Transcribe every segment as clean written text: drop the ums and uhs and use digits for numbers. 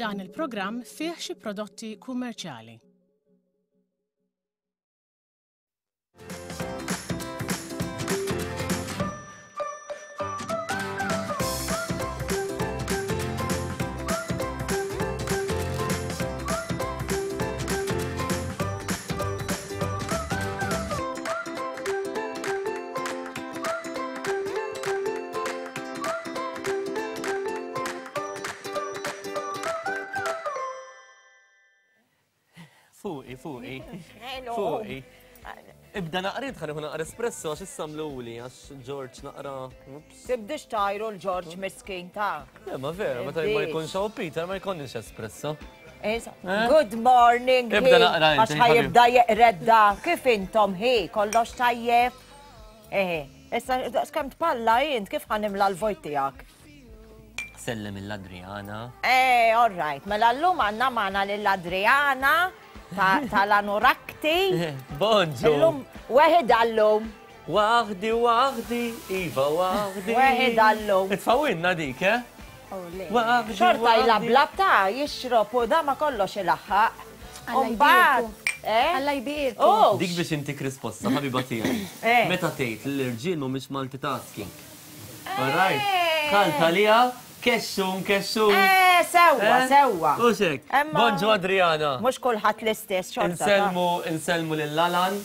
Dan il-programm fih xi prodotti kummerċjali. Fuqi, fuqi. Fuqi. Ibda naqrid ħan ikun naqra espresso għax issa mluli għax George naqra. Tibdix tajru l-George miskin ta' Le, ma vera, meta ma jkunx hawn Peter ma jkollniex espresso. Eh? Good morning. Ibda naqra Għax ħajibda jeqredda. Kif intom hi? Kollox tajjeb? Eħe. Issa skemm tpalla int kif ħanimla l-vojt tiegħek? Sellem il-Adriana. Eh, all right. Mela llum għandna magħna lill-Adriana tal-Anorakti. Bonġu. Illum weħid għallum. Waħdi, waħdi, iva waħdi. Weħid għallum. Itfawinna dik, eh? Oh, Xorta jlablab ta' jixrob u da ma kollox ilaħħaq. Umbagħad, eh? Alla jbierku. Oh. Dik biex intik risposta, ħabiba tiegħi. Eh. Meta tgħid li l-irġiel mhumiex multitasking. All right. Dħalt għaliha, kexxun, kexxun. Eh, sewwa, Eh? sewwa. U xek. Bonġu Adriana. Mhux kulħadd l-istess xorta. Insellmu, insellmu lil Alan.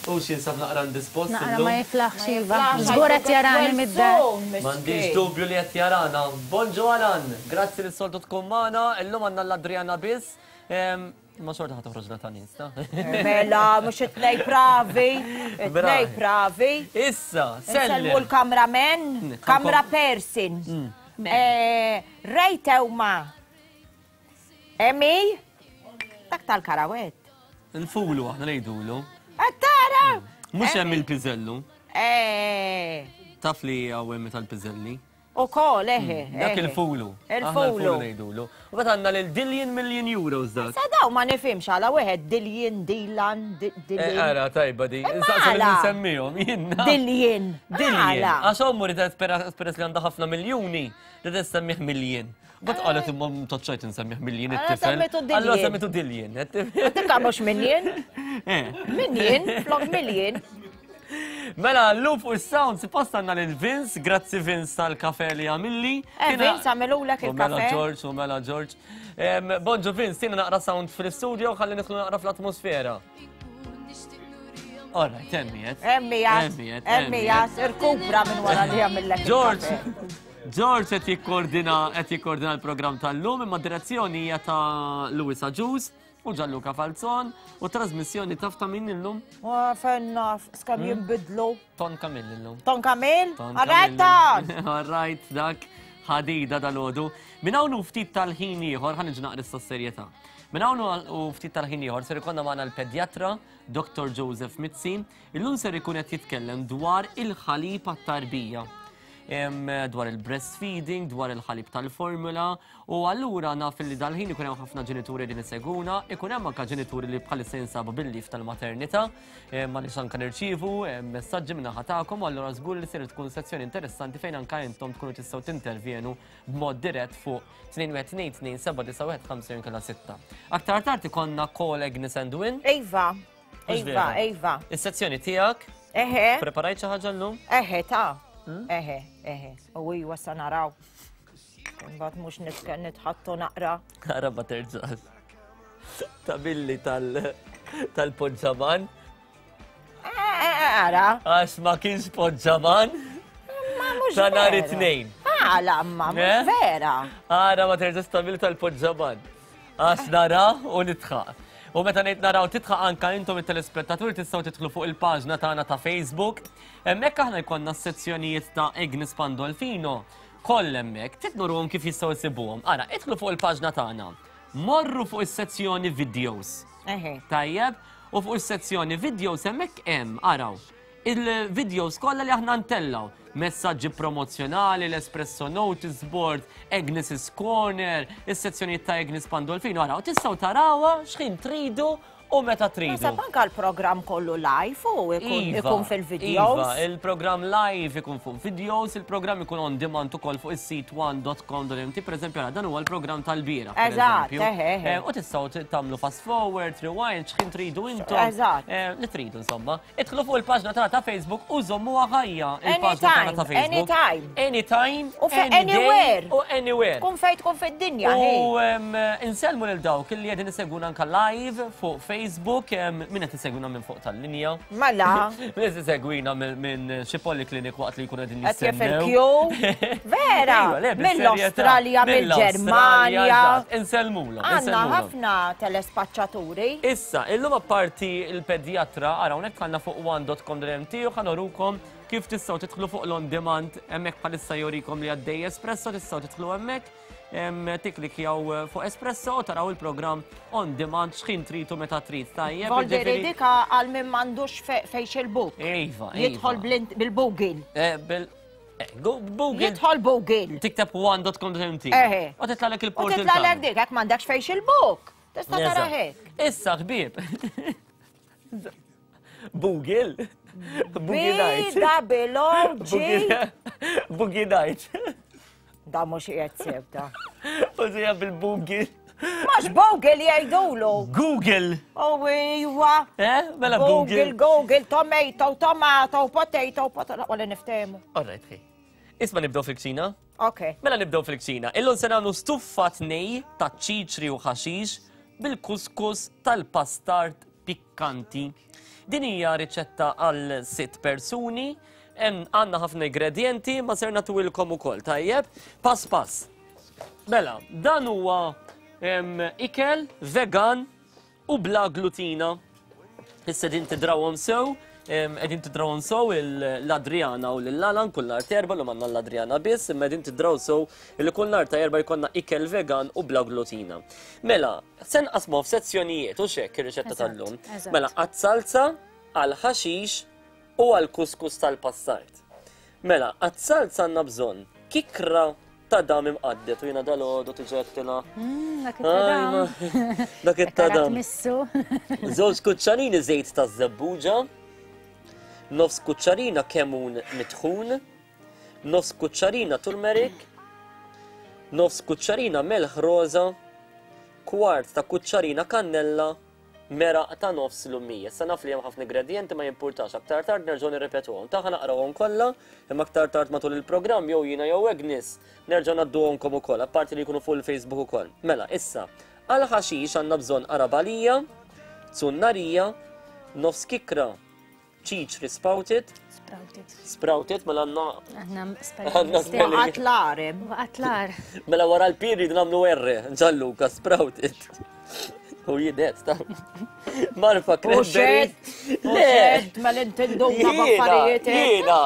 U x'insab naqra indispost Naqra illum. ma jiflaħx Ma iva. jiflaħx, Żgur qed jarani għajtu mid-dar. well soon, M'għandix miskin. dubju li qed jarana. Bonġu Alan! Grazzi li s-soltu tkun magħna. Illum għandna l-Adriana biss. Ehm, Imma xorta ħa toħroġna ta' nies, ta? Mela, mhux it-tnej pravi, it-tnej Bravi. pravi. Issa, Insellmu sellem. l-cameraman, Mm, camera person. Eh, Ray Teuma. Emi, dak tal-karawett. Il-fulu aħna ngħidulu. Qed tara? Mhux hemm il-piżellu. Eh. Taf li hawn hemm tal-piżelli. Ukoll, eħe. Mm, dak il-fulu. Il-fulu. ngħidulu. U bat għandna lil Dillian Million Euros dak. Sa daw ma nifhimx għala wieħed Dillian, Dilan, Dillian. Eh, ara, tajba di. Insaqsi li nsemmihom, jiena. Dillian. Dillian. Għax ommu ridet peress li għandha ħafna miljuni, ridet semmih Million. Bat qalet imma mtaċċajt insemmih Million it-tifel. Semmitu Dillian. Allora semmitu Dillian. Tika mhux Million. Eh. Million, flok Million. Mela, l-lum fuq il-sound, suppost għanna lil Vince, grazzi Vince tal-kafe li għamilli. Eh, Vince għamilulek U mela il-kafe. George, u mela George. Bonġu Vince, tina naqra sound fil-studio, ħalli nidħlu naqra fl-atmosfera. All right, emmijet. Emmijet, emmijet, irkupra minn wara li għamillek. George, George qed jikkordina qed jikkordina l-programm tal-lum imma direzzjoni hija ta' Louis Agius u Gianluca Falzon u trasmissjoni taf ta' min illum? Fejn naf, skemm hmm? jinbidlu. Ton Kamil illum. Ton Kamil? All right, Ton! All right, dak ħadida dal-ħodu. Minn hawn u ftit tal-ħin ieħor ħa niġu naqra s-serjetà. Minn hawn u ftit tal-ħin ieħor ser ikollna magħna l-pedjatra Dr. Joseph Mizzi. Illum ser ikun qed jitkellem dwar il-ħalib għat-tarbija. Dwar il-breastfeeding, dwar il-ħalib tal-formula, u allura naf li dal-ħin ikun hemm ħafna ġenituri li niseguna, ikun hemm anke ġenituri li bħalissa jinsabu bil-lif tal-maternità, ma nix anke nirċievu messaġġi minn naħa tagħkom, u allura żgur li ser tkun sezzjoni interessanti fejn anke intom tkunu tistgħu tintervjenu b'mod dirett fuq 2 2 2 7 9 1 5 jew inkella 6. Aktar tard ikollna call Agnes and Win. Iva. Iva, iva. Is-sezzjoni tiegħek? Eħe. Preparajt xi ħaġa llum? Eħe, ta. Hmm? Eħe, eħe. U iwa sa naraw. Imbagħad mhux nitħattu naqra. Naqra ma terġax. Ta' billi tal-poġġaman. Eh, eh, eh, ara. Għax ma kienx poġġaman. Ma mhux. Ta' nhar it-tnejn. Għala, ma mhux vera. Ara ma terġax ta' billi tal-poġġaman. Għax nara u nidħaq. U meta ngħid naraw tidħaq anka intom it-telespettaturi tistgħu tidħlu fuq il-paġna tagħna ta' Facebook. Hemmhekk aħna jkollna s-sezzjonijiet ta' Agnes Pandolfino koll hemmhekk. Trid nurhom kif jistgħu jsibuhom. Ara, idħlu fuq il-paġna tagħna. Morru fuq is-sezzjoni videos. Tajjeb, u fuq is-sezzjoni videos hemmhekk hemm, araw, Il-videos kollha li aħna ntellgħu, messaġġi promozzjonali, l-Espresso Notice Board, Agnes's Corner, is-sezzjonijiet ta' Agnes Pandolfino, araw, tistgħu tarawha x'ħin tridu. u meta tridu. Naħseb anke l-programm kollu live u Iva, ikun fil-videos. Iva, il-programm live ikun fuq videos, il-programm ikun on demand ukoll fuq is-sit one.com.mt, per eżempju, ara, dan huwa l-programm tal-bieraħ. per Eżatt, eżempju. eħe, eħe. U tistgħu tagħmlu fast forward, rewind, x'ħin tridu intom. Eżatt. Li tridu insomma. Idħlu fuq il-paġna tagħna ta' Facebook u żommuha ħajja il-paġna tagħna ta' Anytime, Facebook. anytime. Anytime. U fe- any day, anywhere. U anywhere. Tkun fejn tkun fid-dinja, U ħej. insellmu lil dawk li qegħdin isegwuna anka live fuq Facebook, min qed isegwina minn fuq tal-linja. Mela. Min qed isegwina minn xi poliklinik waqt li jkunu qegħdin Qed jef jistennew. il-queue. Vera, Iva, le, bis-serjetà. mill-Awstralja, Mill-Awstralja, mill-Ġermanja. eżatt. Insellmulhom, Għandna insellmulhom. ħafna telespaċċaturi. Issa, illum apparti il-pedjatra, ara hawnhekk għandna fuq one.com.mt u ħa nurukom kif tistgħu tidħlu fuq l-on demand hemmhekk bħalissa jorikom li għaddej Espresso, tistgħu tidħlu hemmhekk, tiklikjaw fuq Espresso u taraw il-programm on demand x'ħin tridu meta trid. Tajjeb, Voldiri jiġifieri- dika għal min m'għandux Facebook. Iva, Jidħol iva. bil-Google. Google. Jidħol Google. Tikteb one.com.mt. Eħe. U titlalek U il-portal. titlalek tagħna. dik, jekk m'għandekx Facebook. Tista' tara Eżatt. hekk. Issa ħbieb. Google. B Boogie Night. double O G. Boogie Night. Da mhux qiegħed sew da. U sija bil-Google. Mhux Google jgħidulu. Google. Oh iwa. Eh? Mela Google, Google. Google, tomato, tomato, potato, potato. Wala niftehmu. All right, ħi. Isma nibdew fil-kċina. Ok. Mela nibdew fil-kċina. Illum se nagħmlu stuffat nej ta' ċiċri u ħaxix bil-kuskus tal-pastard pikkanti. Din hija riċetta għal sitt persuni. Hemm għandna ħafna ingredienti ma ser nagħtuhilkom ukoll, tajjeb? Pass pass. Mela, dan huwa ikel vegan u bla glutina. Issa din tidrawhom sew, qegħdin tidrawhom sew l-Adriana u l-Alan kull nhar ta' Erbgħa, llum għandna l-Adriana biss, imma qegħdin tidraw sew li kull nhar ta' Erbgħa jkollna ikel vegan u bla glutina. Mela, se nqasmuha f'sezzjonijiet u x'hekk ir-riċetta tal-lum. Mela, għat-salza, għall-ħaxix u għall-kuskus tal-passart. Mela, għat-salza għandna bżonn kikra ta' dam imqaddet u jiena dal-għodu tiġettina. Dak it-tadam. Dak it-tadam. Missu. Żewġ kuċċarini żejt ta' żebbuġa, nofs kuċċarina kemun mitħun, nofs kuċċarina turmeric, nofs kuċċarina melħ roża, kwart ta' kuċċarina kannella, meraq ta' nofs lumija. Issa naf li hemm ħafna ingredienti ma jimpurtax, aktar tard nerġgħu nirripetuhom. Ta' ħa naqrawhom kollha, imma aktar tard matul il-programm jew jiena jew Agnes nerġgħu ngħadduhomkom ukoll, apparti li jkunu fuq il-Facebook ukoll. Mela, issa, għal ħaxix għandna bżonn qarabalija, zunnarija, nofs kikra ċiċri sprouted. Sprouted. Sprouted, mela għandna Għandna Għandna spelling. Waqgħet l-ar, hemm. Waqgħet l-ar. Mela wara l-period nagħmlu R, Gianluca, sprouted. U jidet, ta' Marfa cranberry. U xed, mela inti nduna b'affarijiet. Jiena,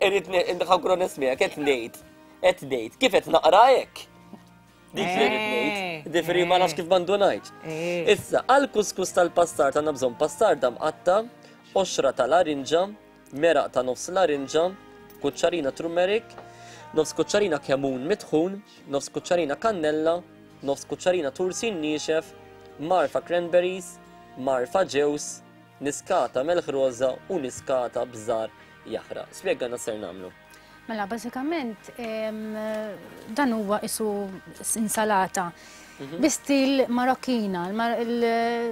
irrid nħankru nismiegħek, qed ngħid, qed ngħid, kif qed naqra hekk? Dik li rrid ngħid, ġifieri ma nafx kif m'għandu ngħid. Issa, għal kuskus tal-pastard għandna bżonn pastarda mqatta, qoxra tal-arinġa, meraq ta' nofs l-arinġa, kuċċarina turmeric, nofs kuċċarina kemun mitħun, nofs kuċċarina kannella, nofs kuċċarina tursin niexef, marfa cranberries, marfa ġews, niskata melħ roża u niskata bżar jaħraq. Spjegana ser nagħmlu. Mela, bażikament, dan huwa isu insalata. Bi stil Marokkina,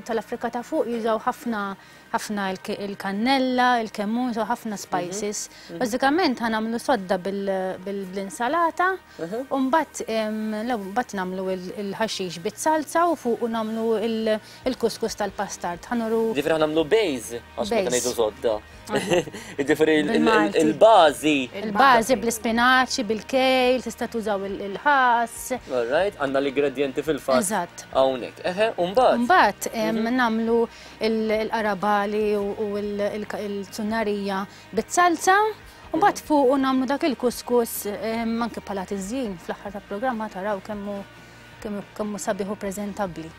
tal-Afrika ta' fuq jużaw ħafna ħafna il-kannella, il-kemmun, jużaw ħafna spices. Bażikament ħa nagħmlu sodda bil-insalata, u mbagħad nagħmlu il-ħaxix bit-salsa u fuq u nagħmlu il-kuskus tal-pastard. Ħa nuru Ġifieri ħa nagħmlu base, għax meta Base. ngħidu sodda. Ġifieri Bil-Malti. il-bażi. Il-bażi bl-ispinaċi, bil-kejl, tista' tużaw il-ħass. All right, għandna l-ingredienti fil-fatt. Eżatt. Hawnhekk. Eħe, u mbagħad. Mbagħad nagħmlu il-qarabali u il-zunnarija bit-salsa. U mbagħad fuq u nagħmlu dak il-kuskus anke bħala tiżjin fl-aħħar tal-programma taraw kemmu sabiħ u preżentabbli.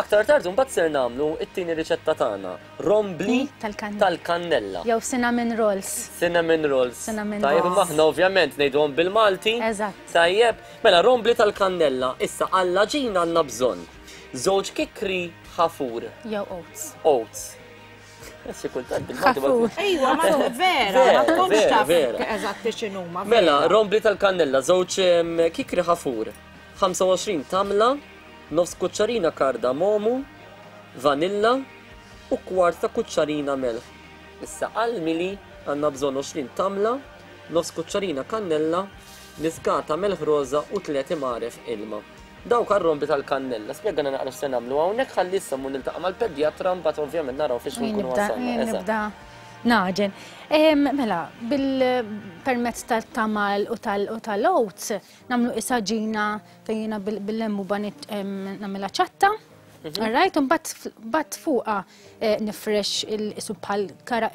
Aktar tard mbagħad ser nagħmlu it-tieni riċetta tagħna, rombli Tal-kannella. tal-kannella. Jew cinnamon rolls. Cinnamon rolls. Cinnamon Tajjeb, rolls. imma aħna ovvjament ngħiduhom bil-Malti. Eżatt. Tajjeb, mela rombli tal-kannella, issa għall-għaġina għandna bżonn żewġ kikri ħafur. Jew oats. Oats. Xi kultant bil-Malti. Ħafur. Ejwa, ma vera, ma tkunx taf eżatti x'inhuma. Mela, rombli tal-kannella, żewġ kikri ħafur, 25 tamla, nofs kuċċarina kardamomu, vanilla u kwart ta' kuċċarina melħ. Issa għall-mili għandna bżonn 20 tamla, nofs kuċċarina kannella, niskata melħ roża u tliet imgħaref ilma. Dawk għar-rombi tal-kannella. Spjegana naqra x'se nagħmlu hawnhekk ħalli issa mmur niltaqa' mal-pedjatra mbagħad ovvjament naraw fiex nkunu wasalna. Jien nibda naġen. Mela, bil-permezz tal-tamal u tal-oats nagħmlu isa ġina fejn jiena bil-lemmuba nagħmilha ċatta. Mhm. Alright, u mbagħad fuqha eh, nifresh il-isu bħal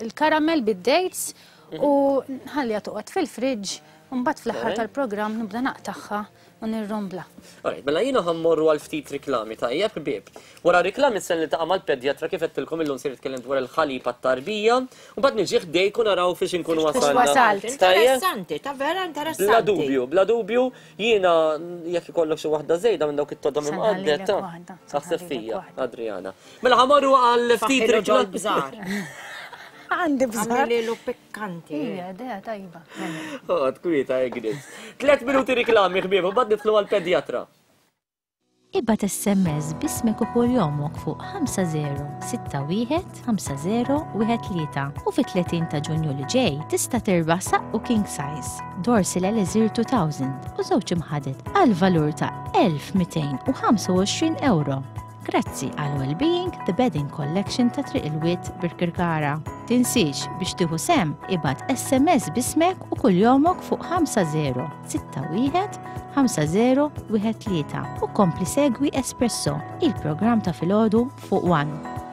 il-karamel bid-dates mhm. u nħalliha toqgħod fil-friġġ u mbagħad fl-aħħar tal-programm nibda naqtagħha u nirrombla. Alright, mela jiena ħa mmorru għal ftit riklami, tajjeb ħbieb. Wara riklami se niltaqa' mal-pedjatra kif għedtilkom illum se nitkellem dwar il-ħalib għat-tarbija, u mbagħad niġi ħdejk u naraw fiex inkunu wasalna. Wasalt. Interessanti, ta' vera interessanti. Bla dubju, bla dubju, jiena jekk ikollok xi waħda żejda minn dawk it-todom imqadded, ta' taħseb fija, Adriana. Mela ħa morru għal ftit riklami. Għandi bżonn. Għamililu pikkanti. Ija, idea tajba. Oqgħod kwieta Agnes. Tlet minuti riklami ħbieb, u mbagħad nidħlu għall-pedjatra. Ibgħat SMS b'ismek u kuljomok fuq 5061 5013 u fit-30 ta' Ġunju li ġej tista' tirbaħ saqqu king size, Dorsil Elixir 2000 u żewġ imħaded għal valur ta' 1225 ewro. Grazzi għal Wellbeing The Bedding Collection ta' Triq il-Wied Birkirkara. Tinsiex biex tieħu sehem ibgħat SMS b'ismek u kuljomok fuq 5061 5013 u kompli segwi Espresso, il-programm ta' filgħodu fuq One.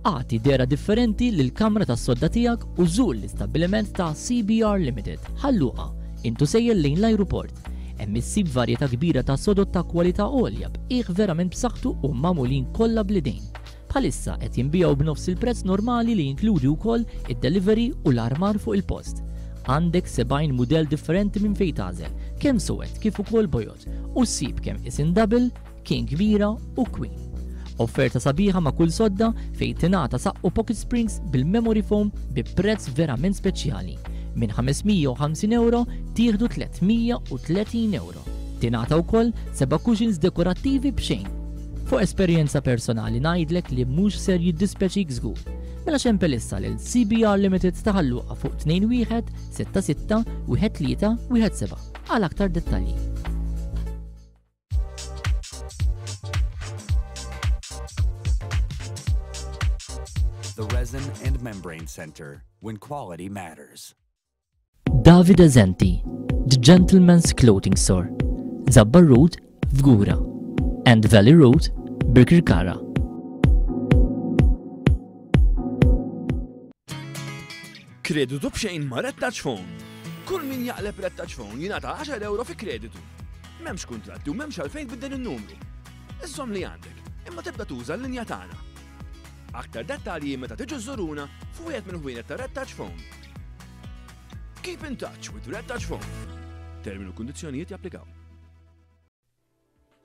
Agħti dehra differenti lill-kamra tas-sodda tiegħek u żur l-istabbiliment ta' CBR Limited, Ħal Luqa, int u sejjer lejn l-ajruport. Hemm issib varjetà kbira ta' sodod ta' kwalità għolja b'qiegħ verament b'saħħtu u magħmulin kollha bl-idejn. Bħalissa qed jinbiegħu b'nofs il-prezz normali li jinkludi wkoll id-delivery u l-armar fuq il-post. Għandek 70 mudell differenti minn fejn tagħżel, kemm suwed kif ukoll bojod, u ssib kemm qisien double, King kbira u Queen. Offerta sabiħa ma' kull sodda fejn tingħata saqqu pocket springs bil-memory foam bi prezz verament speċjali. Minn 550 ewro tieħdu 330 ewro. Tingħata wkoll seba' cushions dekorattivi b'xejn. Fuq esperjenza personali ngħidlek li mhux ser jiddispjaċik żgur. Mela xempel issa lil CBR Limited ta' Ħal Luqa fuq 21 66 13 17 għal aktar dettalji. The Resin and Membrane Center, when quality matters. Davide Zenti, The Gentleman's Clothing Store, Zabbar Road, Fgura, and Valley Road, Birkirkara. Kreditu b'xejn ma' Red Touch Phone. Kull min jaqleb Red Touch Phone jingħata 10 euro fi kreditu. M'hemmx kuntratti u m'hemmx għalfejn tbiddel in-numru. Iżżomm li għandek, imma tibda tuża l-linja tagħna. Aktar dettalji meta tiġu żżuruna f'wieħed mill-ħwienet ta' Red Touch Phone. Keep in touch with Red Touch Phone. Termini u kundizzjonijiet japplikaw.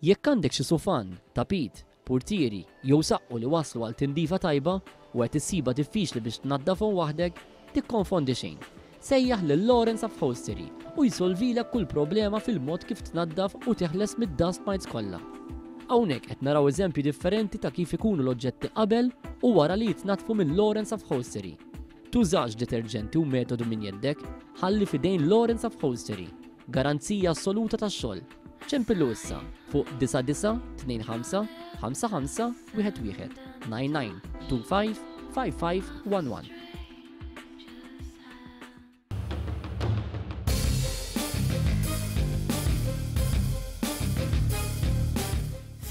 Jekk għandek xi sufan, tapit, purtieri jew saqqu li waslu għal tindifa tajba u qed issibha diffiċli biex tnaddafhom waħdek, tikkonfondi xejn. Sejjaħ lil Lawrence Upholstery u jsolvilek kull problema fil-mod kif tnaddaf u teħles mid-dust mites kollha. Hawnhekk qed naraw eżempji differenti ta' kif ikunu l-oġġetti qabel u wara li jitnaddfu minn Lawrence Upholstery. Tużax deterġenti u metodu minn jeddek, ħalli f'idejn Lawrence Upholstery. Garanzija assoluta tax-xogħol. Ċempillu issa fuq 9925 55 11 99 25 55 11.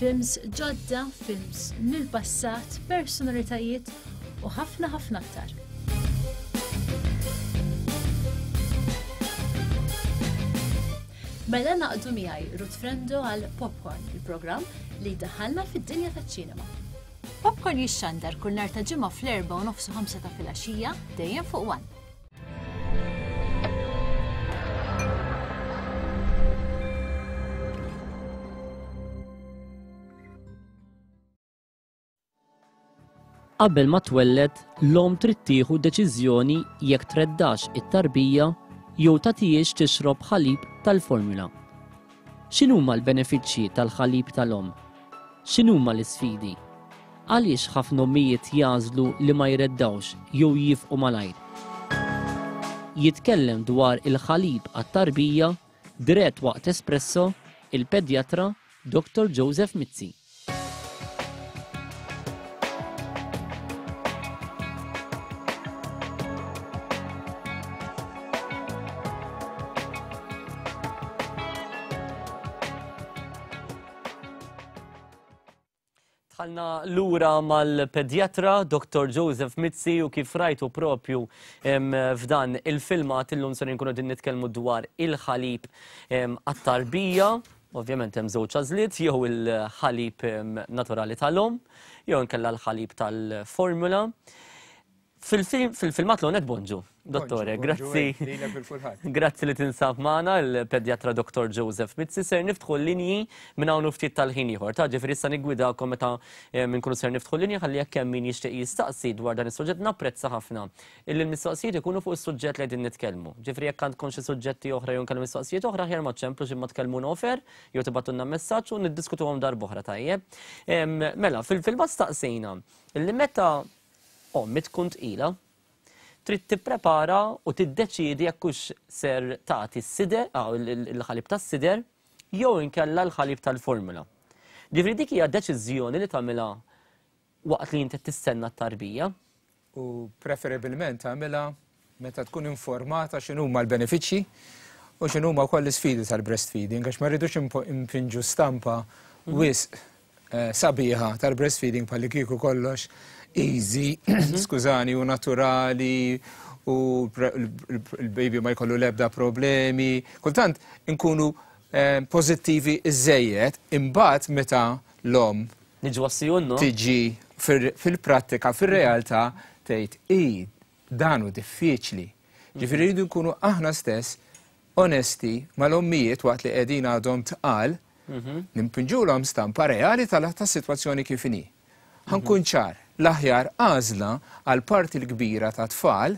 Films ġodda, films mill-passat, personalitajiet u ħafna ħafna aktar. Mela naqdu miegħi Ruth Frendo għal Popcorn, il-programm li jdaħħalna fid-dinja taċ-ċinema. Popcorn jixxandar kull nhar ta' ġimgħa fl-4 u nofsu 5 ta' filgħaxija dejjem fuq One. Qabel ma twelled, l-omm trid tieħu deċiżjoni jekk treddax it-tarbija jew tagħtihiex tixrob ħalib tal-formula. X'inhuma l-benefiċċji tal-ħalib tal-omm? X'inhuma l-isfidi? Għaliex ħafna ommijiet jagħżlu li ma jreddgħux jew jiefqu malajr? Jitkellem dwar il-ħalib għat-tarbija dirett waqt Espresso il-pedjatra Dottor Joseph Mizzi. Dħalna lura mal-pedjatra Dr. Joseph Mizzi u kif rajtu propju f'dan il-filmat illum ser nkunu din nitkellmu dwar il-ħalib għat-tarbija. Ovvjament hemm żewġ għażliet jew il-ħalib naturali tal-omm jew inkella l-ħalib tal-formula. Fil-filmat l-onet bonġu, dottore, grazzi. Grazzi li tinsab magħna il-pedjatra Dr. Joseph Mizzi ser niftħu l-linji minn hawn ftit tal-ħin ieħor. Ta' ġifieri issa niggwidakom meta eh, nkunu ser niftħu l-linji ħalli jekk hemm min jixtieq jistaqsi dwar dan is-suġġett napprezza ħafna illi l-mistoqsijiet ikunu fuq is-suġġett li qegħdin nitkellmu. Ġifieri jekk għandkom xi suġġetti oħra jew nkellmu mistoqsijiet oħra aħjar ma ċemplux imma tkellmuna ofer jew tibgħatulna messaġġ u niddiskutuhom darb'oħra tajjeb. Mela, fil-filmat staqsejna illi meta Ommi tkun tqila, trid tipprepara u tiddeċiedi jekk hux ser tagħti s-sider, ah, il-ħalib tas-sider, jew inkella l-ħalib tal-formula. Ġifieri dik hija deċiżjoni li tagħmilha waqt li inti tistenna t-tarbija. U preferibilment tagħmilha meta tkun informata x'inhuma l-benefiċċji u x'inhuma wkoll l-isfidi tal-breastfeeding għax ma rridux impinġu stampa mhm. wisq eh, sabiħa tal-breastfeeding bħalli kieku kollox easy, mhm. skużani, u naturali u l-baby ma jkollu lebda problemi. Kultant inkunu eh, pozittivi iżejjed, imbagħad meta l-om Niġu għas-sijunnu. Tiġi fil-prattika, fil-realtà, tgħid i Dan hu diffiċli. Ġifieri rridu nkunu aħna stess onesti mal-ommijiet waqt li qegħdin għadhom tqal, mhm. nimpinġulhom stampa reali tas-sitwazzjoni kif inhi. Ħankun mhm. ċar, l-aħjar għażla għal parti l-kbira ta' tfal,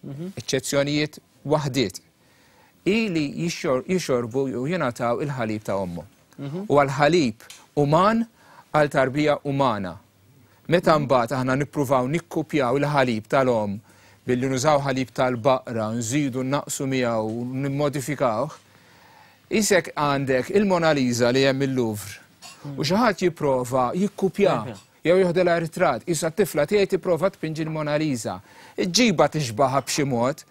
mhm. eċċezzjonijiet waħdiet, hi li jixorbu u jingħataw il-ħalib ta' ommhom. U għal ħalib uman għal tarbija umana. Meta mbagħad aħna nippruvaw nikkupjaw il-ħalib tal-omm billi nużaw ħalib tal-baqra, nżidu nnaqqsu miegħu, nimmodifikawh, isek għandek il-Mona Lisa li hemm il-Louvre u xi ħadd jipprova jikkupja jew joħdilha ritratt, qisha t-tifla tiegħi tipprova tpinġi l-Mona Lisa. Iġġibha tixbaha b'xi mod,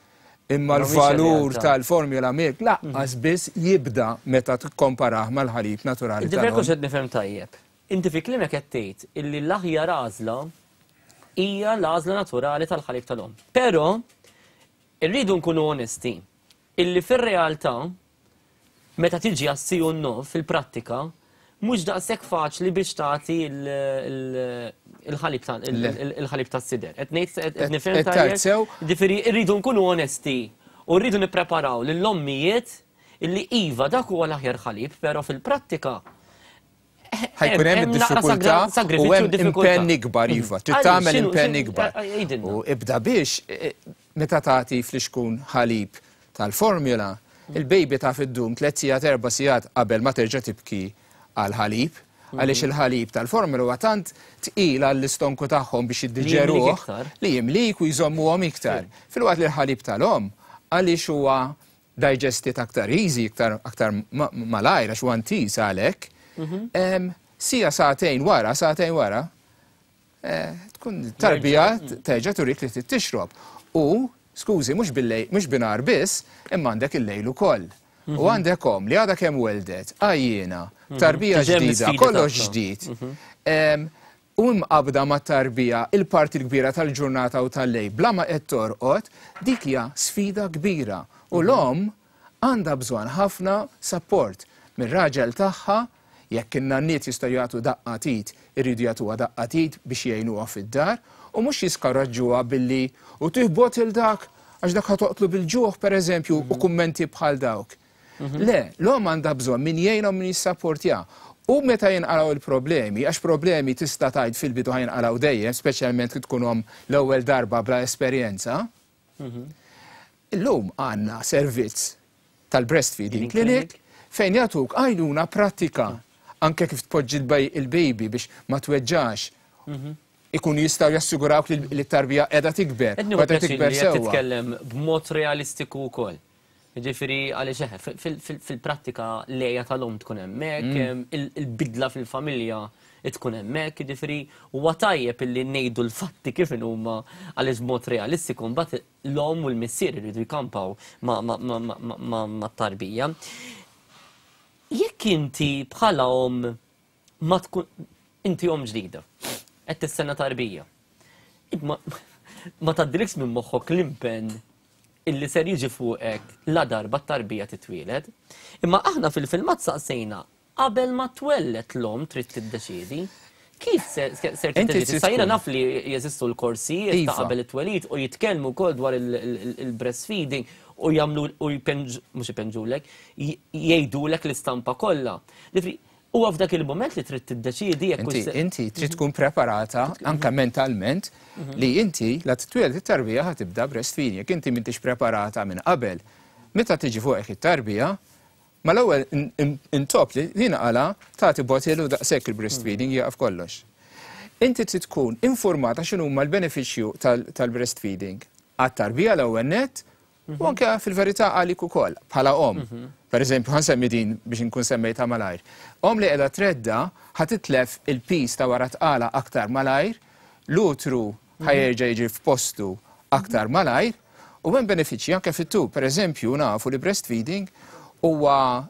imma l-valur tal-formula milk laqqas biss jibda meta tikkomparah mal-ħalib naturali. Ġifieri jekk qed nifhem tajjeb, Inti fi kliemek qed tgħid illi l-aħjar għażla hija l-għażla naturali tal-ħalib tal-omm. Però irridu nkunu onesti illi fir-realtà meta tiġi għas-si u n-no fil-prattika mhux daqshekk faċli biex tagħti il-ħalib tas-sider. Qed ngħid qed nifhem tajjeb? Ġifieri rridu nkunu onesti u rridu nippreparaw lill-ommijiet illi iva dak huwa l-aħjar ħalib, però fil-prattika ħajkun hemm id-diffikultà u hemm impenn ikbar iva, trid tagħmel impenn ikbar. U ibda biex e, meta tagħti flixkun ħalib tal-formula, il-baby taf iddum tliet sigħat erba' sigħat qabel ma terġa' tibki għal ħalib għaliex il-ħalib tal-formula huwa tant tqil għall-istonku tagħhom biex jiddiġeruh li jimlik u jżommuhom iktar. Filwaqt li l-ħalib tal-omm għaliex huwa digested aktar easy, iktar aktar malajr għax huwa intiż għalhekk. Mhm. Sija sagħtejn wara, sagħtejn wara, eh, tkun tarbija mm. terġa' turik li trid tixrob. U, skużi, mhux billejl, mhux binar biss, imma għandek il-lejl ukoll. U mhm. għandek om li għadha kemm weldet, għajjiena, mhm. tarbija ġdida, kollox ġdid. U imqabbda mat-tarbija il-parti l-kbira tal-ġurnata u tal-lejl bla ma qed torqod, dik hija sfida kbira. U l-omm għandha bżonn ħafna sapport mir-raġel tagħha, jekk in-nanniet jistgħu jagħtu daqqa t'id, iridu jagħtuha daqqa t'id biex jgħinuha fid-dar, u mhux jiskoraġġuha billi u tih bottle dak għax dak ħa toqtlu bil-ġuħ pereżempju u kummenti bħal dawk. Le, l-omm għandha bżonn min jgħinha u min jissapportjaha. U meta jinqalgħu il-problemi, għax problemi tista' tgħid fil-bidu ħa jinqalgħu dejjem, speċjalment kif tkun omm l-ewwel darba bla esperjenza. Illum għandna servizz tal-breastfeeding clinic fejn jagħtuk għajnuna prattika anke kif tpoġġi il-baby biex ma tweġġax. Ikunu jistgħu jassigurawk li t-tarbija qiegħda tikber. Qed nieħu pjaċir li qed titkellem b'mod realistiku wkoll. Ġifieri għaliex eħe, fil-prattika l-għeja tal-omm tkun hemmhekk, il-bidla fil-familja tkun hemmhekk, ġifieri huwa tajjeb illi ngħidu l-fatti kif inhuma għaliex b'mod realistiku mbagħad l-omm u l-missier iridu jkampaw mat-tarbija. Jekk inti bħala omm ma tkun inti omm ġdida, qed tistenna tarbija. Ma tgħaddilekx minn moħħok l-impenn illi ser jiġi fuqek la darba t-tarbija titwieled. Imma aħna fil-filmat saqsejna qabel ma twelled l-omm trid tiddeċiedi. Kif ser tiddeċiedi? Sa jiena naf li jeżistu l-korsijiet ta' qabel it-twelid u jitkellmu wkoll dwar il-breastfeeding u jagħmlu u jpenġu, mhux ipenġulek, jgħidulek l-istampa kollha. Ġifieri, huwa f'dak il-mument li trid tiddeċiedi jekk Inti, inti trid tkun preparata anke mentalment li inti la titwieled it-tarbija ħa tibda breastfeeding. Jekk inti m'intix preparata minn qabel, meta tiġi fuqek it-tarbija, mal-ewwel intop li jinqala tagħti bottle u daqshekk il-breastfeeding jieqaf kollox. Inti trid tkun informata x'inhuma l-benefiċċju tal-breastfeeding għat-tarbija l-ewwel nett u anke fil-verità għalik ukoll bħala omm. Per eżempju, ħa nsemmi din biex inkun semmejtha malajr. Omm li qiegħda tredda ħa titlef il-piż ta' wara tqala aktar malajr, l-utru ħa jerġa' jiġi f'postu aktar malajr, u hemm benefiċċji anke fit-tul. Per eżempju, nafu li breastfeeding huwa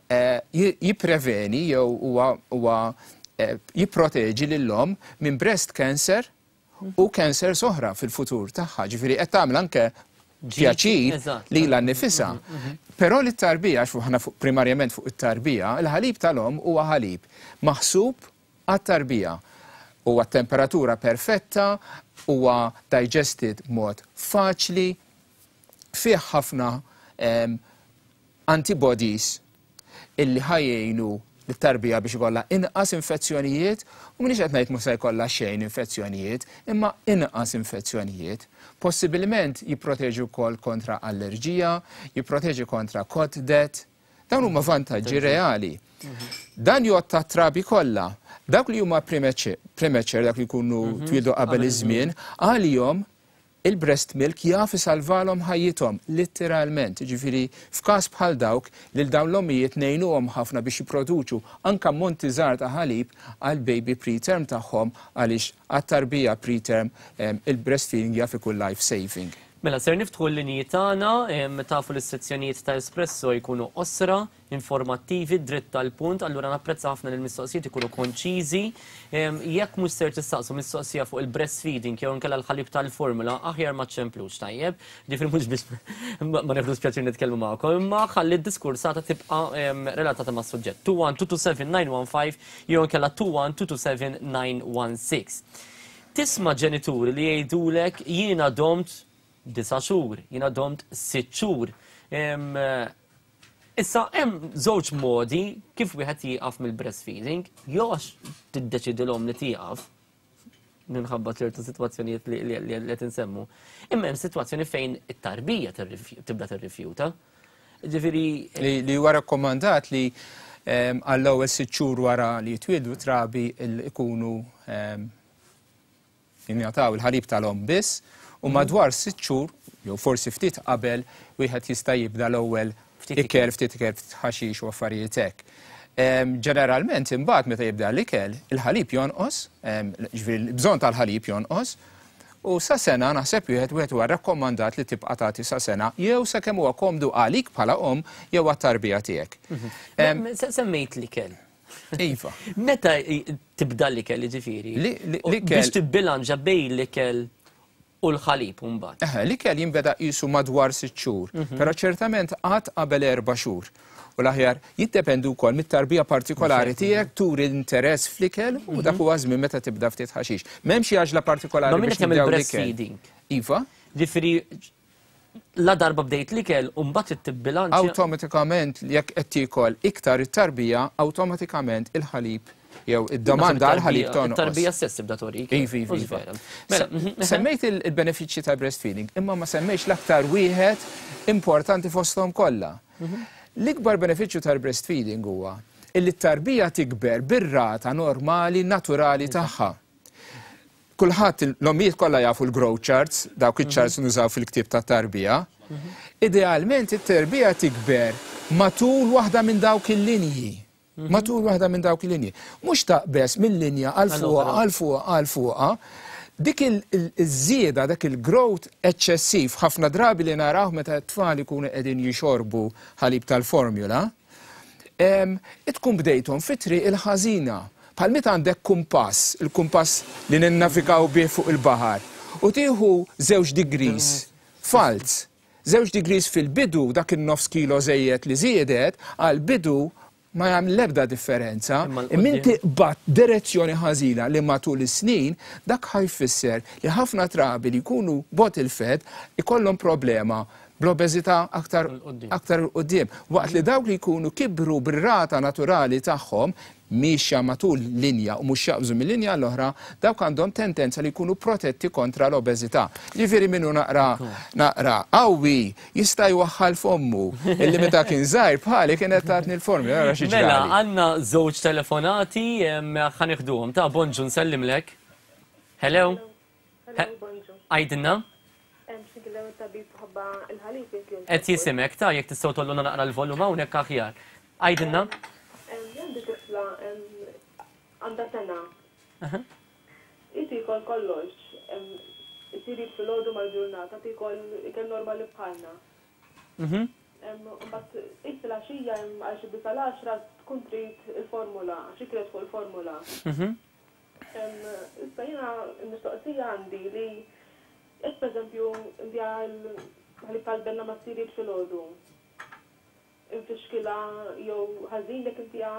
jippreveni jew huwa jipproteġi lill-omm minn breast cancer u cancers oħra fil-futur tagħha. Ġifieri qed tagħmel anke pjaċir lilha nnifisha. Però li t-tarbija, għax aħna primarjament fuq it-tarbija, il-ħalib tal-omm huwa ħalib maħsub għat-tarbija. Huwa temperatura perfetta, huwa digested mod faċli, fih ħafna antibodies illi ħa jgħinu lit-tarbija biex ikollha inqas infezzjonijiet, u m'iniex qed ngħid mhux se jkollha xejn infezzjonijiet, imma inqas infezzjonijiet. Possibilment jipproteġi wkoll kontra allerġija, jipproteġi kontra cot death. Dawn huma vantaġġi reali. Dan jgħodd tat-trabi kollha. Dawk li huma premature, dawk li jkunu twieldu qabel iż-żmien, għalihom il-breast milk jaf isalvalhom ħajjithom, litteralment. Ġifieri, f'każ bħal dawk, lil dawn l-ommijiet ngħinuhom ħafna biex jipproduċu anke ammonti żgħar ta' ħalib għal baby preterm tagħhom, għaliex għat-tarbija preterm il-breastfeeding jaf ikun life saving. Mela, ser niftħu l-linji tagħna, tafu li s-sezzjonijiet ta' Espresso jkunu qosra, informattivi, dritt tal-punt, allura napprezza ħafna li l-mistoqsijiet ikunu konċiżi. Jekk mhux ser tistaqsu mistoqsija fuq il-breastfeeding jew inkella l-ħalib tal-formula, aħjar ma ċemplux, tajjeb? Ġifieri mhux biex ma neħdux pjaċir nitkellmu magħkom, imma ħalli d-diskursata tibqa' relatata mas-suġġett. 21227 jew inkella 2127916. Tisma' ġenituri li jgħidulek jiena domt 9 xhur, jiena domt 6 xhur. Issa hemm żewġ modi kif wieħed jieqaf mill-breastfeeding, jew għax tiddeċidi l-omm li tieqaf minħabba ċertu sitwazzjonijiet li qed insemmu. Imma hemm sitwazzjoni fejn it-tarbija tibda tirrifjuta. Ġifieri li huwa rakkomandat li għall-ewwel 6 xhur wara li jitwieldu trabi ikunu jingħataw il-ħalib tal-omm biss, u madwar 6 xhur jew forsi ftit qabel wieħed jista' jibda l-ewwel Ftit ikel, ftit ikel, ftit ħaxix u affarijiet hekk. Ġeneralment imbagħad meta jibda l-ikel, il-ħalib jonqos, ġifieri l-bżonn tal-ħalib jonqos, u sa sena naħseb wieħed huwa rakkomandat li tibqa' tagħti sa sena jew sakemm huwa komdu għalik bħala omm jew għat-tarbija tiegħek. Semmejt l-ikel. Iva. Meta tibda l-ikel, ġifieri? L-ikel Biex tibbilanċa bejn l-ikel u l-ħalib mbagħad. Eħe, l-ikel jinbeda qisu madwar 6 xhur, però ċertament qatt qabel 4 xhur. U l-aħjar jiddependu wkoll mit-tarbija partikolari tiegħek, turi l-interess fl-ikel u dak huwa żmien meta tibda ftit ħaxix. M'hemm xi għaġla partikolari Ma min biex qed jagħmel nibdew l-ikel. breastfeeding? Iva. Ġifieri la darba bdejt l-ikel u mbagħad trid tibbilanċja. Awtomatikament jekk qed tiekol iktar it-tarbija, awtomatikament il-ħalib Jew id-domanda għal ħalib tonqos. Tarbija stess tibda torik. Iva, iva, iva. Mela, semmejt il-benefiċċji ta' breastfeeding, imma ma semmejx l-aktar wieħed importanti fosthom kollha. L-ikbar benefiċċju tal-breastfeeding huwa illi t-tarbija tikber bir-rata normali naturali tagħha. Kulħadd, l-ommijiet kollha jafu l-growth charts, dawk iċ-charts nużaw fil-ktieb tat-tarbija. Idealment it-tarbija tikber matul waħda minn dawk il-linji. Matul waħda minn dawk il-linji. Mhux taqbeż minn linja għal fuqha, għal fuqha, għal fuqha. Dik iż-żieda, dak il-growth eċċessiv ħafna drabi li naraw meta t-tfal ikunu qegħdin jixorbu ħalib tal-formula, tkun bdejthom fi triq il-ħażina. Bħal meta għandek kumpass, il-kumpass li ninnavigaw bih fuq il-baħar, u tieħu 2 degrees falz. 2 degrees fil-bidu, dak il-nofs kilo żejjed li żiedet, għal-bidu ma jagħmel l-ebda differenza. Imma inti qbadt direzzjoni ħażina li matul is-snin dak ħa jfisser li ħafna trabi li jkunu bottle fed ikollhom problema bl-obeżità aktar aktar 'il quddiem. Waqt li dawk li jkunu kibru bir-rata naturali tagħhom miexja matul linja u mhux jaqbżu mill-linja l-oħra, dawk għandhom tendenza li jkunu protetti kontra l-obeżità. Ġifieri minnu naqra naqra qawwi jista' jwaħħal fommu illi meta kien żgħir bħali kienet tatni l-formula ara xi Mela, ġrali. għandna żewġ telefonati ħa nieħduhom. Ta' bonġu, nsellimlek. Hello? Hello, bonġu. Għidilna? X'nkellem it-tabib ħabba il-ħalib jekk Qed jismgħek ta' jekk tistgħu tgħolluna naqra l-volum hawnhekk aħjar. Għidilna? Għandi tifla għandha sena. Hi tiekol kollox. Isir filgħodu mal-ġurnata tiekol ikel normali bħalna. Mbagħad hi filgħaxija għal xi 9 l-10 tkun trid il-formula, għax hi fuq il-formula. Issa jiena l-mistoqsija għandi li jekk pereżempju ntiha l-ħalib tal-benna mas-cereal filgħodu, infixkilha jew ħażin jekk intiha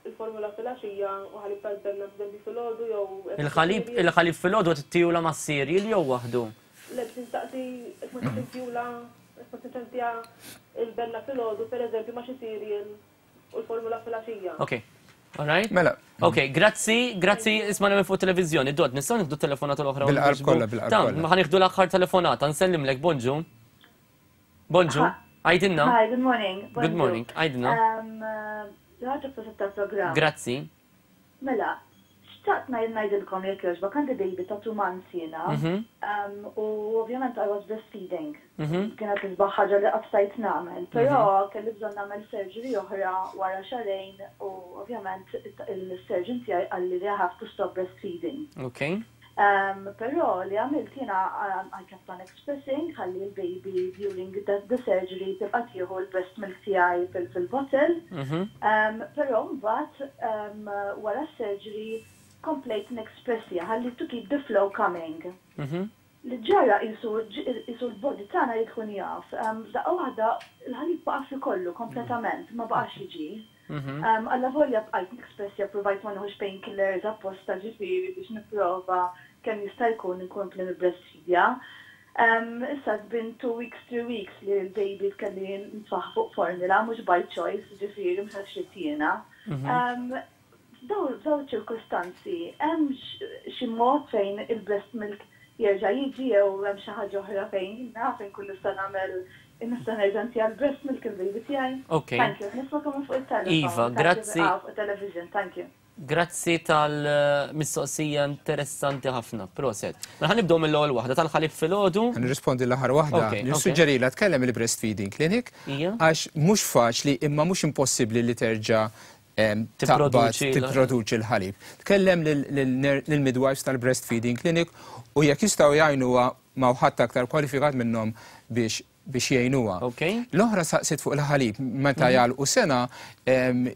il-formula filgħaxija u ħalib tal-benna pereżempju filgħodu jew Il-ħalib il-ħalib filgħodu tagħtihulha mas-cereal jew waħdu? Le, biex nistaqsi jekk ma tintihulha jekk ma tintiha il-benna filgħodu pereżempju ma' xi cereal u l-formula filgħaxija. Ok. All right? Mela. Ok, grazzi, grazzi, ismagħna minn fuq televizjoni. Dod, nistgħu nieħdu telefonata l-oħra? u Bil-qalb nweġbu? kollha, bil-qalb Ta' kollha. ħa nieħdu l-aħħar telefonata, nsellimlek, bonġu. Bonġu, għidilna. Hi, good morning. Good morning, għidilna. Ħaġa prosit tal-programm. Grazzi. Mela, xtaqt ngħidilkom jekk jogħġbok, għandi baby ta' 2 months jiena. U ovvjament I was breastfeeding. Kienet l-isbaħ ħaġa li qatt stajt nagħmel, però kelli bżonn nagħmel surgery oħra wara xahrejn u ovvjament il-surgeon tiegħi qalli li I have to stop breastfeeding. Però li għamilt jiena I kept on expressing ħalli l-baby during the surgery tibqa' tieħu l-breast milk tiegħi fil-bottle. Però mbagħad wara s-surgery komplejt nexpressja ħalli to keep the flow coming. Li ġara qisu l-body tagħna jkun jaf. F'daqqa waħda l-ħalib waqaf li kollu kompletament, ma baqax jiġi. Alla volja bqajt nexpressja, provajt ma nieħux painkillers apposta ġifieri biex nipprova kemm jista' jkun inkompli nibreastfeedja. Issa it's been 2 weeks, 3 weeks li l-baby kelli nitfagħha fuq formula, mhux by choice, ġifieri mhux għax ridt jiena. F'dawn ċirkostanzi, hemm xi mod fejn il-breast milk jerġa' jiġi jew hemm xi ħaġa oħra fejn naf inkun nista' nagħmel nista' nerġa' ntiha l-breast milk il-baby tiegħi? Ok. Thank you. Nismagħkom fuq it-telefon. Iva, Thank you. grazzi. Ah, fuq television, thank you. Grazzi tal-mistoqsija interessanti ħafna. Prosit. Mela ħa nibdew mill-ewwel waħda tal-ħalib filgħodu. Nirrispondi l-aħħar waħda. Nissuġġerilha tkellem il-breastfeeding clinic għax mhux faċli imma mhux impossibbli li terġa' taqbad Tipproduċi tipproduċi l-ħalib. Tkellem lill-midwives tal-breastfeeding clinic u jekk jistgħu jgħinuha ma ħadd aktar kwalifikat minnhom biex jgħinuha. L-oħra saqsit fuq il-ħalib, meta jagħlqu sena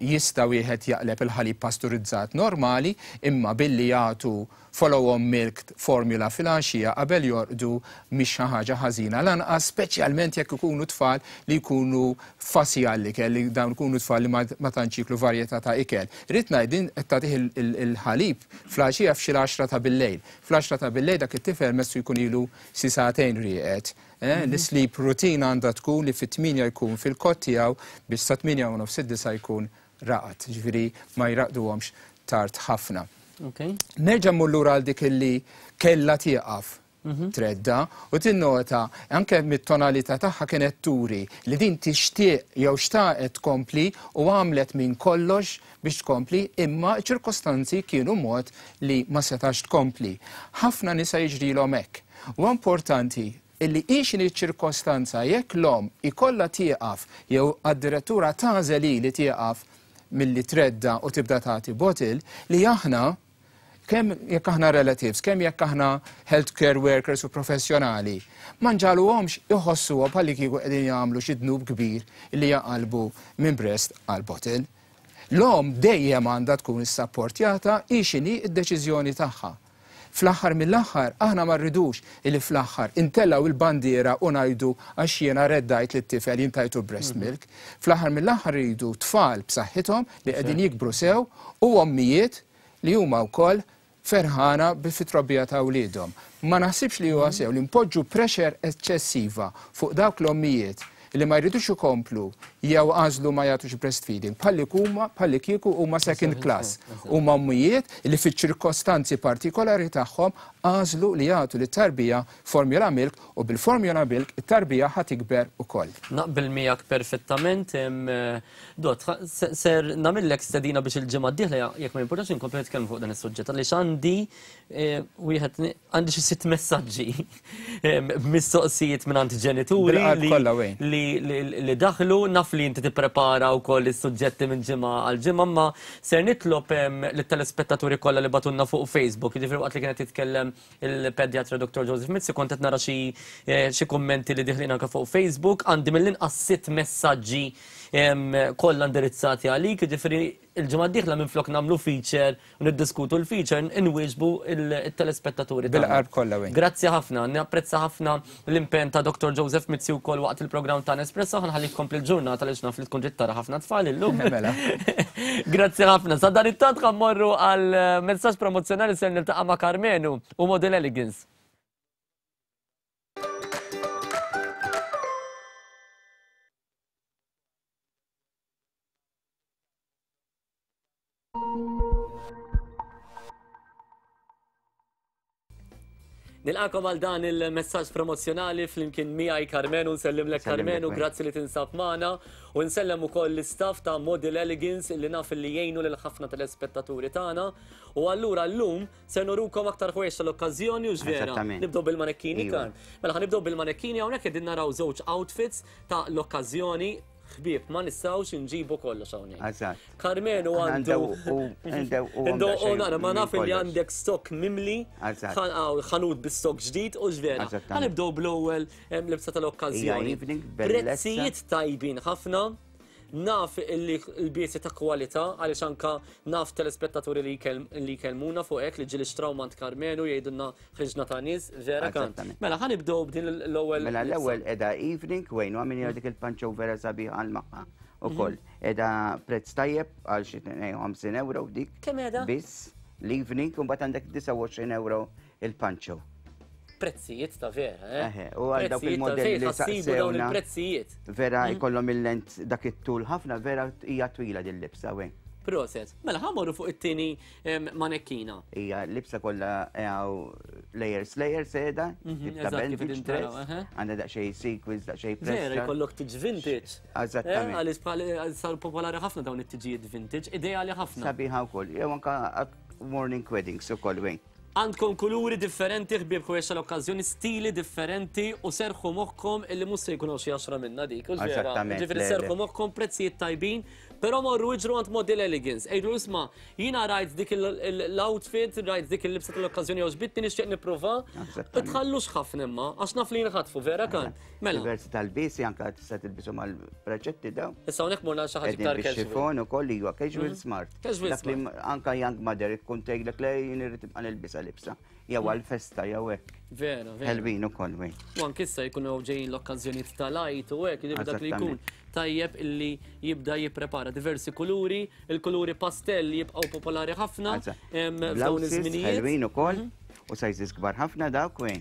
jista' wieħed jaqleb il-ħalib pasturizzat normali imma billi jagħtu follow-on milk formula fil-għaxija qabel jorqdu mhix xi ħaġa ħażina lanqas, speċjalment jekk ikunu tfal li jkunu fussy għall-ikel, li dawn ikunu tfal li ma tantx jieklu varjetà ta' ikel. Rrid ngħid din qed tagħtih il-ħalib fl-għaxija f'xi l-10 ta' billejl. Fl-10 ta' billejl dak it-tifel messu jkun ilu xi sagħtejn rieqed. L-sleep routine għandha tkun li fit-8 jkun fil-cot tiegħu biex sa 8:30 id-9 jkun raqad. Ġifieri ma jraqduhomx. tard ħafna. Nerġa' mmur lura għal dik illi kellha tieqaf tredda u tinnota anke mit-tonalità tagħha kienet turi li din tixtieq jew xtaqet tkompli u għamlet minn kollox biex tkompli imma ċ-ċirkostanzi kienu mod li ma setax tkompli. Ħafna nisa jiġrilhom hekk. Huwa importanti illi hi x'inhi ċ-ċirkostanza jekk l-omm ikollha tieqaf jew għad-direttura tagħżel hi li tieqaf milli tredda u tibda tagħti bottle li aħna kemm jekk aħna relatives, kemm jekk aħna healthcare workers u professjonali, ma nġagħluhomx iħossuhom bħalli kieku qegħdin jagħmlu xi dnub kbir li jaqalbu minn breast għal bottle. L-omm dejjem għandha tkun issapportjata hi x'inhi d-deċiżjoni tagħha. Fl-aħħar mill-aħħar aħna ma rridux illi fl-aħħar intellgħu l-bandiera u ngħidu għax jiena reddajt lit-tifel jien tajtu breast milk. Fl-aħħar mill-aħħar irridu tfal b'saħħithom li qegħdin jikbru sew u ommijiet li huma wkoll ferħana fit-trobbija ta' wliedhom. Ma naħsibx li huwa sew li npoġġu pressure eċċessiva fuq dawk l-ommijiet li ma jridux ikomplu jew għażlu ma jagħtux breastfeeding bħalli kieku huma second class. Huma ommijiet li fiċ-ċirkostanzi partikolari tagħhom għażlu li jagħtu lit-tarbija formula milk u bil-formula milk it-tarbija ħa tikber ukoll. Naqbel miegħek perfettament. Dott, ser nagħmillek stedina biex il-ġimgħa d-dieħla jekk ma jimpurtax inkomplu nitkellmu fuq dan is-suġġett għaliex għandi wieħed għandi xi sitt messaġġi mistoqsijiet minn ġenituri li daħlu naf li inti tipprepara wkoll is-suġġetti minn ġimgħa għal ġimgħa ma ser nitlob lit-telespettaturi kollha li bagħtulna fuq Facebook, jiġifieri waqt li kienet jitkellem il-pedjatra Dr. Joseph Mizzi kont qed nara xi kummenti li diħlin anke fuq Facebook, għandi mill-inqas sitt messaġġi kollha indirizzati għalik, jiġifieri il-ġimgħa d-dieħla minflok nagħmlu feature u niddiskutu l-feature inwieġbu il-telespettaturi. Bil-qalb kollha wejn. Grazzi ħafna, napprezza ħafna l-impenn ta' Dr. Joseph Mizzi wkoll waqt il-programm ta' Nespresso, ħa nħallik tkompli l-ġurnata li naf li tkun ġiet tara ħafna tfal illum. Mela. Grazzi ħafna. Sa dan it-tant mmorru għal messaġġ promozzjonali ser niltaqa' ma' Karmenu u Model Elegance. Nilqagħkom għal dan il-messaġġ promozzjonali flimkien miegħi Karmenu, nsellimlek Karmenu, grazzi li tinsab magħna u nsellem ukoll l-istaff ta' Model Elegance li naf li jgħinu lil ħafna telespettaturi tagħna. U allura llum se nurukom aktar ħwejjeġ tal-okkażjoni u x'vera. Nibdew bil-manekkini kan. Mela ħa nibdew bil-manekkini hawnhekk qegħdin naraw żewġ outfits ta' l-okkażjoni ħbieb ma nistgħux inġibu kollox hawnhekk. Eżatt. Karmenu għandu. U nara ma naf li għandek stock mimli, ħanut bi-stock ġdid u x'vera. Ħa nibdew bl-ewwel libsa tal-okkażjoni. Prezzijiet tajbin ħafna. Naf li l-biesi ta' kwalità għaliex anka naf telespettaturi li jkellmuna fuq hekk li ġieli xtraw mingħand Karmenu jgħidulna ħriġna ta' nies, vera kan. Mela ħa nibdew b'din l-ewwel. Mela l-ewwel qiegħda evening wejn u għamilna dik il-panċo vera sabiħa għal magħha ukoll. Qiegħda prezz tajjeb għal xi 52 euro dik. Kemm qiegħda? Biss l-evening u mbagħad għandek 29 euro il-panċo. Prezzijiet ta' vera, eh? U għal dawk il-modelli li saqsibu dawn il-prezzijiet. Vera jkollhom il-lent dak it-tul ħafna, vera hija twila din libsa wejn. Proset. Mela ħa mmorru fuq it-tieni manekkina. Hija libsa kollha għaw layers layers qiegħda, tip ta' bandage dress, għandha daqsxejn sequins, daqsxejn press. Vera jkollok tiġ vintage. Eżattament. Għaliex sar popolari ħafna dawn it-tiġijiet vintage, ideali ħafna. Sabiħa wkoll, jew anka morning weddings ukoll wejn. Għandkom kuluri differenti, ħbieb ħwejjeġ tal-okkażjoni, stili differenti u serħu moħħkom illi mhux se jkunu xi għaxra minna dik. Eżattament. Ġifieri serħu moħħkom prezzijiet tajbin, però morru iġru għand Model Elegance. Ejdu isma' jiena rajt dik l-outfit, rajt dik il-libsa tal-okkażjoni jew ġbitni nixtieq nipprova. Tħallux ħafna imma, għax naf li jinħatfu vera kan. Mela. Diversi tal-bisi anka tista' tilbisu mal-preċetti daw. Issa hawnhekk morna xi ħaġa iktar casual. Xifon ukoll iwa casual smart. Casual smart. Anka young mother ikun tgħidlek le jien irrid tibqa' nilbisha libsa. Jew għal-festa jew hekk. Vera, vera. Ħelwin ukoll wejn. U anke issa jkunu ġejjin l-okkażjonijiet tal-Għid u hekk, jiġifieri dak li jkun tajjeb illi jibda jipprepara diversi kuluri, il-kuluri pastell jibqgħu popolari ħafna f'dawn iż-żminijiet. Ħelwin ukoll u sizes kbar ħafna dawk wejn.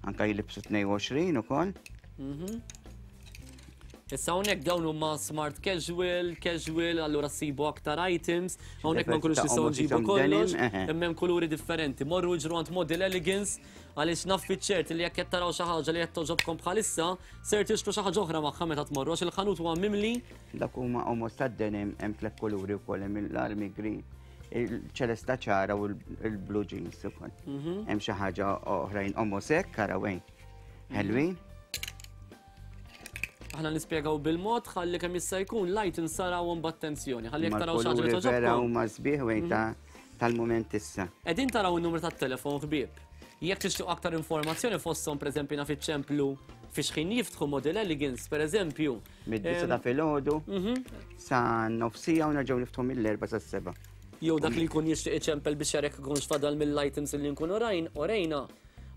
Anka jilibsu 22 ukoll. Issa hawnhekk dawn huma smart casual, casual, allura ssibu aktar items, hawnhekk ma nkunux nistgħu nġibu kollox, imma hemm kuluri differenti. Morru iġru għand Model Elegance għaliex naf fiċ-ċert li jekk qed taraw xi ħaġa li qed togħġobkom bħalissa, ser tixtru xi ħaġa oħra magħha meta tmorru għax il-ħanut huwa mimli. Dak huma omos tad-denim hemm tliet kuluri wkoll hemm l-army green, il-ċelesta ċara u l-blue jeans ukoll. Hemm xi ħaġa oħrajn omos hekk araw hejn. Ħelwin. Aħna nispjegaw bil-mod ħalli kemm jista' jkun lajt insarawhom b'attenzjoni. Ħalli jekk taraw xi ħaġa li togħġobkom. Vera huma sbieħ wejn ta' mhm. tal-mument issa. Qegħdin taraw in-numru tat-telefon ħbieb. Jekk tixtieq aktar informazzjoni fosthom pereżempju naf iċ-ċemplu fi xħin jiftħu Model Elegance, pereżempju. Mid-disa ta' filgħodu mhm. sa nofsija u nerġgħu niftħu mill-erba' sa seba'. Jew dak li jkun jixtieq iċempel biex jarek ikunx fadal mill-items li nkunu rajn, orejna.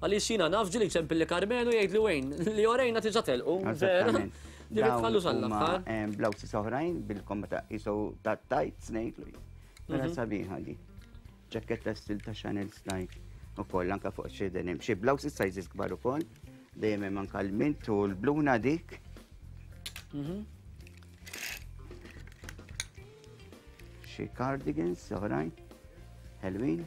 Għaliex jiena naf ġieli jċempilli Karmenu jgħidli Wayne, li orejna tiġa telqu. Vera. Ġifieri tħallux għall-aħħar. Blouses oħrajn bil-komma ta' iso ta' tights ngħidlu. Vera mhm. sabiħa di. Ġakketta stil ta' Chanel style ukoll anka fuq xi denim. Xi blouses sizes kbar ukoll. Dejjem hemm anka l-mint u l-bluna dik. Mhm. Xi cardigans oħrajn. Ħelwin.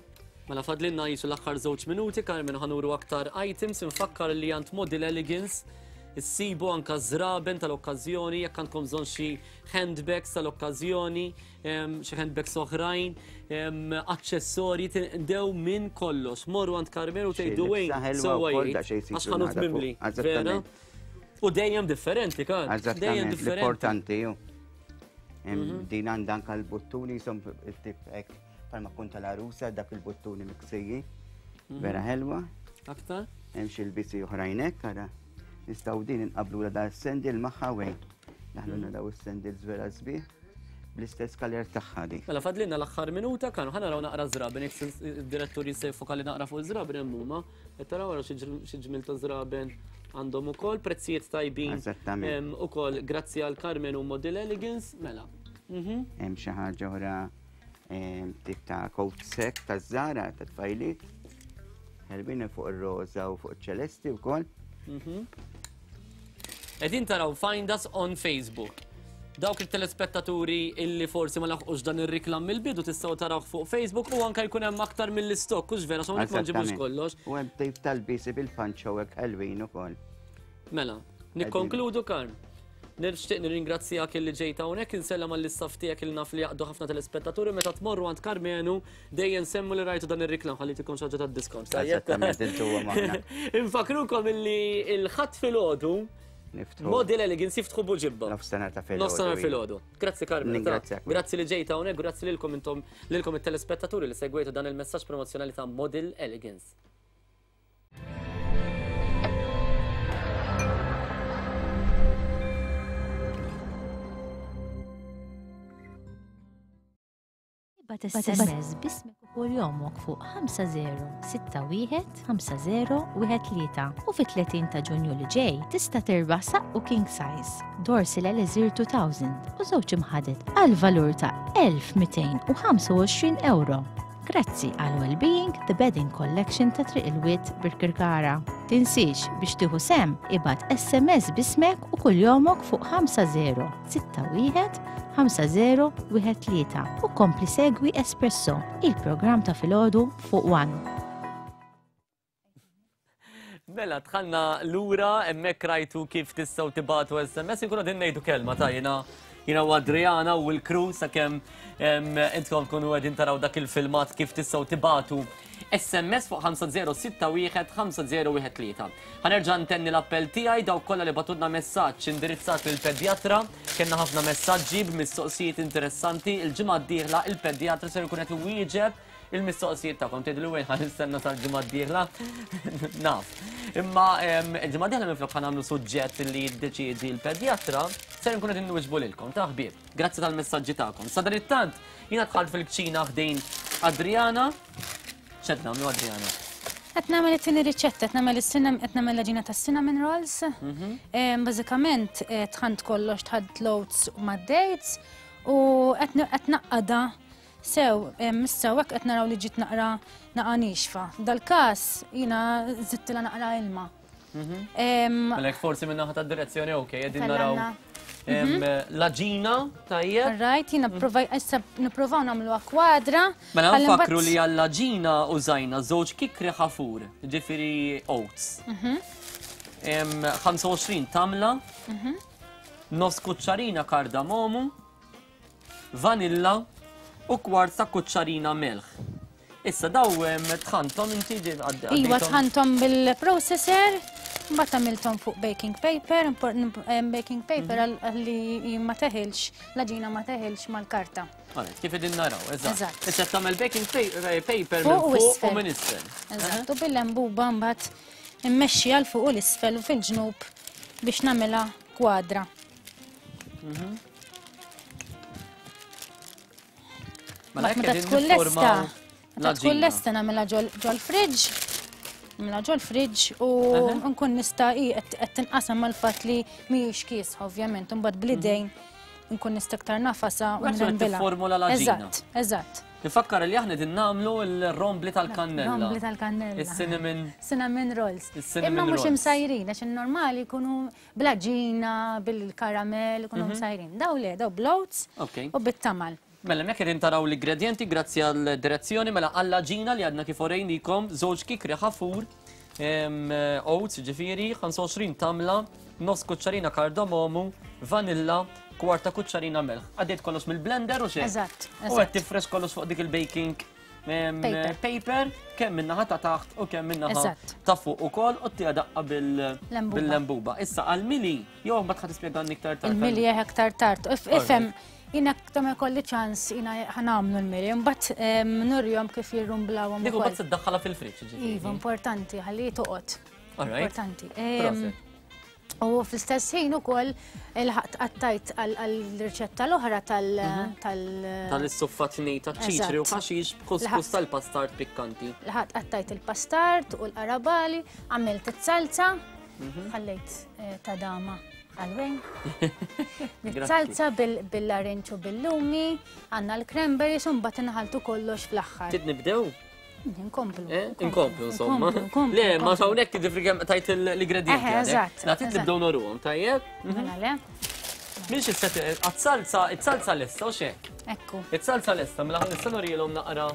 Mela fadlinna jisu l-aħħar żewġ minuti, Carmen ħanuru aktar items, infakkar li għand Model Elegance issibu anka żraben tal-okkażjoni, jekk għandkom bżonn xi handbags tal-okkażjoni, xi handbags oħrajn, aċċessorji tinqdew minn kollox. Morru għand Carmen u tgħidu wejn, sewwa jgħid, għax ħanut mimli. Vera? U dejjem differenti, Karl. Dejjem differenti. Importanti, ju. Mhm. Din għandha anka l-buttuni jisom tip hekk palma kun tal-arusa dak il-buttuni miksiji. Mhm. Vera ħelwa. Aktar? Hemm xi lbisi oħrajn hekk ara. Nistgħu din inqablu da s-sendil magħha wejn. Naħluna mhm. daw is-sendils vera sbieħ bl-istess kaler tagħha di. Mela fadlinna l-aħħar minuta kan ħa naraw naqra żraben jekk id-direttur jista' jiffokali naqra fuq iż-żraben hemm huma. Qed taraw ara xi ġmil ta' żraben għandhom ukoll prezzijiet tajbin. Eżattament. Ukoll grazzi għal Carmen u Model Elegance, mela. Mhm. Hemm xi ħaġa oħra tip ta' coat sek ta' żara ta' tfajliet. Ħelbin fuq ir-roża u fuq iċ-ċelesti wkoll. Mhm. Qegħdin taraw Find Us on Facebook. Dawk it-telespettaturi illi forsi ma laħqux dan ir-riklam mill-bidu tistgħu tarawh fuq Facebook u anke jkun hemm aktar mill-istokk, hux vera, hawnhekk ma nġibux kollox. U hemm tip tal-bisi bil-panċo hekk ħelwin ukoll. Mela, nikkonkludu Karm. Nixtieq nirringrazzjak illi ġejt hawnhekk, insellem għall-istaff tiegħek li naf li jaqdu ħafna telespettaturi meta tmorru għand Karmenu dejjem semmu li rajtu dan ir-riklam ħalli tikom xi ħaġa tad-diskont. Eżattament, intu magħna. Infakrukom illi l-Ħadd filgħodu Niftħu. Model Elegance jiftħu buġibba. Nofstanhar ta' filgħodu. Nofstanhar filgħodu. Grazzi Carmen. Ningrazzjak. Grazzi li ġejta hawnhekk, grazzi lilkom intom lilkom it-telespettaturi li segwejtu dan il-messaġġ promozzjonali ta' Model Elegance. Ibgħat SMS b'ismek u kuljomok fuq 5061 5013 u fit-30 ta' Ġunju li ġej tista' tirbaħ saqqu king size, Dorsil Elixir 2000 u żewġ imħaded għal valur ta' 1225 euro. Grazzi għal Wellbeing The Bedding Collection ta' Triq il-Wied Birkirkara. Tinsiex biex tieħu sehem ibgħat SMS b'ismek u kuljomok fuq 50 61 5013 u kompli segwi Espresso, il-programm ta' filgħodu fuq One. Mela, dħalna lura, hemmhekk rajtu kif tistgħu tibatu SMS, inkunu din ngħidu kelma ta' jiena jiena u Adriana u l-crew sakemm intkom tkunu qegħdin taraw dak il-filmat kif tistgħu tibatu SMS fuq 5061 5013. Ħa nerġa' ntenni l-appell tiegħi dawk kollha li bagħtulna messaġġ indirizzat lill-pedjatra. Kellna ħafna messaġġi b'mistoqsijiet interessanti. Il-ġimgħa d-dieħla il-pedjatra ser ikun qed iwieġeb il-mistoqsijiet tagħkom. Tgħidu wejn ħa nistenna sal-ġimgħa d-dieħla. Naf. Imma il-ġimgħa d-dieħla minflok ħa nagħmlu suġġett li jiddeċiedi l-pedjatra, ser nkun qed inwiġbu lilkom ta' ħbieb. Grazzi tal-messaġġi tagħkom. Sadanittant, jiena dħalt fil-kċina ħdejn Adriana. X'qed nagħmlu Adriana? Qed nagħmel it-tieni riċetta, qed nagħmel is-cinnamon, qed nagħmel l-għaġina tas-cinnamon rolls. Mhm. Bażikament eh, tħant kollox tħadd l-oats mad-dates u qed naqqada sew issa hekk qed naraw li ġiet naqra naqa' nixfa. Dal-każ jiena żidtilha naqra ilma. Mhm. Għalhekk forsi minn naħa tad-direzzjoni ok, qegħdin naraw. L-għaġina, tajjeb. Right, jiena provaj, issa nipprovaw nagħmluha kwadra. Mela nfakru li għall-għaġina użajna żewġ kikri ħafur, ġifieri oats. 25 tamla, nofs kuċċarina kardamomu, vanilla u kwart ta' kuċċarina melħ. Issa daw tħantom inti din għaddi. Iva tħantom bil-processor, mbagħad għamilthom fuq baking paper, baking paper mhm. għalli ma teħilx, l-aġina ma teħilx mal-karta. Għalet, kif idin naraw, eżatt. Issa tagħmel baking eh, paper minn fuq u minn isfel. Eżatt, u bil-lembuba mbagħad immexxi għal fuq u l-isfel u fil-ġnub biex nagħmilha kwadra. Mela Meta tkun lesta, meta tkun lesta nagħmilha ġol-fridge, nagħmilha ġol-fridge u nkun nista' qed tinqasam mal-fatt li mhijiex kiesħa ovvjament, imbagħad bl-idejn nkun nista' aktar nafasa u nrembila. Formula l-għaġina. Eżatt, eżatt. Nifakkar li aħna din nagħmlu l-rombli tal-kannella. Rombli tal-kannella. Is-cinnamon. Cinnamon rolls. Imma mhux imsajrin għax in-normali jkunu Bl-għaġina, bil-karamell, ikunu mhm. msajrin. Daw le, daw bl-oats u bit-tamal. Mela, mek qegħdin taraw l-ingredienti grazzi għal direzzjoni mela għall-għaġina li għadna kif orejnikom żewġ kikri ħafur, oats ġifieri, 25 tamla, nofs kuċċarina kardamomu, vanilla, kwarta kuċċarina melħ. Għaddejt kollox mill-blender u xejn. Eżatt. U qed tifrex kollox fuq dik il-baking paper, kemm minnaħa ta' taħt u kemm minnaħa ta' fuq ukoll u tija daqqa bil-lembuba. Issa għal-mili, jew mbagħad ħad tispjega iktar tard. Il-mili eh, aktar tard. Ifhem, jina ta' kolli ċans jina ħanamlu l-mili, mbagħad nurjom kif jirrumblawhom. Dik mbagħad se tdaħħalha fil-friġġ. Iva, importanti, ħalli toqgħod. Importanti. U fl-istess ħin ukoll il-ħaqt qattajt għall-riċetta l-oħra tal- mhm. tal- Tal-issuffat ta' ċiċri u ħaxix b'kuskus tal-pastard pikkanti. L-ħaqt qattajt il-pastard u l-qarabali, għamilt it-salza, mhm. ħallejt eh, ta' dama għalwejn. Salza bil-larinċ u bil-lumi, għanna l-cranberries un bat nħaltu kollox fl-axħar. Tid nibdew? Inkomplu. Eh, inkomplu, insomma. Le, ma hawnhekk ġifri kemm tajt l-ingredienti. Eh, eżatt. Nagħtik nibdew noruhom, tajjeb? Mhm. Mela le. Minx is-set għat-salza, it-salza lesta u xek. Ekku. It-salza lesta, mela nista' norilhom naqra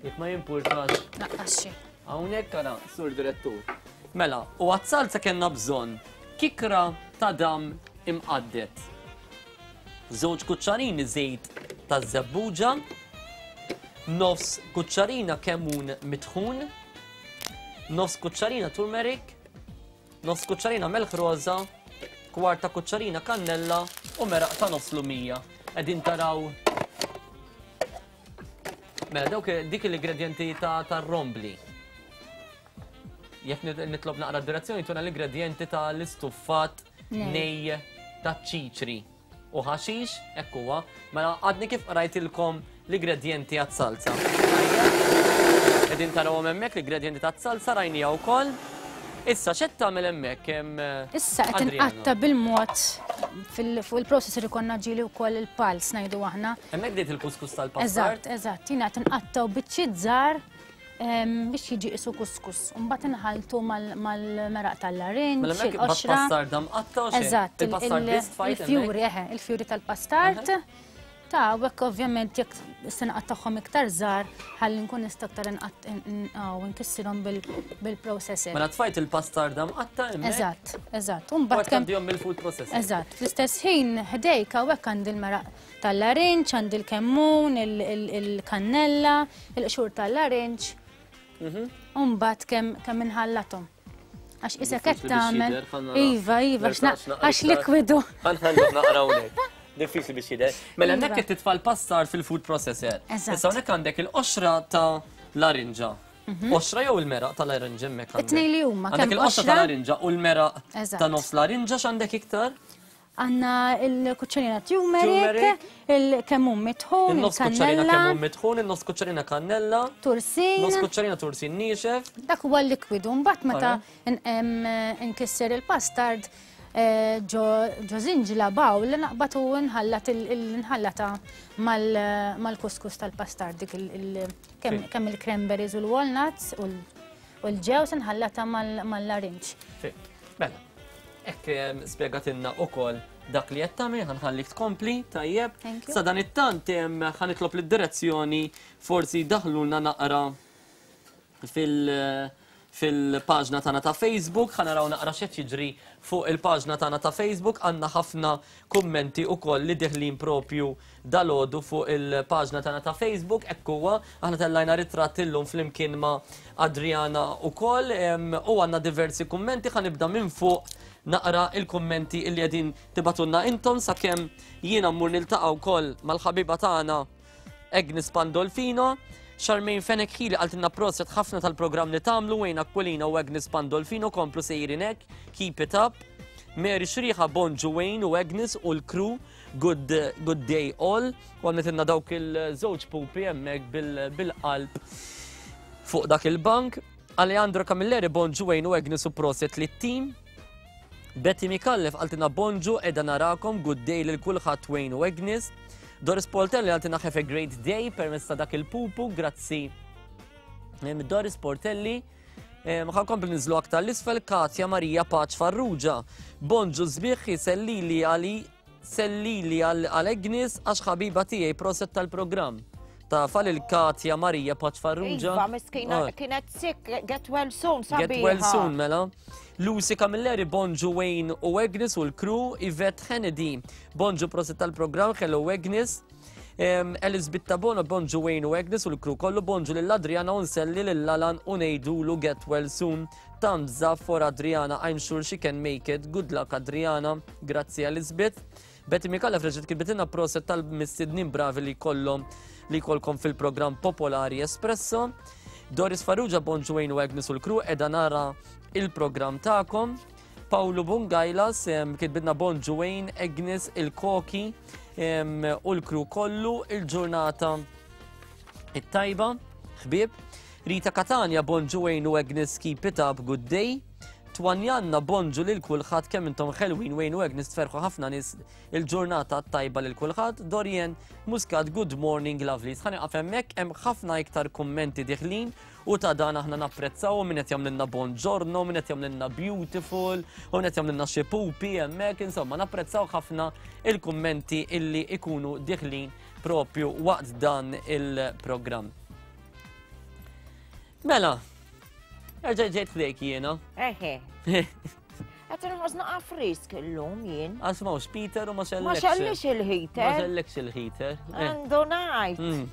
jekk ma jimpurtax. Naqqas xi. Hawnhekk ara, sur direttur. Mela, u għat-salza kellna bżonn kikra ta' dam imqaddet. Żewġ kuċċarini żejt taż-żebbuġa, nofs kuċċarina kemmun mitħun, nofs kuċċarina turmeric, nofs kuċċarina melħ roża, kwarta kuċċarina kannella u meraq ta' nofs lumija. Qegħdin taraw Mela dawk dik l-ingredienti ta' rombli. Jekk nitlob naqra d-direzzjoni tuna l-ingredienti tal-istuffat nej taċ-ċiċri u ħaxix, hekk huwa. Mela għadni kif qrajtilkom l-ingredienti għat-salza. Qegħdin tarawhom hemmhekk l-ingredienti tat-salza rajnija wkoll. Issa x'qed tagħmel hemmhekk hemm Issa qed inqatta bil-mod fuq il-processor ikonna ġieli wkoll il-pals ngħidu aħna. Hemmhekk bdiet il-kuskus tal-pastard. Eżatt, eżatt. Jiena qed inqattaw biċċiet żgħar biex jiġi isu kuskus. Mbagħad inħaltu mal-meraq tal-larinġ, mela il-qoxra. Pastard mqatta u Eżatt, il-fjuri, eħe, il-fjuri tal-pastard. Ta' u hekk ovvjament jekk se nqattagħhom iktar żgħar ħalli nkun nista' aktar nkissirhom bil-processor. Mela tfajt il-pastard mqatta hemmhekk. Eżatt, eżatt. U mbagħad kemm mill-food processor. Eżatt, fl-istess ħin ħdejk hawnhekk għandi l-meraq tal-larinġ, għandi l-kemmun, il-kannella, il-qxur tal-larinġ. Mhm. Umbat kemm inħallathom. Għax isek qed tagħmel. Iva, iva, għax likwidu. Ħanħallu naqra hawnhekk. Diffiċli biex jidher. Mela hemmhekk qed titfa' l-passar fil-food processor. Issa hawnhekk għandek il-qoxra ta' larinġa. Mhm. Qoxra jew il-meraq tal-larinġa hemmhekk għandek. It-tnejn li huma. Għandek il-qoxra tal-larinġa u l-meraq ta' nofs larinġa x'għandek iktar? Għanna il-kuċċarina turmeric, il-kemmun mitħun, il-nofs kuċċarina kemmun mitħun, il-nofs kuċċarina kannella, tursin, nofs kuċċarina tursin niexef. Dak huwa l-likwidu, mbagħad meta nkisser il-pastard eh, ġo zinġla bawl naqbad u nħallat nħallata mal-kuskus tal-pastard dik kemm il-cranberries u l-walnuts u l-ġews nħallata mal-larinġ. Mela, Hekk spjegatilna ukoll dak li qed tagħmel, ħa nħallik tkompli, tajjeb. Sa dan it-tant ħa nitlob lid-direzzjoni forsi jdaħħlulna naqra fil- fil-paġna tagħna ta' Facebook, ħa naraw naqra x'qed jiġri fuq il-paġna tagħna ta' Facebook, għandna ħafna kummenti ukoll li diħlin propju dalgħodu fuq il-paġna tagħna ta' Facebook, hekk huwa, aħna tellajna ritratt illum flimkien ma' Adriana ukoll u għandna diversi kummenti, ħa nibda minn fuq naqra il-kummenti illi qegħdin tibatunna intom sakemm jiena mmur niltaqa' wkoll mal-ħabiba tagħna Agnes Pandolfino. Charmaine Fenech Hili qaltilna proset ħafna tal-programm li tagħmlu Wayne Aquilina u Agnes Pandolfino komplu sejrin hekk, keep it up. Mary Xriħa bonġu Wayne u Agnes u l-crew, good, good day all. U għamletilna dawk il-żewġ pupi hemmhekk bil-qalb fuq dak il-bank. Alejandro Camilleri bonġu Wayne u Agnes u proset lit-team. Betty Micallef qaltilna bonġu qiegħda narakom, good day lil kulħadd Wayne u Agnes. Doris Portelli qaltilna have a great day permezz ta' dak il-pupu, grazzi. Doris Portelli, ħa nkompli niżlu aktar l-isfel Katja Marija Paċ Farrugia. Bonġu sbieħ sellili għali sellili għal Agnes għax ħabiba tiegħi proset tal-programm. Tafa lil Katja Marija Paċ Farrugia. Iva, miskina, ah. kienet sick, get well soon, sabiħa. Get well soon, mela. Lucy Camilleri, Bonġu Wayne u Agnes u l-crew, Yvette Hennedy, Bonġu proset tal-programm, hello Agnes. Alice Bittabono, Bonġu Wayne u Agnes u l-crew kollu, bonġu lil Adriana u nselli lil Alan u ngħidulu get well soon. Thumbs up for Adriana, I'm sure she can make it. Good luck Adriana. Grazzi Elizabeth. Betty Micallef reġgħet kitbitilna proset tal-mistednin bravi li jkollhom li jkollkom fil-programm popolari Espresso. Doris Farrugia, bonġu Wayne u Agnes u l-crew, edha nara il-programm tagħkom. Paolo Bungajlas kitbitna bonġu Wayne, Agnes, il-Koki u l-crew kollu il-ġurnata it-tajba, ħbieb. Rita Catania, bonġu Wayne u Agnes, keep it up, good day. Twanjanna bonġu lil kulħadd kemm intom ħelwin Wayne u Agnes tferħu ħafna nies il-ġurnata tajba lil kulħadd. Dorien Muscat, good morning lovelies. Ħa nieqaf hemmhekk hemm ħafna iktar kummenti diħlin u ta' dan aħna napprezzaw min qed jagħmlilna bonġorno, min qed jagħmlilna beautiful, u min qed jagħmlilna xi pupi hemmhekk, insomma napprezzaw ħafna il-kummenti illi ikunu diħlin propju waqt dan il-programm. Mela, erġa' ġejt ħdejk jiena. Eħe. Qed inħoss naqa' frisk illum jien. Għax m'hawnx Peter u ma xellekx. Ma xellix il-heater. Ma xellekx il-heater. Eh. Għandu ngħid. Mm.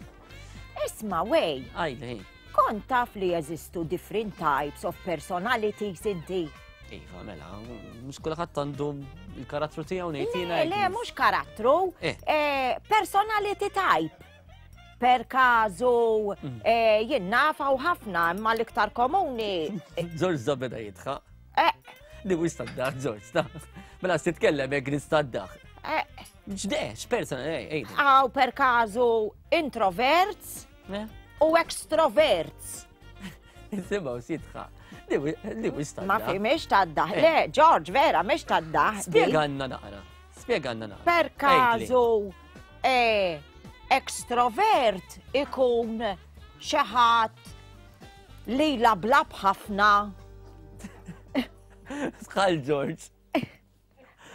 Isma' wej. Għajli. Kont taf li jeżistu different types of personalities inti. Iva, mela, mhux kulħadd għandu il-karattru tiegħu ngħid jiena. Le, mhux karattru, eh. Eh, personality type. Per każu mm. eh, jien naf hawn ħafna imma l-iktar komuni. George da beda jidħaq. Eh. Li mhux tad-daħ, George, ta' Mela titkellem hekk nista' d-daħ. Eh. Ġde, x'persona, ej, ej. Għaw per każu introverts u extroverts. Nisimgħu x'jidħaq. Li mhux tad-daħ. Ma fi mhix tad-daħ. Le, George, vera, mhix tad-daħ. Spjegalna naqra. Spjegalna naqra. Per każu E, extrovert ikun xi ħadd li lablab ħafna. Sħal George.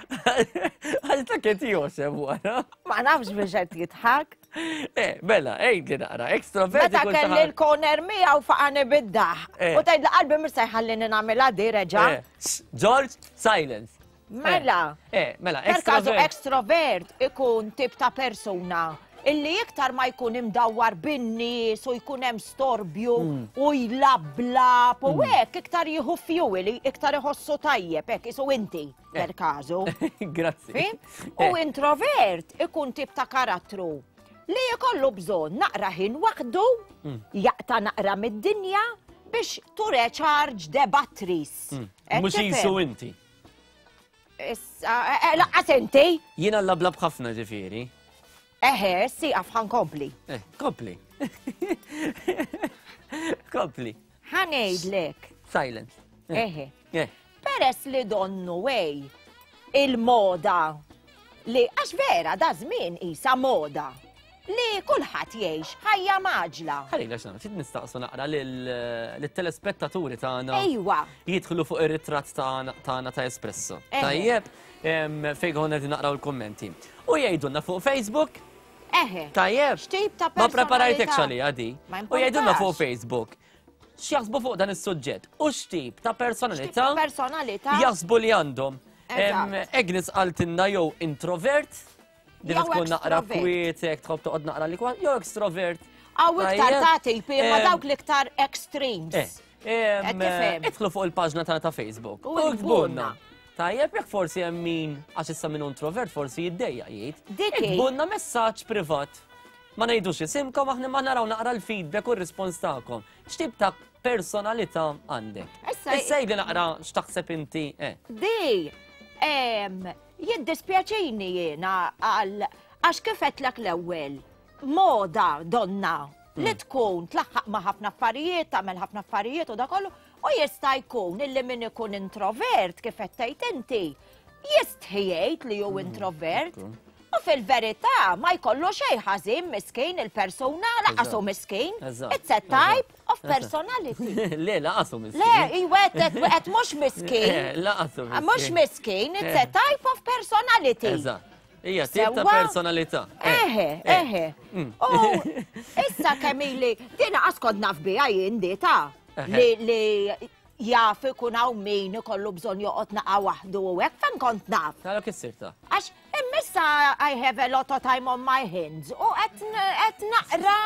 Għal ta' kiet joseb wara. Ma nafx biex qed jidħak. Eh, mela, ejdi naqra, extrovert. Meta kelli l-koner miegħu faqani bid-daħ. Eh. U tgħid li qalbi mhux se jħallini nagħmilha di reġa'. Eh, George, silence. Mela. Eh, mela, Per każu extrovert ikun tip ta' persuna illi iktar ma jkun imdawwar bin-nies u jkun hemm storbju mm. u jlablab u mm. hekk iktar jieħu fuel, iktar iħossu tajjeb hekk isu inti eh. per każu. Grazzi. U eh. introvert ikun tip ta' karattru li jkollu bżonn naqra ħin waħdu, mm. jaqta' naqra mid-dinja biex to recharge the batteries. Mhux jisu inti. Issa, eh, eh, laqqas inti. Jiena lablab ħafna ġifieri. Eħe, si għaf ħankompli. Eh, kompli. Kompli. Ħanejdlek. Silence. Eh. Eħe. Eh. Peress li donnu wej il-moda li għax vera da żmien isa moda li kulħadd jgħix ħajja maġla. Ħalli għax nagħmel, ftit nistaqsu naqra lill-telespettaturi tagħna. Ejwa. Jidħlu fuq ir-ritratt tagħna ta' Espresso. Tajjeb. Fejn konna qegħdin naqraw il-kummenti. U jgħidulna fuq Facebook. Eħe. Tajjeb. X'tip ta' Ma preparajtekx għalija di. U jgħidulna fuq Facebook. X'jaħsbu fuq dan is-suġġett u x'tip ta' personalità personalità jaħsbu li għandhom. Agnes qaltilna jew introvert, li tkun naqra kwietek, tħobb toqgħod naqra li jew extrovert. Għaw iktar ta' tipi, ma dawk l-iktar extremes. Eh, idħlu fuq il-paġna tagħna ta' Facebook. U iktbulna. Tajjeb jekk forsi hemm min għax issa min introvert forsi jiddejja jgħid. Iktbulna messaġġ privat. Ma ngħidux isimkom aħna ma naraw naqra l-feedback u r-rispons tagħkom. X'tip ta' personalità għandek? Issa jgħidli naqra x'taħseb inti. Eh. Di, jiddispjaċini jiena għal għax kif għedtlek l-ewwel, moda donna li hmm. tkun tlaħħaq ma' ħafna affarijiet, tagħmel ħafna affarijiet u da kollu, u jista' jkun illi min ikun introvert kif qed tgħid inti, jistħi jgħid li hu hmm, introvert. U fil-verità ma jkollu xejn ħażin miskin il-persuna laqas hu miskin. It's a type of personality. Le, laqas hu miskin. Le, iwet qed mhux miskin. Laqas hu miskin. Mhux miskin, it's a eh. type of personality. Eżatt. Hija tip ta' personalità. Eh. Eħe, eh. eħe. Mm. U issa kemm ili, dina qas kont naf biha jien di ta' li jaf ikun hawn min ikollu bżonn joqgħod naqa' waħdu u hekk fejn kont naf. Tara kif sirta. Għax immissa I have a lot of time on my hands u qed naqra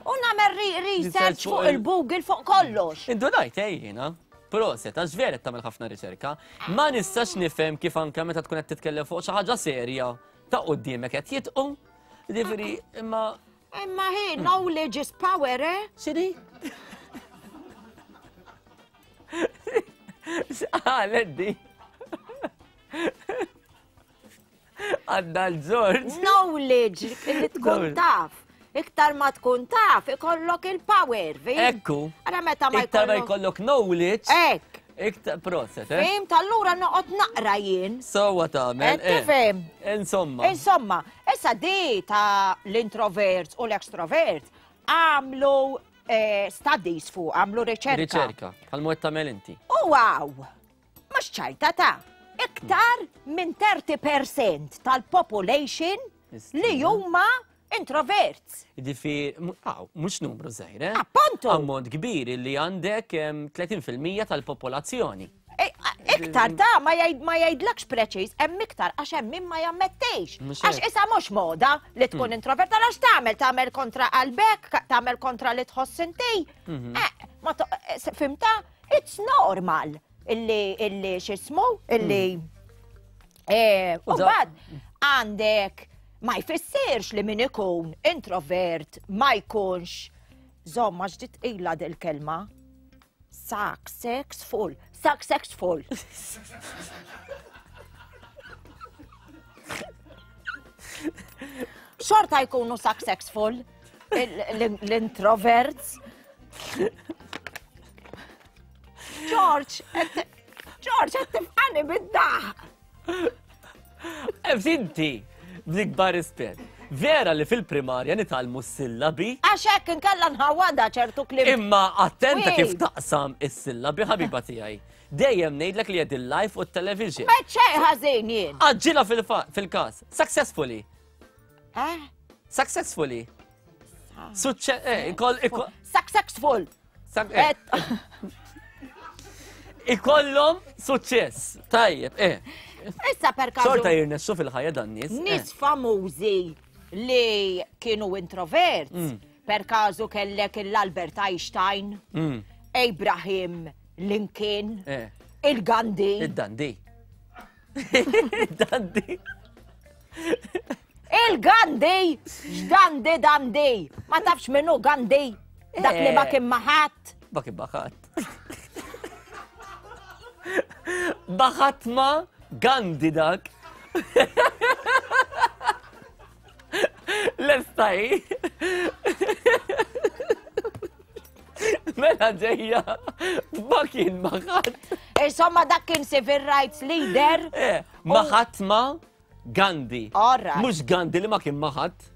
u nagħmel research fuq il-Google fuq kollox. Indunajt eh jiena. Proset, għax vera qed tagħmel ħafna riċerka. Ma nistax nifhem kif anke meta tkun qed titkellem fuq xi ħaġa serja ta' quddiemek qed jitqu. Jiġifieri, imma Imma hi, knowledge is power, eh? X'inhi? X'qalet di? Għadda l-Ġorġ. Knowledge, li tkun taf. Iktar ma tkun taf, ikollok il-power, fim? Ekku. Ara meta ma Iktar ma jkollok knowledge. Ek. Iktar proset, eh? Fim, tal-lura noqgħod naqra jien. Sowa tagħmel. Eh, tifhem. Insomma. Insomma, issa di ta' l-introverts u l-extroverts għamlu eh, studies fuq, għamlu riċerka. Riċerka, bħal mod tagħmel inti. U wow! Mhux ċajta ta' iktar minn 30% tal-population li huma introverts. Ġifieri, mhux numru żgħir, eh? Appuntu. Ammont kbir li għandek 30% tal-popolazzjoni. E, iktar ta' ma jgħidlekx preċiż, hemm iktar għax hemm min ma jammettix. Għax isa mhux moda li tkun hmm. introvert għax tagħmel tagħmel kontra qalbek, tagħmel kontra li tħoss inti. Mhm. Eh, eh, fimta? It's normal illi illi x'ismu illi hmm. eh, u bad għandek ma jfissirx li min ikun introvert ma jkunx zomma ġdit ila dil-kelma successful successful xorta jkunu successful l-introverts George, George, qed tifqani bid-daħ. Inti, bl-ikbar rispett. Vera li fil-primarja nitgħallmu s-sillabi. Għax hekk inkella nħawada ċertu kliem. Imma attenta kif taqsam is-sillabi ħabiba tiegħi. Dejjem ngħidlek li qed il-live u t-television. Ma xejn ħażin jien. Aġġilha fil-każ. Successfully. Eh? Successfully. Suċċess, eh, Successful. Eh. Ikollhom suċċess. Tajjeb, eh. Issa per każ. Xorta jirnexxu fil-ħajja dan nies. Eh. Nies famużi li kienu introverts, mm. per każu kellek l-Albert Einstein, mm. Abraham Lincoln, eh. il-Gandhi. Il-Gandhi. Il-Gandhi. Il-Gandhi! X'Gandhi Dandi! Ma tafx minnu Gandhi? Dak li ma eh. kien maħat. Ma kien maħat. Baħat ma Gandhi dak. Lestaj. Mela ġejja, ma kien maħat. Insomma, dak kien civil rights leader. Eh, maħat ma Gandhi. Alright. Mhux Gandhi li ma kien ma ħadd.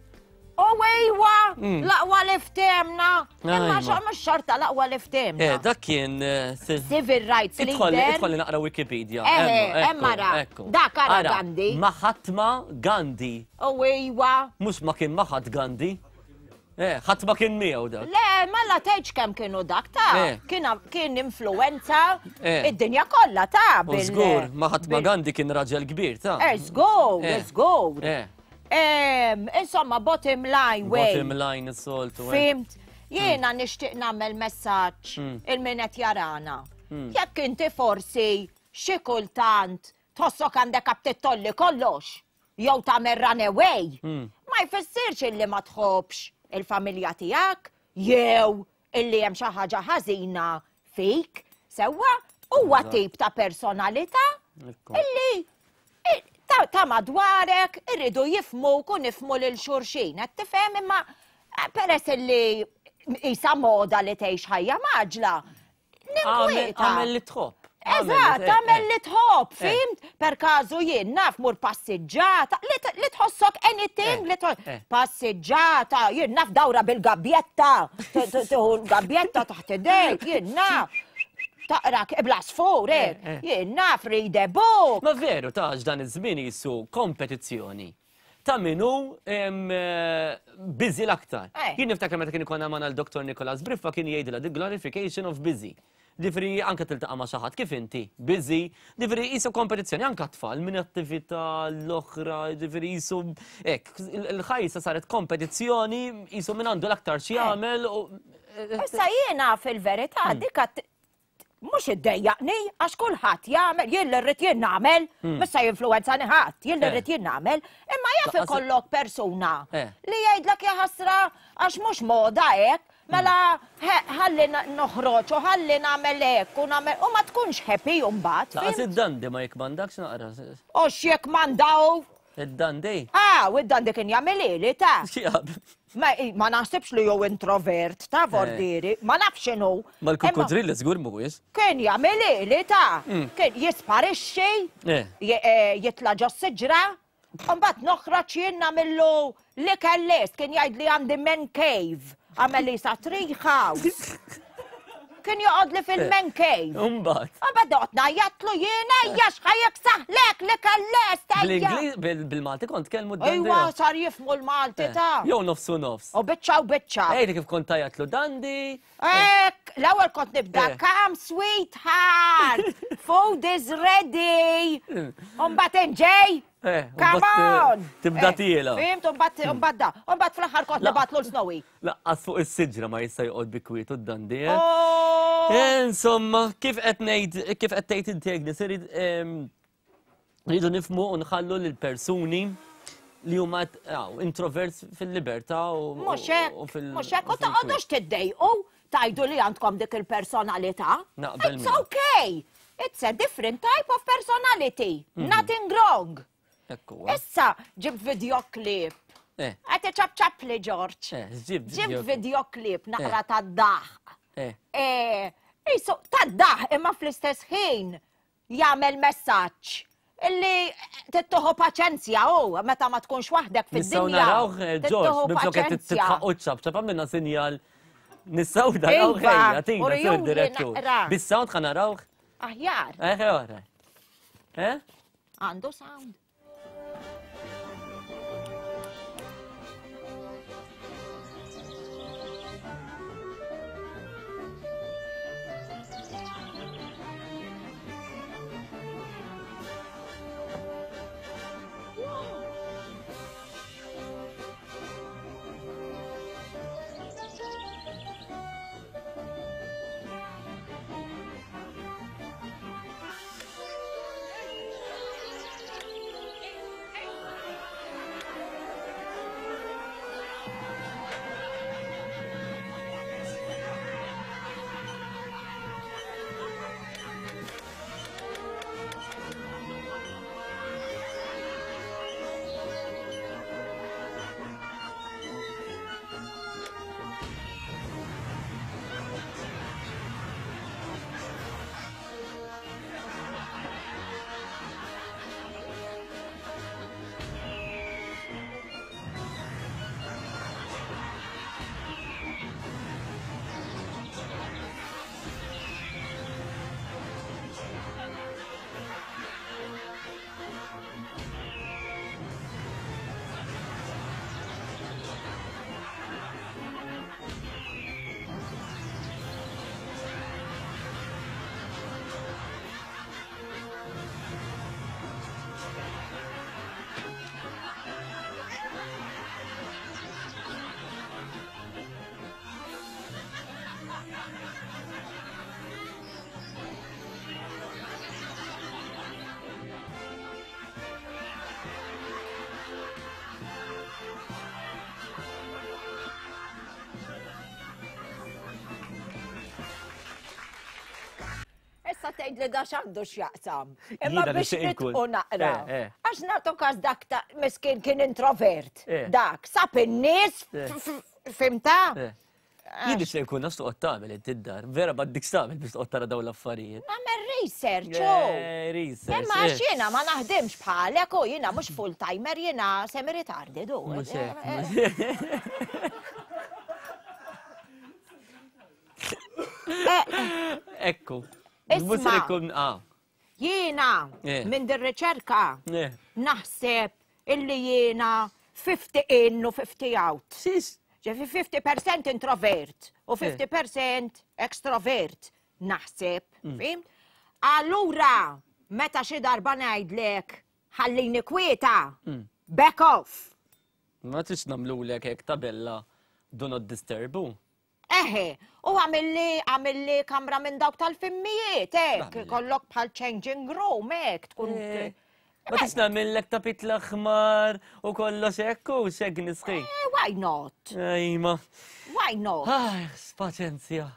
U ejwa, l-aqwa li ftemna. Imma mhux xorta l-aqwa li ftemna. Eh, dak kien eh, civil rights leader. Idħolli naqra Wikipedia. Eh, hemm ara. Dak ara Gandhi. Mahatma Gandhi. U ejwa. Mhux ma kien Mahat Gandhi. Eh, ħadd ma kien miegħu dak. Le, mela tgħidx kemm kienu dak ta' kien influenza id-dinja kollha ta' bil. Żgur, Mahatma Gandhi kien raġel kbir ta' Eh, żgur, żgur. Insomma, bottom line, way. Bottom line is-soltu. Eh. Fimt, jiena mm. nixtieq nagħmel messaġġ mm. il-min qed jarana. Mm. Jekk inti forsi xi kultant tħossok għandek aptit kollox jew tagħmel runaway, ma jfissirx illi ma tħobbx il-familja tiegħek jew illi hemm xi ħaġa ħażina fik, sewwa huwa tip ta' personalità illi ta' madwarek irridu jifmu kun nifmu lil xulxin, qed tifhem imma eh, peress illi isa moda li tgħix ħajja maġla, ninkwieta. Għamel li tħobb. Eżatt, tagħmel li tħobb, eh. fimt? Per każu jien naf mur passiġġata, li tħossok anything, li tħossok eh. passiġġata, jien naf dawra bil-gabjetta, tieħu l-gabjetta taħt idejk, jien naf. Taqra bla sfur, eh, jien naf read a book. Ma veru ta' dan iż-żmien jisu kompetizzjoni ta' min hu busy l-aktar. Jien niftakar meta kien ikollna magħna l-Dr. Nicholas Briffa kien jgħidilha the glorification of busy. Ġifieri anke tiltaqa' ma' xi ħadd kif inti, busy, ġifieri qisu kompetizzjoni anke t-tfal minn attività l-oħra, ġifieri qisu hekk, il-ħajja saret kompetizzjoni qisu min għandu l-aktar x'jagħmel. Issa jiena fil-verità dik mhux iddejjaqni għax kulħadd jagħmel, jien li rrid jien nagħmel, hmm. mhux se jinfluwenzani ħadd, jien li eh. rrid jien nagħmel, imma jaf ikollok persuna eh. li jgħidlek ja ħasra għax mhux moda hekk, mela hmm. ħalli noħroġ u ħalli nagħmel hekk u nagħmel u ma tkunx happy mbagħad. Laqas id-dandi ma jikmandakx naqra. U x'jekk mandaw Id-dandi? Ah, u id-dandi kien jagħmilili ta'. Ma, ma naħsibx li jew introvert ta' eh. vordieri, ma nafx x'inhu. Mal-kukudrilli żgur mhuwiex. Kien jagħmilili ta' mm. kien jisparixxi, eh. eh, jitla' ġo siġra, Mbagħad noħroġ jien nagħmillu l-ikel lest, kien jgħid li għandi man cave, għamel li sa tree house. Kien joqgħod li fil-man cave. Umbagħad. Umbagħad noqgħod ngħajjatlu jiena ejja x'ħajjek saħlek li kellest ejja. Bil-Malti kont tkellmu d Ejwa sar jifmu l-Malti eh, ta' Jew nofsu nofs. U biċċa u biċċa. Ejli kif kont tajatlu dandi. Ek, l-ewwel kont nibda eh. come sweetheart, food is ready. Umbagħad inġej. Eh, Come on! Tibda tiela. Fimt, umbagħad da. Umbagħad fl-aħħar kont nibatlu l-Snowy. Laqqas fuq is-siġra ma jista' joqgħod bi kwietu d-dandi. Eh? Oh! Eh, insomma, kif qed ngħid, kif qed tgħid inti Agnes, irid ehm, rridu nifmu u nħallu lil persuni li huma introverts fil-libertà u Mhux hekk, mhux hekk, u toqgħodux tiddejqu tajdu li għandkom dik il-personalità. It's okay. It's a different type of personality. Mhm. Nothing wrong. Ekku. Issa ġib videoklip. Eh. Għati ċap ċap li Ġorġ. Eh, ġib Ġib videoklip naqra ta' daħ. Eh. Isu, ta' daħ imma fl-istess ħin jagħmel messaġġ illi tittuħu paċenzja u meta ma tkunx waħdek fid-dinja. Nistgħu narawh Ġorġ, minflok qed titħaqqu ċap ċap għamilna sinjal nistgħu narawh iva, ejja tina sur direttur. Bis-sound ħa narawh. Aħjar. Eh, eh? Għandu sound. Tgħid li da x'għandu x'jaqsam. Imma Jiena biex nixtieq inkun. nitqu naqra. Eh, eh. Għax nagħtu każ dak ta' miskin kien introvert. Eh. Dak, sab in-nies, Eh. fimta? Eh. Jien nixtieq nkun naf x'toqgħod tagħmel inti d-dar. Vera m'għandikx tagħmel biex toqgħod tara dawn l-affarijiet. Nagħmel research, oh. Eh, research. Imma eh. għax jiena ma naħdimx bħalek u jiena mhux full timer jiena semi retarded u. Mhux hekk, Eh, mhux hekk. Ekku. Mhux Isma'. se jkun ah. Jiena Eh. minn din riċerka Eh. naħseb illi jiena 50 in u 50 out. Sis. Ġifi 50% introvert u Eh. 50% extrovert naħseb, Mm. fim? Allura, meta xi darba ngħidlek ħallini kwieta, Mm. back off. Ma trix nagħmlulek hekk tabella do not disturb. u? Eħe, u għamilli għamilli kamra minn dawk tal-fimmijiet, hekk, kollok bħal changing room, hekk, tkun. Eh. Ma tix nagħmillek tapit l-aħmar u kollox hekk u xek nisħi. Eh, why not? Ejma. Why not? Aj, spaċenzja.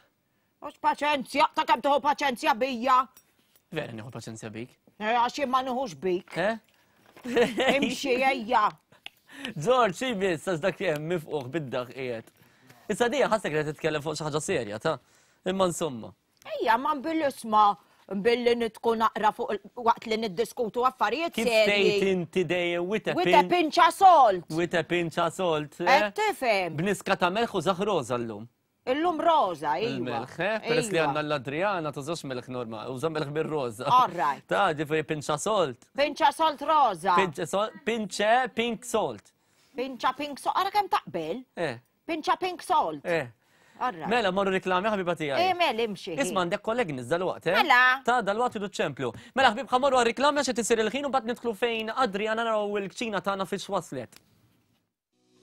Mhux paċenzja, ta' kemm tieħu paċenzja bija. Vera nieħu paċenzja bik. Eh, Għax jien ma nieħux bik. Eh? Imxi ejja. George, xi biss għax dak hemm mifquħ bid-daħ qiegħed. Issa dija ħassek li qed titkellem fuq xi ħaġa serja, ta' imma insomma. Ejja, ma bil-isma billi nitku naqra fuq il- waqt li niddiskutu affarijiet Kif tgħid serji. inti dejjem with a With a pin pinch of salt. with a pinch of salt. eh? Qed tifhem. B'niska ta' melħ u zaħroża llum. Illum roża, iva. Il-melħ, eh? Peress li Iva. għandna l-Adriana tużax melħ normali, uża melħ bir-roża. All right. Ta' ġifieri pinch of salt. Pinch of salt roża. Pinch salt, pinch pink salt. Pinċa pink salt. Ara kemm taqbel. Eh, Pinċa pink salt. eh. All right. Mela, morru reklami ħabiba tiegħi. Eh, mela, imxi. Isma' għandek kollegi dal-waqt, eh? Mela. Ta' dal-waqt idu ċemplu. Mela ħbib ħamorru għal-reklami għax qed isir il-ħin u mbagħad nidħlu fejn Adriana naraw il-kċina tagħna fiex waslet.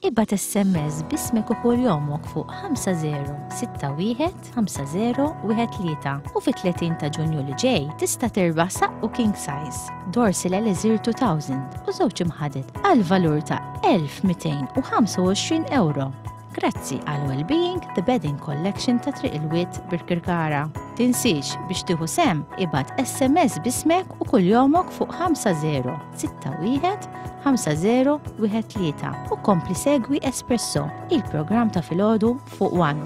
Ibgħat SMS b'ismek u kuljomok fuq 5061 5013 u fit-30 ta' Ġunju li ġej tista' tirbaħ saqqu king size, Dorsil Elixir 2000 u żewġ imħaded għal valur ta' 1225 euro. Grazzi għal Wellbeing The Bedding Collection ta' Triq il-Wied Birkirkara. Tinsiex biex tieħu sehem ibgħat SMS b'ismek u kuljomok fuq 5061 5013 u kompli segwi Espresso, il-programm ta' filgħodu fuq One.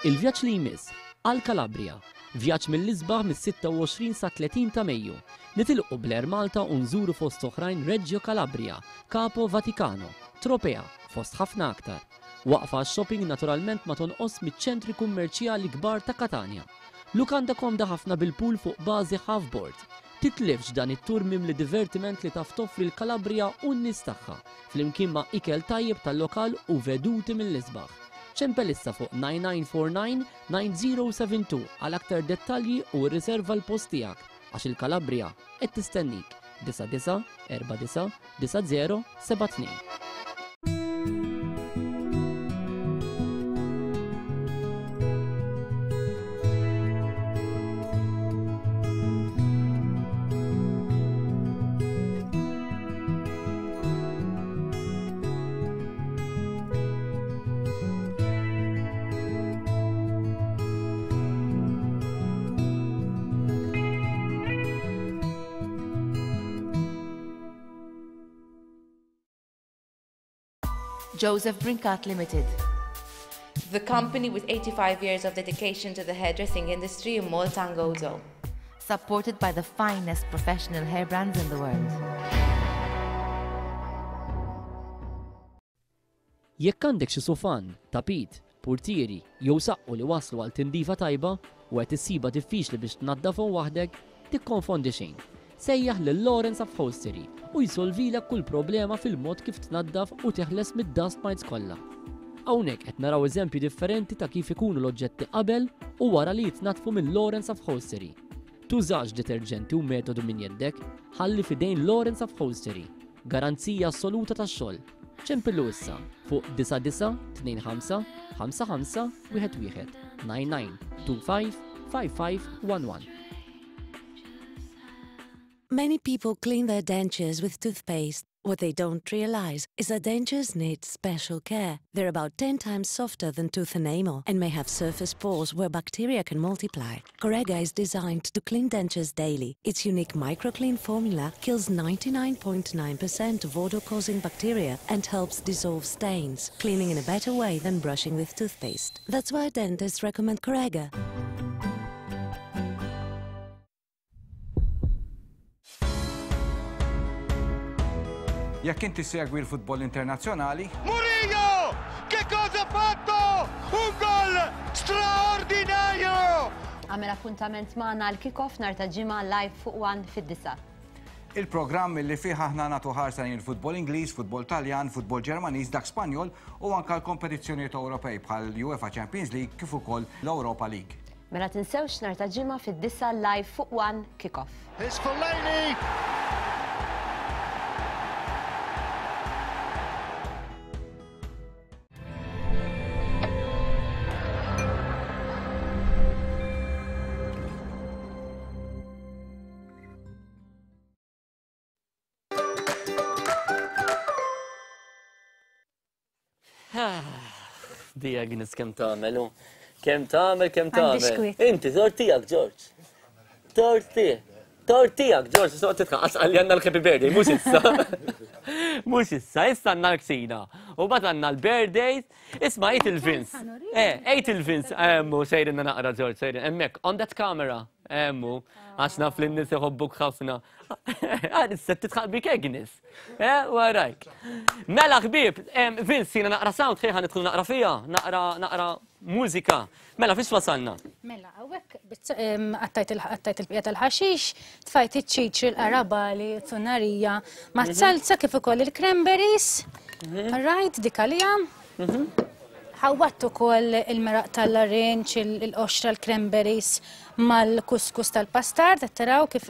Il-vjaġġ li jmiss għal Calabria, vjaġġ mill-isbaħ mis-26 sa 30 ta' Mejju. Nitilqu bl-Air Malta u nżuru fost oħrajn Reggio Calabria, Capo Vaticano, Tropea, fost ħafna aktar. Waqfa għax-shopping naturalment ma tonqos miċ-ċentri kummerċjali kbar ta' Katanja. Lukanda komda ħafna bil-pool fuq bażi half board. Titlifx dan it-tur mimli divertiment li taf toffri l-Calabria u n-nies tagħha, flimkien ma' ikel tajjeb tal-lokal u veduti mill-isbaħ. Ċempel issa fuq 9949 9072 għal aktar dettalji u rriserva l-post tiegħek għax il-Calabria qed tistennik 99 49 90 72. Joseph Brincat Limited. The company with 85 years of dedication to the hairdressing industry in Malta and Gozo. Supported by the finest professional hair brands in the world. Jekk għandek xi sufan, tapit, purtieri jew saqqu li waslu għal tindifa tajba u qed issibha diffiċli biex tnaddafhom waħdek, tikkonfondi xejn. Sejjaħ lil Lawrence Upholstery u jsolvilek kull problema fil-mod kif tnaddaf u teħles mid-dust mites kollha. Hawnhekk qed naraw eżempji differenti ta' kif ikunu l-oġġetti qabel u wara li jitnaddfu minn Lawrence Upholstery. Tużax deterġenti u metodu minn jeddek, ħalli f'idejn Lawrence Upholstery. Garanzija assoluta tax-xogħol. Ċempillu issa fuq 99 25 55 11 99 25 55 11. Many people clean their dentures with toothpaste. What they don't realize is that dentures need special care. They're about 10 times softer than tooth enamel and may have surface pores where bacteria can multiply. Corega is designed to clean dentures daily. Its unique microclean formula kills 99.9% of odor-causing bacteria and helps dissolve stains, cleaning in a better way than brushing with toothpaste. That's why dentists recommend Corega. Jekk inti segwi l-futbol internazzjonali. Murillo! Che cosa ha fatto? Un gol straordinario! Għamel appuntament magħna għal kick-off nhar ta' Ġimgħa live fuq One fid-disgħa. Il-programm li fih aħna nagħtu ħarsa lejn il-futbol Ingliż, futbol Taljan, futbol Ġermaniż, dak Spanjol u anke l-kompetizzjonijiet Ewropej bħal UEFA Champions League kif ukoll l-Europa League. Mela tinsewx nhar ta' Ġimgħa fid-disgħa live fuq One Kick Off. Here's Fellaini. Di Agnes kemm tagħmel u kemm tagħmel kemm tagħmel. Inti tort tiegħek George. Tort tiegħek. Tort tiegħek George, soqgħod titħaqas qalli għandna l-happy birthday, mhux issa. Mhux issa, issa għandna l-ksina. U bad għandna l-birthdays. Isma' għid il-Vince. Eh, għid il-Vince, emmu sejrinna naqra George, sejrin hemmhekk on that camera. Emmu, għax naf li n-nies iħobbuk ħafna. Għad issa titħaq bik Agnes. Eh, warajk. Mela ħbieb, Vince, jiena naqra sound ħejħa nidħlu naqra fija, naqra naqra mużika. Mela fiex wasalna? Mela, hawnhekk qattajt il-bqija tal-ħaxix, tfajt iċ-ċiċri, l-qarabali, t-tunarija, mat-salza kif ukoll il-cranberries. Mhm. Right, dik għalija. Mhm. Ħawwatt ukoll il-meraq tal-larinġ, il-qoxra, l-cranberries mal-kuskus tal-pastard, qed taraw kif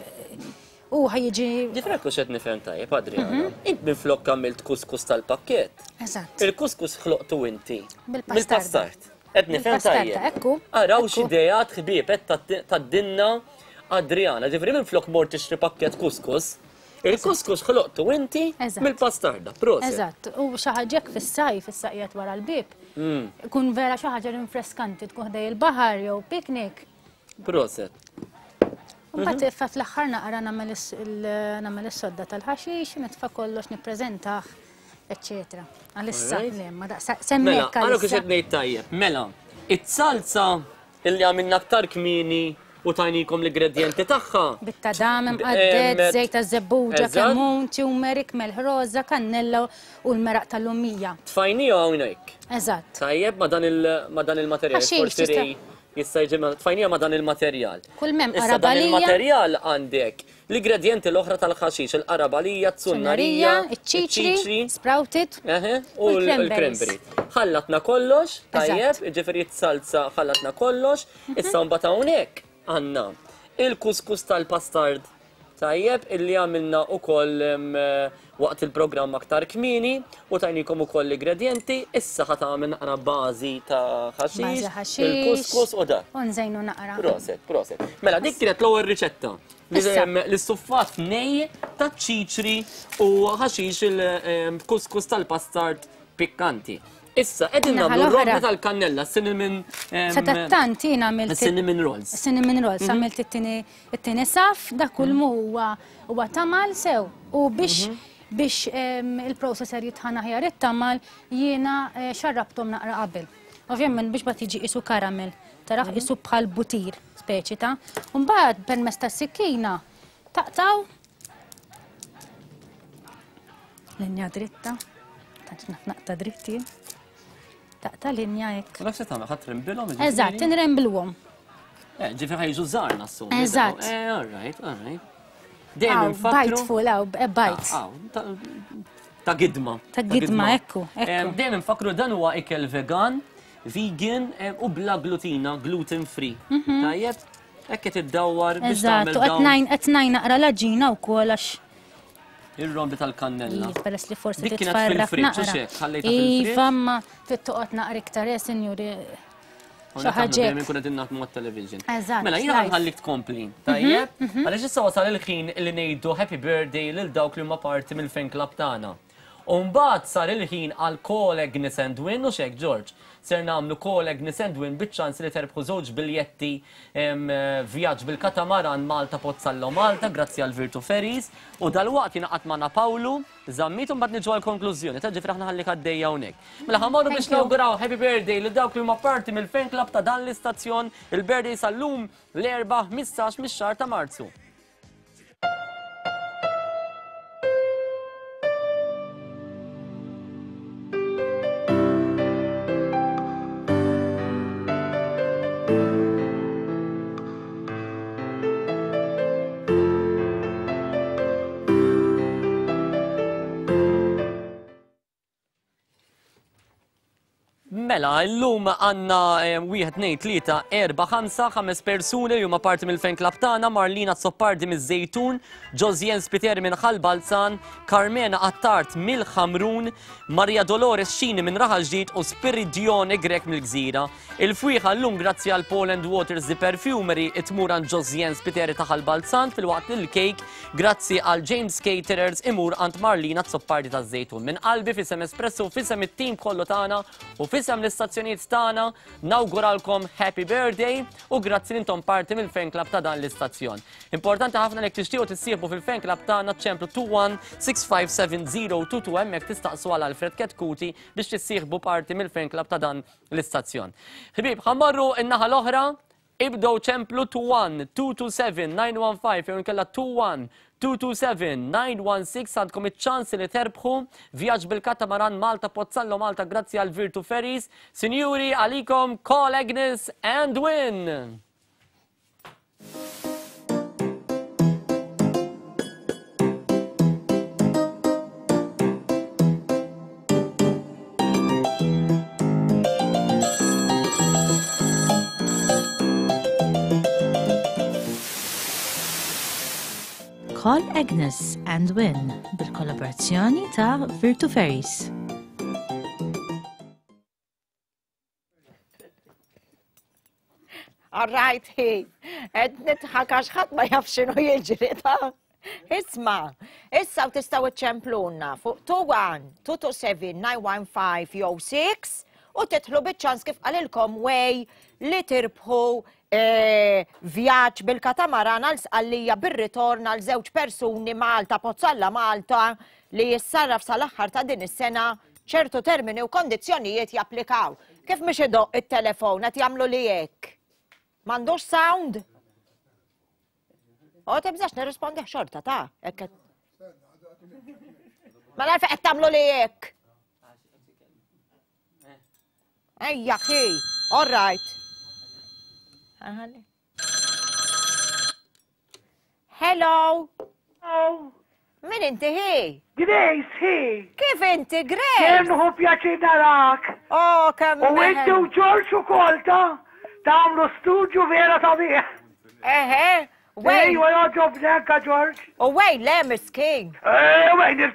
u ħa jiġi. Ġifieri hekk hux qed nifhem tajjeb, Adriana. Mhm. Int minflok għamilt kuskus tal-pakkett. Eżatt. Il-kuskus ħloqtu inti. Bil-pastard. Qed nifhem tajjeb. Ekku. Araw x'ideat ħbieb qed tgħaddilna Adriana. Ġifieri minflok mort tixtri pakkett kuskus, Il-kuskus ħloqtu inti mill-pastarda, proset. Eżatt, u xi ħaġa hekk fis-sajf, issa qiegħed wara l-bieb. Mm. Ikun vera xi ħaġa rinfreskanti tkun ħdej il-baħar jew picnic. Proset. Mbagħad mhm. fa fl-aħħar naqra nagħmel is-sodda tal-ħaxix, nitfa' kollox nippreżentah, eċċetera. Għalissa, le, ma daqsa semmek. Mela, għallu kif qed ngħid tajjeb. Mela, it-salza illi għamilna aktar kmieni u tajnikom l-ingredjenti tagħha. Bit-tadam imqadded, żejt taż-żebbuġa, kemmun, turmeric, melħ roża, kannella u l-meraq tal-lumija. Tfajnija hawnhekk. Eżatt. Tajjeb ma' dan il-materjal. Forsi jista' jiġi tfajnija ma' dan il-materjal. Kull m'hemm Issa dan il-materjal għandek l-ingredjenti l-oħra tal-ħaxix, il-qarabalija, t-sunnarija, iċ-ċiċri, sprouted, u l-cranberry. Ħallatna kollox, tajjeb, ġifieri salza ħallatna kollox, Issa mbagħad hawnhekk għandna il-kuskus tal-pastard tajjeb illi għamilna ukoll waqt il-programm aktar kmieni u tajnikom ukoll l-ingredjenti, issa ħa tagħmel naqra bażi ta' ħaxix, il-kuskus u dak. U nżejnu naqra. Proset, proset. Mela dik kienet l-ewwel riċetta. L-istuffat nej ta' ċiċri u ħaxix il-kuskus tal-pastard pikkanti. Issa, qegħdin nagħmlu rolla tal-kannella, cinnamon. Sadattant jien għamilt. Cinnamon rolls. Cinnamon rolls, mhm. għamilt it-tieni saf, dak kull mhm. mu huwa huwa tamal sew. U biex mhm. biex il-processor jitħana ħjar it-tamal jiena eh, xarrabtom naqra qabel. Ovvjament biex bat jiġi isu karamel, taraħ isu bħal butir speċi ta'. Mbagħad permezz tas-sikkina taqtaw Linja dritta. Tantx naf naqta' dritti. Taqta' linja hekk. Dak se tagħmel ħadd trembilhom? Eżatt, inrembilhom. Eh, ġifi ħajġu żgħar nassum. Eżatt. Eh, all right, all right. Dejjem infakru. Bite full, aw, eh, bite. Ah, ta' gidma. Ta' gidma, ekku. Dejjem infakru dan huwa ikel vegan, vegan eh, u bla glutina, gluten free. Mhm. Tajjeb, hekk qed iddawwar biex tagħmel. Eżatt, qed ngħin naqra l-aġina wkoll għax Ir-rombi tal-kannella. Iva, peress li forsi titfarrak naqra. Iva, ma trid toqgħod naqra iktar, eh, sinjuri. Xi ħaġa Dejjem ikun qegħdin naħdmu mat-television. Eżatt. Mela jiena ħanħallik tkompli. Mhm, Tajjeb? Għaliex issa wasal il-ħin li ngħidu happy birthday lil dawk li huma parti mill-fan club tagħna. U mbagħad sar il-ħin għal Call Agnes and Win u xek George. Ser nagħmlu Call Agnes and Win biċ-ċans li terbħu żewġ biljetti vjaġġ bil-katamaran Malta Pozzallo Malta grazzi għal Virtu Ferries u dalwaqt jingħaqad magħna Pawlu Zammit u mbagħad niġu għall-konklużjoni. Ta' ġifieri aħna ħallik għaddejja hawnhekk. Mela ħa mmorru biex nawguraw happy birthday lil dawk li huma parti mill-fan club ta' dan l-istazzjon il-birthday sal-lum l-Erbgħa 15 mix-xahar ta' Marzu. Mela, illum għanna eh, wieħed, tnejn, tlieta, erba, ħamsa, ħames persuni li huma parti mill-fan club tagħna, Marlina Zoppardi miż-Żejtun, Josien Spiteri minn Ħal Balzan, Carmena Attard mill-Ħamrun, Maria Dolores Xini minn Raħal Ġdid u Spiridione Grek mill-Gżira. Il-fwieħa llum grazzi għal Paul and Waters The Perfumery tmur għand Josien Spiteri ta' Ħal Balzan filwaqt li l-kejk grazzi għal James Caterers imur għand Marlina Azzopardi taż-Żejtun. Minn qalbi f'isem Espresso u f'isem it-tim kollu tagħna u f'isem l-istazzjonijiet tagħna nawguralkom Happy Birthday u grazzi li intom parti mill-fan club ta' dan l-istazzjon. Importanti ħafna li jekk tixtiequ tissieħbu fil-fan club tagħna ċemplu 21657022 hemmhekk tistaqsu għal Alfred Ketkuti biex tissieħbu parti mill-fan club ta' dan l-istazzjon. Ħbieb, ħa mmorru n-naħa l-oħra, ibdew ċemplu 21 227 915 jew inkella 21 227 916 għandkom iċ-ċans li terbħu vjaġġ bil-katamaran Malta Pozzallo Malta grazzi għal Virtu Ferries. Sinjuri, għalikom call Agnes and win! Call Agnes and Win bil-kollaborazzjoni ta' Virtu Ferries. All right, hi. Qed nidħak għax ħadd ma jaf x'inhu jiġri ta' Isma, issa u tistgħu iċċempluna fuq 21 227 915 jew 6 u titħlu biċ-ċans kif qalilkom way li tirbħu eh, vjaġġ bil-katamaran għal Sqallija bir-ritorn għal żewġ persuni Malta, Pozzalla Malta li jissarraf sal-aħħar ta' din is-sena ċertu termini u kondizzjonijiet japplikaw. Kif mhix idoqq it-telefon qed jagħmlu li hekk? M'għandux sound? O tibżax nirrispondi xorta ta' hekk. Mela għalfejn qed tagħmlu li hekk. Ejja, ki, all right. Hello. Hello. Min inti hi? Grace hi. Kif inti Grace? Kemm hu pjaċir narak. Oh, kemm. U inti u George ukoll ta' tagħmlu studju vera sabiħ. Eħe. Wejn. Ejwa jogħġobni anka George. U wejn le miskin. Eh, wejn il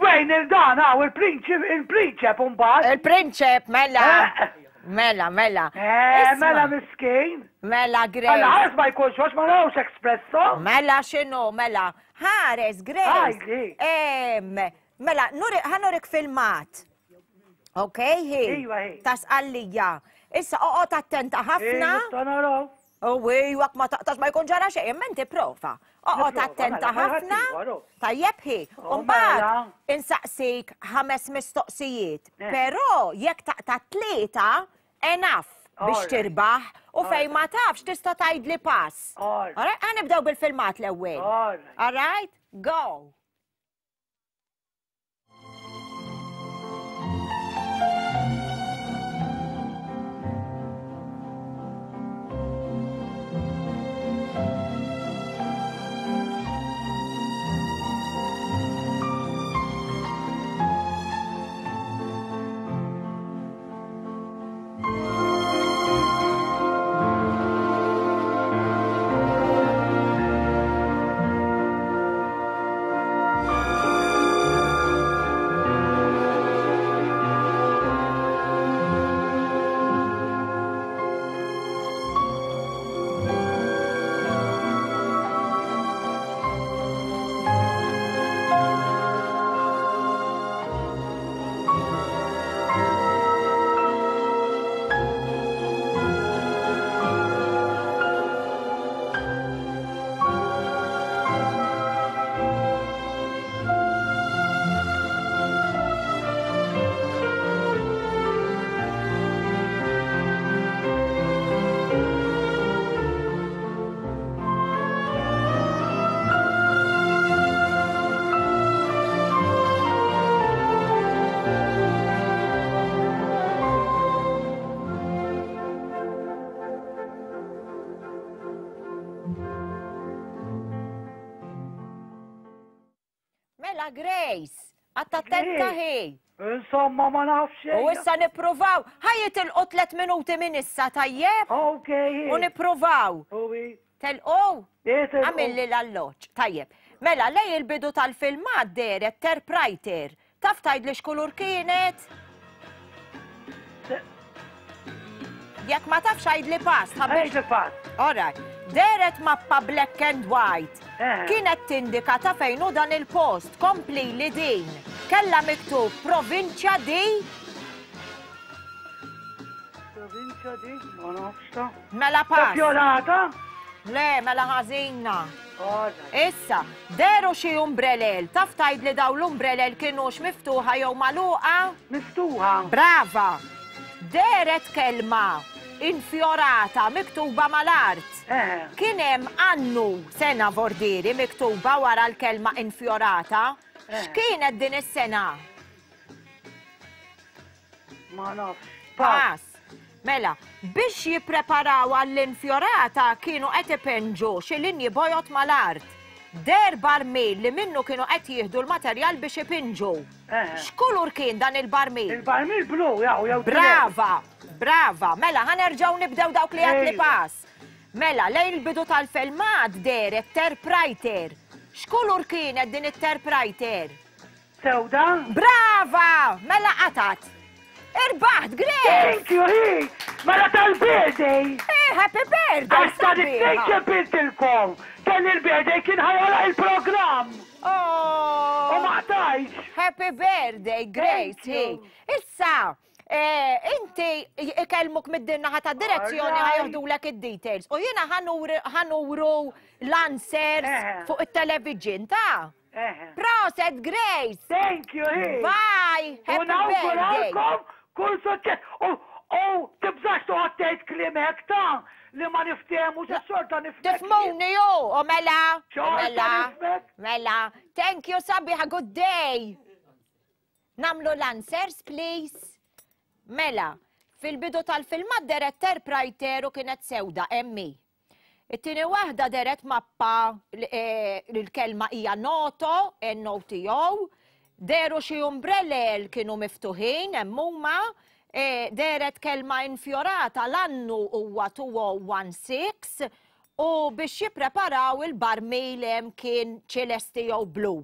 wejn il-dan hawn il-prinċip il-prinċep imbagħad. Il-prinċep mela. Eh. Mela, mela. Eh, mela miskin. Mela Grace. Mela ħares ma jkunx għax ma nagħux espresso. Mela x'inhu, mela. Ħares Grace. Mela, ħanurik filmat. Ok, hi. Iva, hi. Ta' sqallija. Issa oqgħod attenta ħafna. U wak ma taqtax ma jkun ġara xejn, imma inti prova. Oqgħod attenta mela, ħafna. Tajjeb hi. U mbagħad mela. insaqsik ħames mistoqsijiet. Eh. Però jekk taqta' tlieta, enough biex tirbaħ u fejn ma tafx tista' tgħidli pass. Alright, nibdew bil-filmat l-ewwel. Alright, go. Mela Grace, għatta attenta hi. Insomma, ma nafx. U issa nippruvaw. Ħa jitilqu tlet minuti minn issa, tajjeb? Ok. U nippruvaw. Telqu? Għamilli l-alloġġ. Tajjeb. Mela, lej il-bidu tal-filmat dehret terprajter. Taf tgħidli x'kulur kienet? Jekk ma tafx għidli pass. Għidli pass. All right. Dehret mappa black and white. Eh. Kienet tindika ta' fejn hu dan il-post. Kompli li din. Kella miktub provinċja di. Provinċja di, ma nafx ta'. Mela pass. Fjorata? Le, mela ħażina. Issa, dehru xi umbrelel, taf tgħidli dawn l-umbrelel kinux miftuħa jew magħluqa? Miftuħa. Brava! Dehret kelma infjorata miktuba mal-art. Eh. Kien hemm annu sena vordieri miktuba wara l-kelma infjorata. Eh. X'kienet din is-sena? Ma nafx. Pass. Mela, biex jippreparaw għall-infjorata kienu qed ipenġu xi linji bojod mal-art. Deher barmil li minnu kienu qed jieħdu l-materjal biex ipinġu. Eh. X'kulur kien dan il-barmil? Il-barmil blu, jew jew Brava, brava. Mela, ħa nerġgħu nibdew dawk li għad li Ejwa. pass. Mela, lejn il-bidu tal-filmat dehret terprajter. X'kulur kienet din it-terprajter? Sewda? Brava! Mela qatat. Irbaħt, Grace! Thank you, hi! Mela tal-birthday! Eh, happy birthday! Għax ta' it-tnejn ċempiltilkom! Kelli l-birthday kien ħajgħalaq il-programm! Oh! U ma qtajtx! Happy birthday, Grace, hi! Issa, eh, inti ikellmuk mid-dinnaħa ta' direzzjoni ħajoħdulek id-details. U jiena ħanuru l-answers Eh. fuq it-television ta' Proset, Grace! Thank you, hi! Bye! Happy birthday! U kull suċċess! U tibżax toqgħod tgħid kliem hekk ta' li ma niftehmu xa xorta nifhmek. Tifhmuni ju, u mela, Xorta mela, nifhmek. mela. Thank you, sabiħa, good day. Namlu l-answers, please. Mela, fil-bidu tal-filmat deret terprajter u kienet sewda, emmi. It-tieni waħda dehret mappa li l-kelma hija noto, N-O-T-O, dehru xi umbrellel kienu miftuħin hemm huma, dehret kelma infjorata l-annu huwa 2016 u biex jippreparaw il-barmil hemm kien ċilesti jew blu.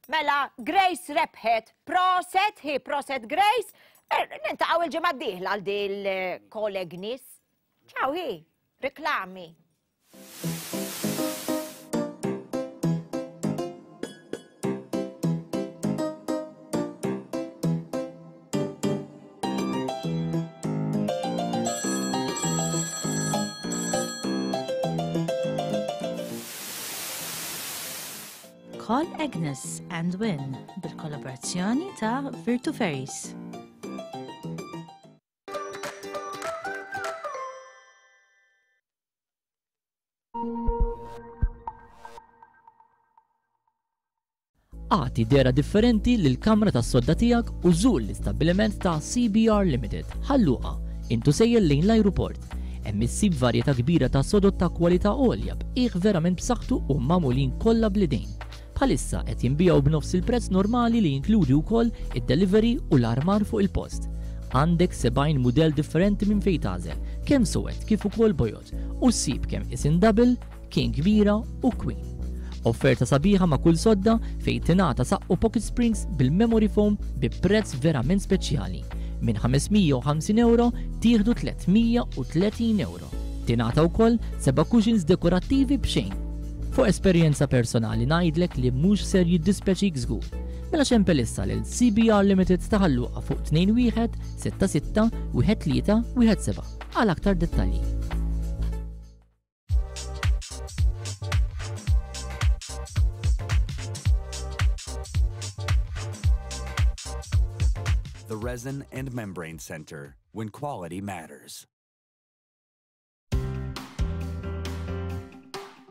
Mela Grace rebħet, proset hi, proset Grace, niltaqgħu il-ġimgħa d-dieħla għal dil-koleg nies. Ciao hi. Reklami. Call Agnes and Win bil-kollaborazzjoni ta' Virtu Ferries. Agħti dehra differenti lill-kamra tas-sodda tiegħek u żur l-istabbiliment ta' CBR Limited, Ħal Luqa, intu sejjer lejn l-ajruport. Hemm issib varjetà kbira ta' sodod ta' kwalità għolja b'qiegħ verament b'saħħtu u magħmulin kollha bl-idejn. Bħalissa qed jinbiegħu b'nofs il-prezz normali li jinkludi wkoll id-delivery u l-armar fuq il-post. Għandek 70 mudell differenti minn fejn tagħżel, kemm suwed kif ukoll bojod, u ssib kemm isin double, king kbira u queen. Offerta sabiħa ma' kull sodda fejn tingħata saqqu pocket springs bil-memory foam bi prezz verament speċjali. Minn 550 ewro tieħdu 330 ewro. Tingħata wkoll seba' cushions dekorattivi b'xejn. Fuq esperjenza personali ngħidlek li mhux ser jiddispjaċik żgur. Mela ċempel issa lil CBR Limited ta' Ħal Luqa fuq 21 66 13 17 għal aktar dettalji. The Resin and Membrane Center, when quality matters.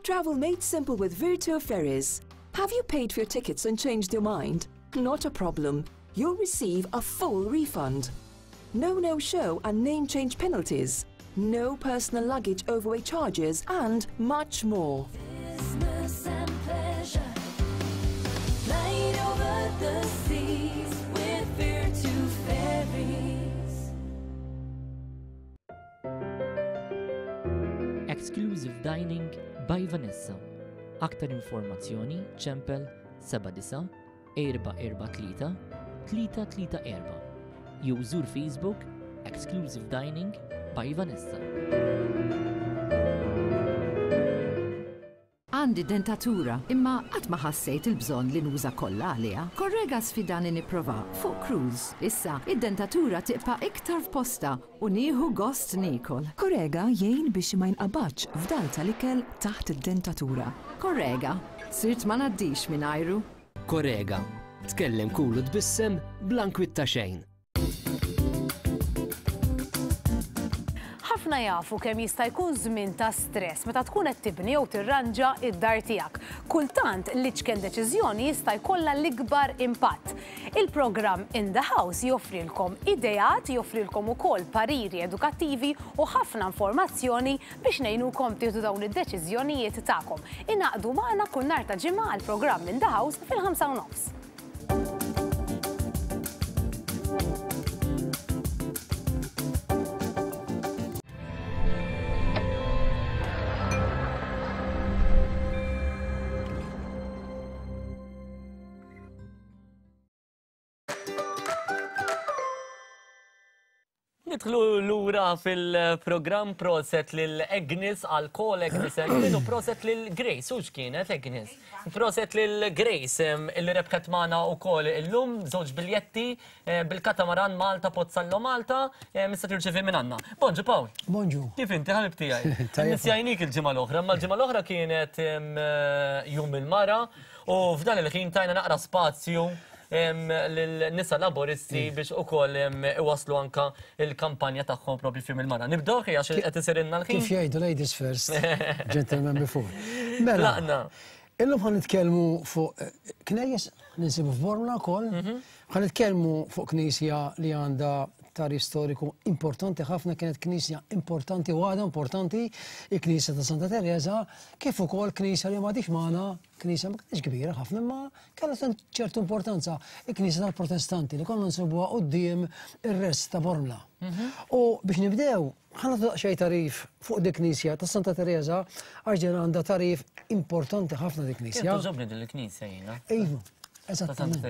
Travel made simple with Virtu Ferries. Have you paid for your tickets and changed your mind? Not a problem. You'll receive a full refund. No no-show and name change penalties. No personal luggage overweight charges and much more. Business and pleasure. Flight over the seas with Virtu Ferries. Exclusive Dining by Vanessa. Aktar informazzjoni ċempel 79 443 334 jew żur Facebook Exclusive Dining by Vanessa. Għandi dentatura, imma qatt ma ħassejt il-bżonn li nuża kolla għaliha. Corega sfidani nipprova fuq cruise. Issa, id-dentatura tibqa' iktar f'postha u nieħu gost niekol. Corega jgħin biex ma jinqabadx fdal tal-ikel taħt id-dentatura. Corega, sirt ma ngħaddix mingħajru. Corega, tkellem kul u tbissem bla nkwiet ta' xejn. Ħafna jafu kemm jista' jkun żmien ta' stress meta tkun qed tibni jew tirranġa d-dar tiegħek. Kultant l-iċken deċiżjoni jista' jkollha l-ikbar impatt. Il-programm In the House joffrilkom ideat, joffrilkom ukoll pariri edukattivi u ħafna informazzjoni biex ngħinukom tieħdu dawn id-deċiżjonijiet tagħkom. Ingħaqdu magħna kull nhar ta' Ġimgħa għall-programm In the House fil-5 u nofs. Nidħlu lura fil-programm proset lil Agnes għal kol Agnes Emlyn u proset lil Grace, u x'kienet Agnes? Proset lil Grace illi rebħet magħna wkoll illum żewġ biljetti eh, bil-katamaran Malta Pozzallo Malta issa tirċevi minn għandna. Bonġu Pawl. Bonġu. Kif inti ħabib tiegħi? Nisjajnik il-ġimgħa l-oħra, ma l-ġimgħa l-oħra kienet eh, jum il-mara u f'dan il-ħin tajna naqra spazju lil-nisa laboristi biex ukoll iwasslu anka il-kampanja tagħhom propju fim il-mara. Nibdew ħi għax qed isirilna l-ħin. Kif jgħidu ladies first, gentlemen before. Mela, Tlaqna. illum ħa nitkellmu fuq eh, knejjes li nsibu f'Bormla wkoll, mhm. ħa nitkellmu fuq knisja li għandha tarif storiku importanti ħafna kienet knisja importanti u għadha importanti, il-Knisja ta' Santa Teresa, kif ukoll knisja li m'għadix magħna, knisja ma kienx kbira ħafna imma Kellha ċertu importanza il-Knisja tal-Protestanti li konna nsibuha quddiem ir-rest ta' Bormla. Mhm. U biex nibdew, ħa nagħtu daqsxejn tagħrif fuq dik knisja ta' Santa Teresa għax din għandha tagħrif importanti ħafna dik knisja. Kien togħġobni din il-knisja jiena. Iva, eżattament.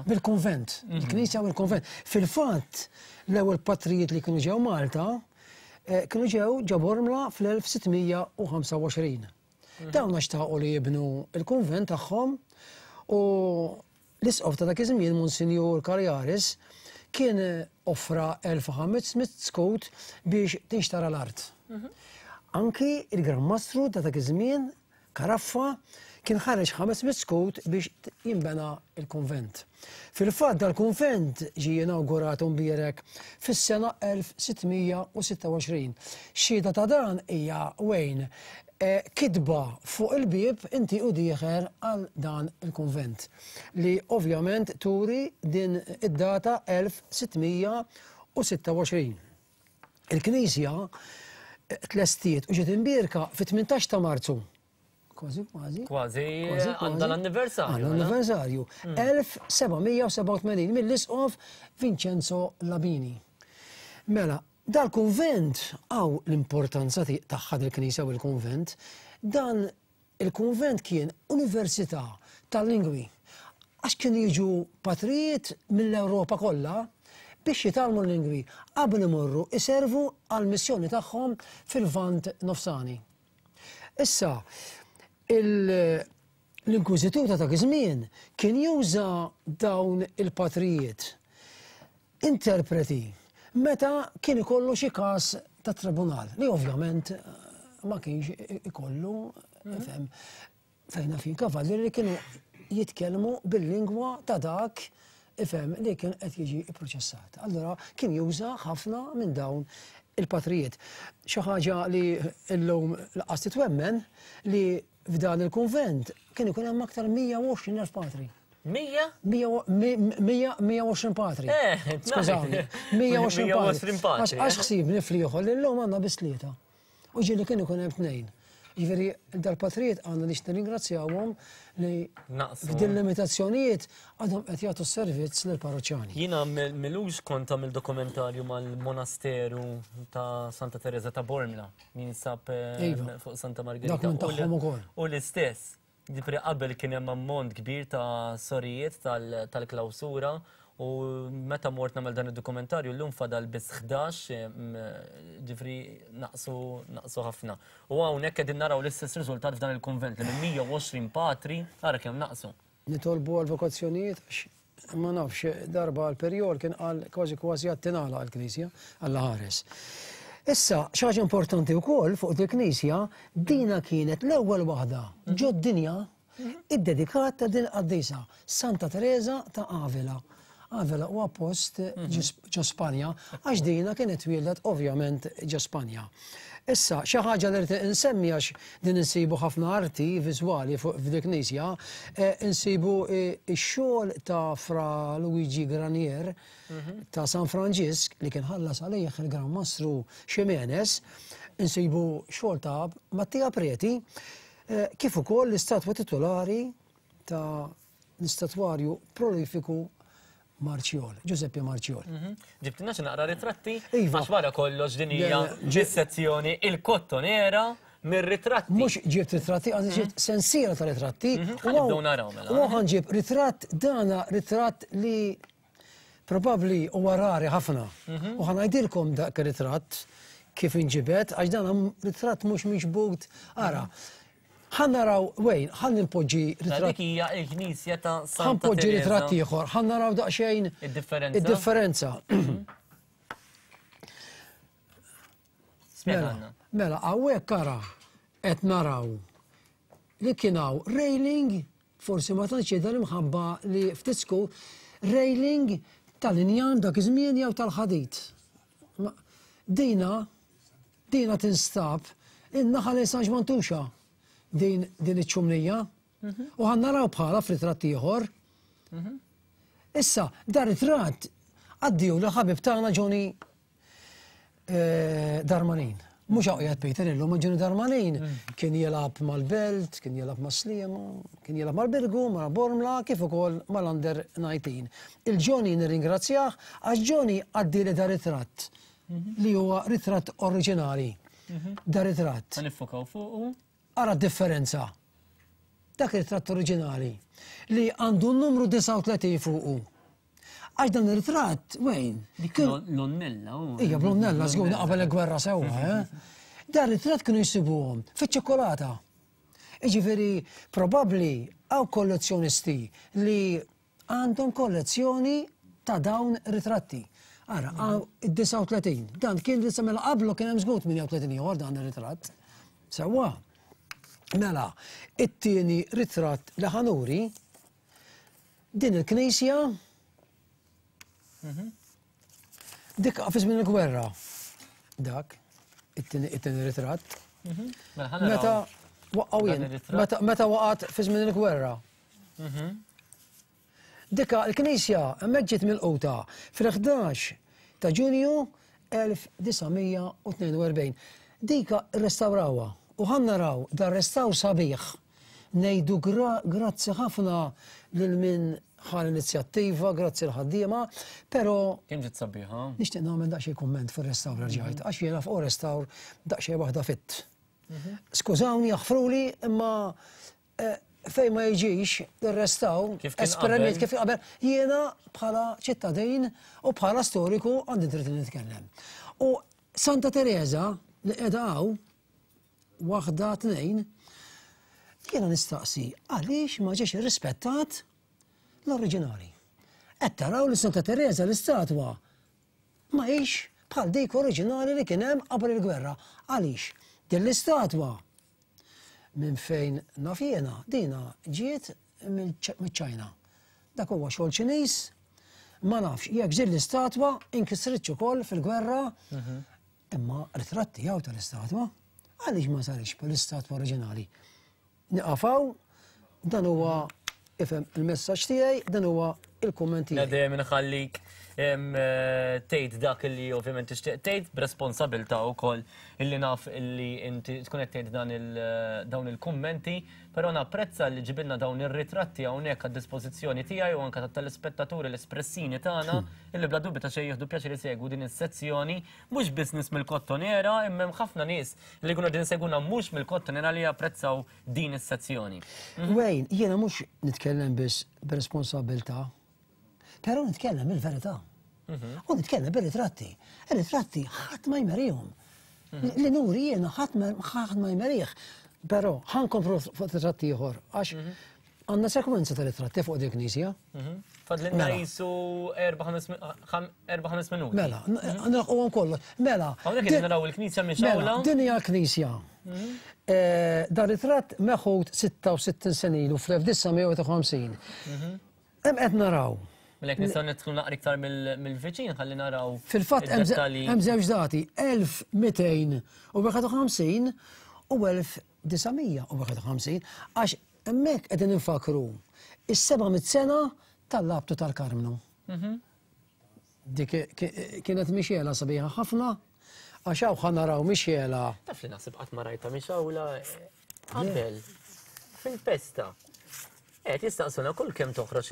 Bil-kunvent, mhm. il-knisja u l-kunvent. Fil-fatt, l-ewwel patrijiet li kienu ġew Malta eh, kienu ġew ġo Bormla fl-1625. Dawn għax xtaqu li jibnu l-kunvent tagħhom u l-isqof ta' dak iż-żmien Monsinjur Cariaris kien offra 1500 skut biex tinxtara l-art. Anki il-Gran Mastru ta' dak iż-żmien Caraffa kien ħareġ 500 skut biex jinbena l-kunvent. Fil-fatt dal-kunvent ġie inawgurat u mbierek fis-sena 1626. Xhieda ta' dan hija Wayne kitba fuq il-bieb inti u dieħel għal dan il-kunvent li ovvjament turi din id-data 1626. Il-knisja tlestiet u ġiet imbierka fit-18 ta' Marzu Kważi, kważi. Kważi, għandha l-anniversarju. Għandha l-anniversarju. 1787 mm. mill-isqof Vincenzo Labini. Mela, dal-kunvent għaw l-importanza tagħha dil-knisja u l-kunvent, dan il-kunvent kien università tal-lingwi. Għax kienu jiġu patrijiet mill-Ewropa kollha biex jitgħallmu l-lingwi qabel imorru iservu għall-missjoni tagħhom fil-Lvant Nofsani. Issa, l-Inkwiżitur ta' dak iż-żmien kien juża dawn il-patrijiet interpreti meta kien ikollu xi każ ta' tribunal li ovvjament ma kienx ikollu mhm. Fejn naf jien kavallieri li kienu jitkellmu bil-lingwa ta' dak ifhem li kien qed jiġi pproċessat. Allura kien juża ħafna minn dawn il-patrijiet. Xi ħaġa li llum laqas titwemmen li f'dan il-kunvent kien ikun hemm aktar 120,000 patri. 100? 120 patri. Eh, Skużawni. 120 patri. Għax ħsibni fl-ieħor li llum għandna biss tlieta. U ġieli kien ikun hemm tnejn. Jiġifieri dal-patrijiet għandna nix nirringrazzjawhom li f'din limitazzjonijiet għadhom qed jagħtu s-servizz lill-parroċċani. Jiena milux kont għamil dokumentarju mal-monasteru ta' Santa Teresa ta' Bormla, jinsab eh, iva. fuq Santa Margherita. Dak minn tagħhom ukoll. U l-istess, Jiġifieri qabel kien hemm ammont kbir ta' sorijiet tal-klawsura u meta mort nagħmel dan id-dokumentarju llum fadal biss 11, ġifieri naqsu naqsu ħafna. U hawnhekk qegħdin naraw l-istess riżultat f'dan il-kunvent li minn 120 patri ara kemm naqsu. Nitolbu għal vokazzjonijiet għax Ma nafx, darba l-Perjol kien qal kważi kważi għad tingħalaq il-Knisja, Alla ħares. Issa, xi ħaġa importanti wkoll fuq dil knisja dina kienet l-ewwel waħda ġod-dinja iddedikata din qaddisa, Santa Teresa ta' Avila. Avila huwa post ġo Spanja, għax dina kienet twieldet ovvjament ġo Spanja. Issa, xi ħaġa li rrid insemmi għax din insibu ħafna arti viżwali fuq f'dik knisja, eh, insibu eh, x-xogħol ta' Fra Luigi Granier mhm. ta' San Franġisk li kien ħallas għalih il-Gran Mastru Ximenes, insibu xogħol ta' Mattia Preti, eh, kif ukoll l-istatwa titolari ta' l-istatwarju prolifiku Marċjol, Giuseppe Marċjol. Mhm. Ġibtilna xi naqra ritratti? Iva. Għax wara kollox din hija sezzjoni il-kottonera mir-ritratti. Mhux ġibt ritratti, għandi ġibt mhm. sensiela ta' ritratti. Mhm. Ħanibdew naraw mela. U ħanġib ritratt dana ritratt li probabbli huwa rari ħafna. U ħanajdilkom dak ir-ritratt kif inġibet, għax dan ritratt mhux miġbud. Ara, Ħa naraw, Wayne, ħa nimpoġġi ritratt. Dik hija l-Knisja ta' Santa Ħa npoġġi ritratt ieħor, ħa naraw daqsxejn. Id-differenza. Id-differenza. Mela, mela, hawnhekk ara qed naraw li kien hawn railing, forsi ma tantx jidher imħabba li ftit skur, railing tal-injam dak iż-żmien jew tal-ħadid. Dina Dina tinstab in-naħa lejn San Ġwann Tuxa din din iċ-ċumnija. Mhm. U ħan naraw bħala f'ritratt ieħor. Mhm. Issa, dar ritratt għaddiju li ħabib tagħna Johnny eh, Darmanin. Mhux hawn qiegħed Peter illum, ma Johnny Darmanin mm. kien jilgħab mal-Belt, kien jilgħab mas-Sliema, kien jilgħab mal-Birgu, ma' Bormla, kif ukoll mal-Under 19. Il-Johnny nirringrazzjah għax Johnny għaddili dar ritratt li huwa ritratt oriġinali. Mhm. Da ritratt. Ħa niffokaw fuqu. Ara differenza. Dak ritratt oriġinali li għandu n-numru 39 fuqu. Għax dan ir-ritratt, wejn. Dik l-onnella. Ija, bl-onnella, żgur qabel il-gwerra sewwa, eh? Dan ritratt kienu jsibuhom fiċ-ċokolata. Iġifieri, probabbli hawn kollezzjonisti li Għandhom kollezzjoni ta' dawn ritratti. Ara, id-39. Dan kien li mela qablu kien hemm żgur 38 ieħor dan ir-ritratt. Sewwa. Mela, it-tieni ritratt li ħanuri din il-knisja mhm. dik fi żmien il-gwerra. Dak, it-tieni ritratt. Mhm. Mela, meta waqgħu jien, meta waqgħet fi żmien il-gwerra. Mhm. Dika l-knisja hemmhekk ġiet milquta fil-11 ta' Ġunju 1942. Dika rrestawrawha u ħa naraw dar restawr sabiħ. Ngħidu grazzi ħafna lil min ħa l-inizjattiva, grazzi l-ħaddiema, però. Kemm ġiet sabiħa? Nixtieq nagħmel daqsxejn kumment fuq restawr rġajt, għax jiena fuq restawr daqsxejn waħda fitt. Mhm. Skużawni, jaħfruli, imma Eh, fejn ma jiġix ir-restaw, esperiment kif qabel, jiena bħala ċittadin u bħala storiku għandi dritt li nitkellem. U Santa Teresa li qiegħda hawn waħda tnejn, jiena nistaqsi għaliex ma ġiex irrispettat l-oriġinali. Qed taraw li Santa Teresa l-istatwa ma hix bħal dik oriġinali li kien hemm qabel il-gwerra. Għaliex? Din l-istatwa Minn fejn naf jiena, dina ġiet miċ-Ċajna. Dak huwa xogħol Ċiniż, ma nafx jekk din l-istatwa inkisritx ukoll fil-gwerra, mhm. imma ritratt tiegħu tal-istatwa għaliex ma sarix bħal-istatwa oriġinali. Niqafaw, dan huwa ifhem il-messaġġ tiegħi, dan huwa il-kumment tiegħi. Dejjem inħallik eh, tgħid dak li ovvjament tixtieq tgħid b'responsabilità wkoll illi naf illi inti tkun qed tgħid dan il dawn il-kummenti, però napprezza li ġibilna dawn ir-ritratti hawnhekk għad-dispożizzjoni tiegħi u anke tat-telespettaturi l-espressini tagħna illi bla dubju ta' xejn jieħdu pjaċir isegwu din is-sezzjoni mhux biss nies mill-Kottonera imma hemm ħafna nies li jkunu qegħdin isegwuna mhux mill-Kottonera li japprezzaw din is-sezzjoni. Wayne, jiena mhux nitkellem biss b'responsabbiltà, però nitkellem il-verità. Mhm. U nitkellem bir-ritratti. Ir-ritratti ħadd ma jmerihom. Mhm. Li nuri jiena ħadd ma jmerih. Però ħankomplu fuq ritratti ieħor għax mhm. għandna sekwenza ta' ritratti fuq din knisja. Fadlinna mela. jisu 4-5 minuti. Mela, nilħqu kollu. Mela. Hawnhekk qegħdin naraw il-knisja minn xawla. Mela, din hija l-knisja. Mhm. Eh, dan ritratt meħud 66 sena ilu fl-1951. Mhm. Hemm qed naraw. Mela jekk nistgħu nidħlu naqra iktar mill-viċin ħalli naraw. Fil-fatt hemm żewġ dati, 1251 u 1951 għax hemmhekk qegħdin infakru is-700 sena tal-labtu tal-Karmnu. Mhm. Dik kienet mixjela sabiħa ħafna, għax hawn ħa naraw mixjela. Taf li naħseb qatt ma rajta mixawla eh, qabel fil-festa. Qed jistaqsuna kull kemm toħroġ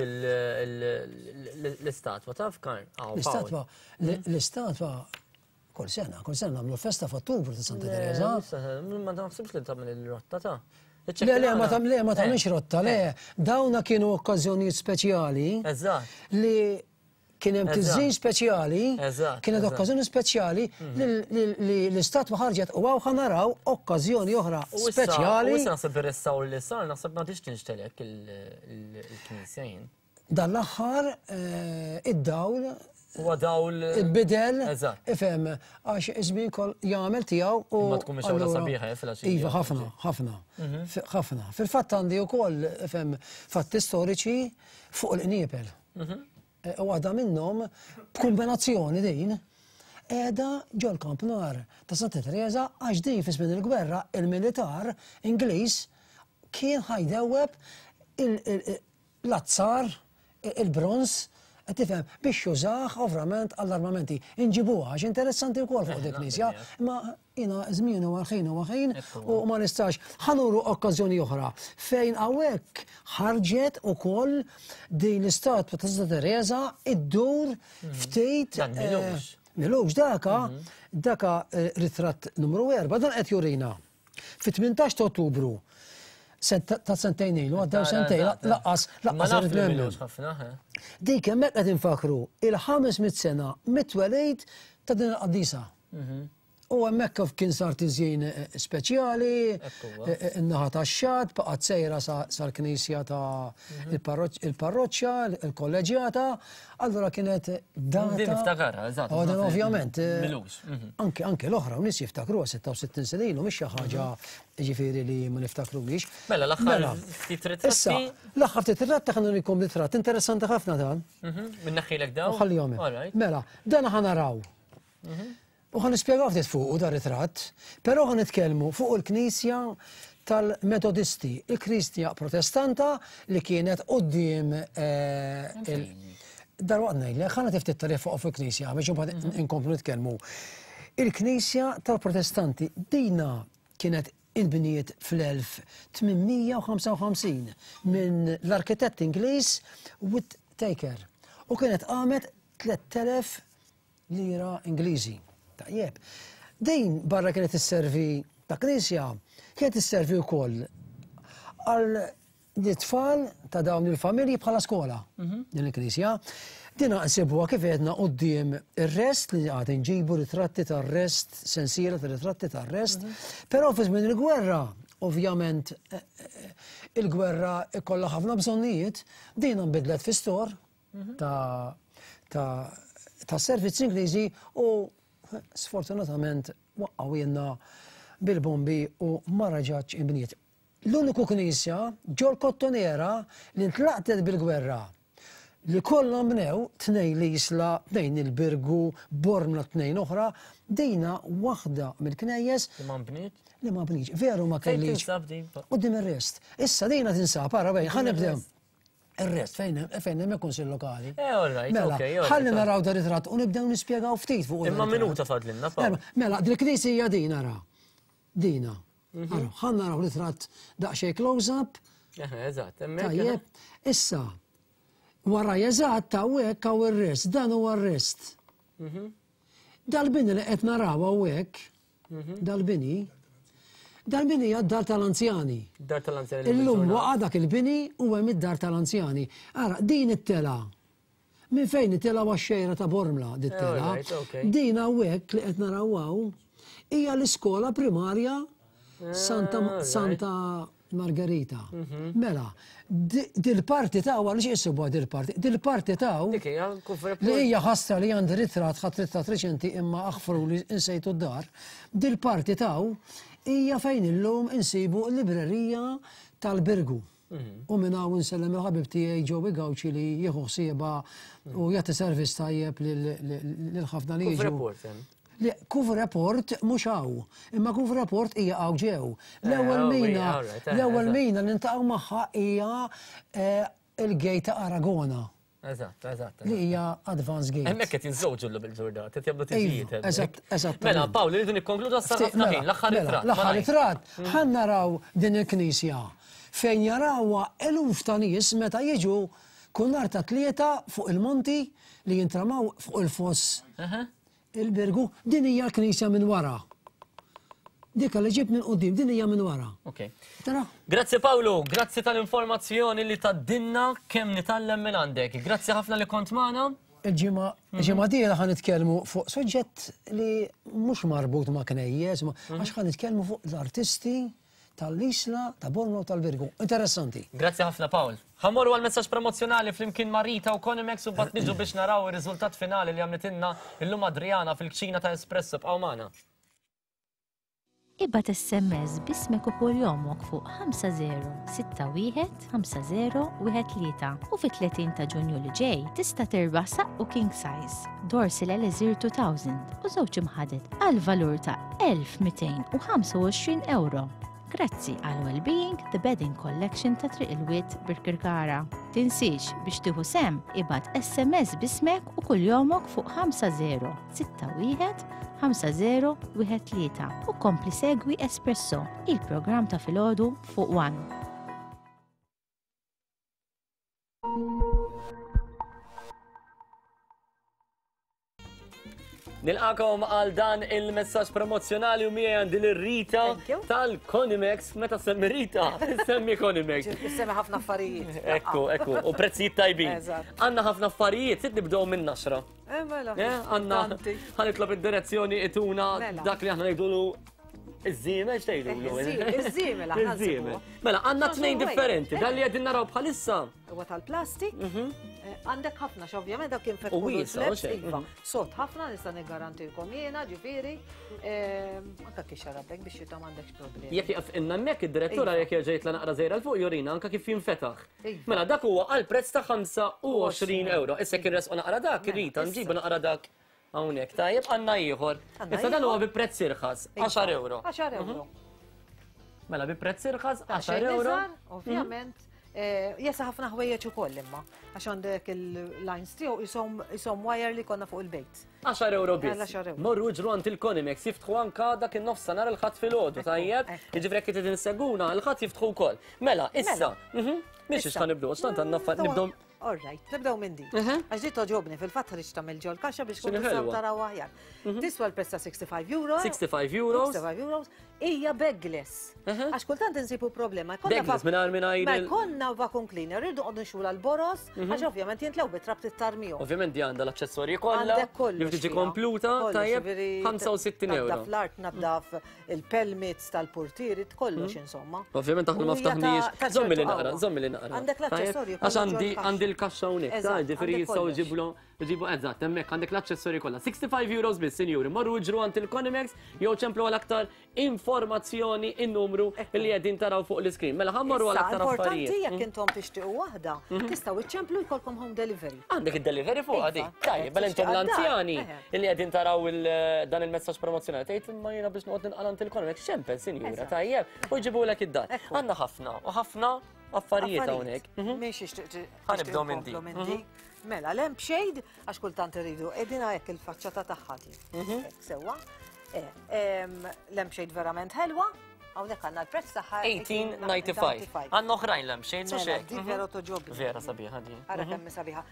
l-istatwa taf Karl. L-istatwa, l-istatwa kull sena, kull sena nagħmlu festa f'Ottubru ta' Santa Teresa. Ma naħsibx li tagħmel il-rotta ta' Le, le, ma tam, le, ma tagħmilx eh. rotta, le. Eh. Dawna kienu okkażjonijiet speċjali. Eżatt. Li kien hemm tiżjin speċjali, kienet okkażjoni speċjali mhm. li l-istatwa ħarġet u hawn naraw okkażjoni oħra speċjali. U issa naħseb ir-restawr li sar naħseb ma tix tinxtelek il-knisja jien. Dan l-aħħar eh, id-dawl Huwa dawl bidel. Ifhem, għax iż-żmien kol jagħmel tiegħu u. Ma tkun mixgħula sabiħa eh, fil-għaxija. Iva, ħafna, ħafna. Mhm. Ħafna. Fil-fatt għandi wkoll ifhem fatti storiċi fuq il-qniepel. Mhm. Eh, u waħda minnhom b'kombinazzjoni din qiegħda ġol-kampnar ta' Santa Teresa għax din fi żmien il-gwerra il-militar Ingliż kien ħajdewweb l-azzar, il-bronż, qed tifhem, biex jużah ovrament għall-armamenti. Inġibuha għax interessanti wkoll fuq dik knisja, imma jiena żmien huwa ħin huwa ħin u ma nistax. Ħa nuru okkażjoni oħra fejn hawnhekk ħarġet ukoll din l-istatwa ta' Santa Teresa iddur mhm. ftit. Dan milux. Eh, milux daka, mhm. daka eh, ritratt numru 4, dan qed jurina. Fit-18 ta' Ottubru ta' sentejn ilu, għaddew sentejn, laqqas, laqqas irrid nemmen. Dik hemmhekk qed infakru il-500 sena mit-twelid ta' din il-qaddisa. Mhm. U hemmhekk kif kien sar tiżjin eh, speċjali, eh, eh, in-naħa tax-xatt, baqgħet sejra sal-knisja ta' mhm. il-parroċċa, il-kolleġjata, allura kienet data. Din niftakarha, eżatt. Oh, din ovvjament. Milux. Mhm. Anke anke l-oħra, nies jiftakruha 66 sena ilu mhix xi ħaġa mhm. ġifieri li ma niftakrux. Mela l-aħħar mela. ftit ritratti. Issa, l-aħħar ftit ritratti ħa nurikom ritratt interessanti ħafna dan. Minn naħħilek dawn. Ħallihom. Mela, dan ħa naraw. U ħa nispjegaw ftit fuqu dar ritratt, però ħa nitkellmu fuq il-knisja tal-Metodisti, il-Knisja Protestanta li kienet quddiem eh, Darwaqt ngħidlek, ħa nagħti ftit tarif fuq fil-knisja biex imbagħad mhm. inkomplu nitkellmu. Il-Knisja tal-Protestanti dina kienet inbniet fl-1855 minn l-arkitett Ingliż Whittaker u kienet qamet 3000 lira Ingliżi. Tajjeb. Din barra kienet isservi ta' knisja, kienet isservi wkoll għal l-tfal ta' dawn il-familji bħala skola mhm. din il-knisja. Dina nsibuha kif għedna quddiem ir-rest li għad nġibu ritratti tar-rest, sensiela ta' ritratti tar-rest, mhm. però fi żmien il-gwerra, ovvjament eh, eh, il-gwerra ikollha ħafna bżonnijiet, din nbidlet fi stor, ta' ta' ta' servizzi Ingliżi u sfortunatament waqqgħu bil-bombi u ma raġatx inbniet. L-uniku knisja ġol Kottonera li ntlaqtet bil-gwerra li kollha nbnew tnejn l-Isla, tnejn il-Birgu, Bormla tnejn oħra, dina waħda mill-knejjes li ma nbniet. Li ma nbnietx. Veru ma kellix. Fejn tinsab din? Quddiem ir-rest. Issa dina tinsab, ara bejn, ħa nibdew. Ir-rest fejn fejn hemm il-Kunsill Lokali. Eh, all right, mela, okay, all right. Ħalli naraw dar ritratt u nibdew nispjegaw ftit fuq. Imma minuta fadlilna, Pawl. Mela, dil-knisja hija din ara. Dina. Mhm. Ara, ħa naraw ritratt daqsxejn close-up. Eh, eżatt, hemmhekk. Tajjeb, issa, wara eżatt hawnhekk hawn ir-rest, dan huwa r-rest. Mhm. Dal-bini li qed naraw hawnhekk, mhm. dal-bini, dal-bini hija d-dar tal-anzjani. Dar tal-anzjani. Illum waqa' dak il-bini u hemm id-dar tal-anzjani. Ara, din it-tela. Minn fejn it-tela għax-xejra ta' Bormla dit-tela. Din hawnhekk li qed naraw hawn hija l-iskola primarja Santa eh, Santa Margherita. Mhm. Mela, dil-parti ta' għaliex isibuha dil-parti? Dil-parti ta' li hija ħasra li għandi ritratt ħadd ritratt reċenti imma aħfru li insejtu d-dar. Dil-parti ta' hija fejn illum insibu l-librerija tal-Birgu. Mhm. U minn hawn insellem il-ħabib tiegħi Joey Gauci li jieħu ħsiebha u jagħti servizz tajjeb lil ħafna li jiġu. Le, Couvre-Port mhux hawn, imma Couvre-Port hija hawn ġew. L-ewwel Eh, mina, eh, l-ewwel mina li niltaqgħu magħha hija eh, il-gate ta' Aragona. Eżatt, eżatt. Li hija Advance Gate. Hemmhekk qed jiżżewġu llum il-ġurnata, qed jagħmlu tiġijiet. Iva, eżatt, eżatt. Mela, Pawl, irridu nikkonkludu għas ħafna mela, ħin, l-aħħar mela, ritratt. L-aħħar ritratt, mm. ħa naraw din il-knisja fejn jarawha eluf ta' nies meta jiġu kull nhar ta' tlieta fuq il-monti li jintramaw fuq il-foss Il-Birgu, din hija l-knisja minn wara. Dika li ġibt minn quddiem, din hija minn wara. Ok. Tara? Grazzi Paolo, grazzi tal-informazzjoni li taddinna kemm nitgħallem minn għandek. Grazzi ħafna li kont magħna. Il-ġimgħa il-ġimgħa dieħla ħa nitkellmu fuq suġġett li mhux marbut ma' knejjes, ma- għax ħa nitkellmu fuq l-artisti tal-Isla, ta' Bormla u tal-Birgu. Interessanti. Grazzi ħafna Paul. Ħa mmorru għal messaġġ promozzjonali flimkien ma' Rita u Conimex u mbagħad niġu biex naraw ir-riżultat finali li għamlitilna illum Adriana fil-kċina ta' Espresso. Bqgħu magħna. Ibgħat SMS b'ismek u kuljomok fuq 5061 5013 u fit-30 ta' Ġunju li ġej tista' tirbaħ saqqu king size, Dorsil Elixir 2000 u żewġ imħaded għal valur ta' 1225 ewro. Grazzi għal Wellbeing The Bedding Collection ta' Triq il-Wied Birkirkara. Tinsiex biex tieħu sehem ibgħat SMS b'ismek u kuljomok fuq 5061 5013 u kompli segwi Espresso, il-programm ta' filgħodu fuq One. Nilqakom għal dan il-messaġġ promozzjonali u miegħi għandi lil Rita tal-Conimex. Meta semmi Rita, semmi Conimex. Semmi ħafna affarijiet. Ekku, ekku, u prezzijiet tajbin. Għandna ħafna affarijiet, sid nibdew minn naxra. Eh, mela. Eh, għandna ħanitlob id-direzzjoni ituna mela. dak li aħna ngħidulu iż-żiemel x'tgħidulu? Eh, iż-żiemel aħna. Iż-żiemel. Mela, għandna tnejn differenti, dan li qegħdin naraw bħalissa. Huwa tal-plastik. Mhm. Eh, għandek ħafna x'ovvjament dak kien fetħu. U wiesa, iva. Mhm. Sod ħafna nista' niggarantilkom jiena, ġifieri, ehm, anke kif xarablek biex jita m'għandekx problemi. Jekk jaqaf inna hemmhekk id-direttura iva. jekk jerġa' jitla' naqra żejra l fuq jurina anke kif jinfetaħ. Iva. Mela dak huwa għal prezz ta' 25 euro. Issa kien resqu naqra dak, mela, Rita, nġibu naqra dak hawnhekk. Tajjeb għandna ieħor. Issa dan huwa bi prezz irħas, 10 euro. 10 euro. Mhm. Mela bi prezz irħas 10 euro. Ovvjament. Eh, jesa ħafna ħwejjeġ ukoll imma, għax għandek il-lines tiegħu isom wire li konna fuq il-bejt. 10 euro biss. Morru ġru għand il-Conimex jiftħu anka dak in-nofs nhar il-ħadd filgħodu, tajjeb? Jiġifieri jekk trid inseguna, il-ħadd jiftħu wkoll. Mela, issa, mela. mhm, mhix ix nibdew, x'tant għandna nibdew All right, nibdew minn din. Għax di toġobni fil-fatt ħriġt tagħmel ġol kaxxa biex kun tistgħu taraw aħjar. Mhm. Tiswa l-prezz ta' 65 euro. 65 euros. 65 euros. Hija bagless. Għax kultant insibu problema. Bagless mingħajr mingħajr. Ma jkollna vacuum cleaner, irridu qogħdu nxula l-boros, mhm. għax ovvjament jintlew bi trab tittarmihom. Ovvjament di għandha l-aċċessorji kollha. Għandek kollox. Li tiġi kompluta, tajjeb 65 euro. Naddaf l-art, naddaf il-pelmits tal-portieri, kollox mhm. insomma. Ovvjament aħna ma ftaħniex. Żommi li naqra, żommi li naqra. Għandek l-aċċessorji. Għax għandi għandi l-kaxxa hawnhekk, ta' ġifieri jistgħu jġiblu ġibu eżatt, hemmhekk għandek l-aċċessorji kollha. 65 euros biss, sinjuri, morru ġru għand il-Conimex jew ċemplu għal aktar informazzjoni in-numru li qegħdin taraw fuq l-iskrin. Mela ħa mmorru għal aktar affarijiet. Importanti jekk intom tixtiequ waħda, mhm. tistgħu iċċemplu jkollkom home delivery. Għandek id-delivery fuq għadi. Iva, Tajjeb, mela intom l-anzjani li qegħdin taraw dan il-messaġġ promozzjonali tgħid imma jiena biex noqgħod ninqal għand il-Conimex ċempel, sinjura, tajjeb, u jġibulek id-dar. Għandna ħafna u ħafna. affarijiet hawnhekk. Minn xiex Ħa nibdew minn din. Minn Mela, lampshade, għax kultant irridu, edina hekk il-faċċata tagħha di. Hekk Sewwa. Eh, Lampshade verament ħelwa, hawnhekk għandna l-prezz tagħha 1895. Għandna oħrajn lampshades u Mela, xejn. di vera toġobni. Vera sabiħa di. Ara kemm hi sabiħa.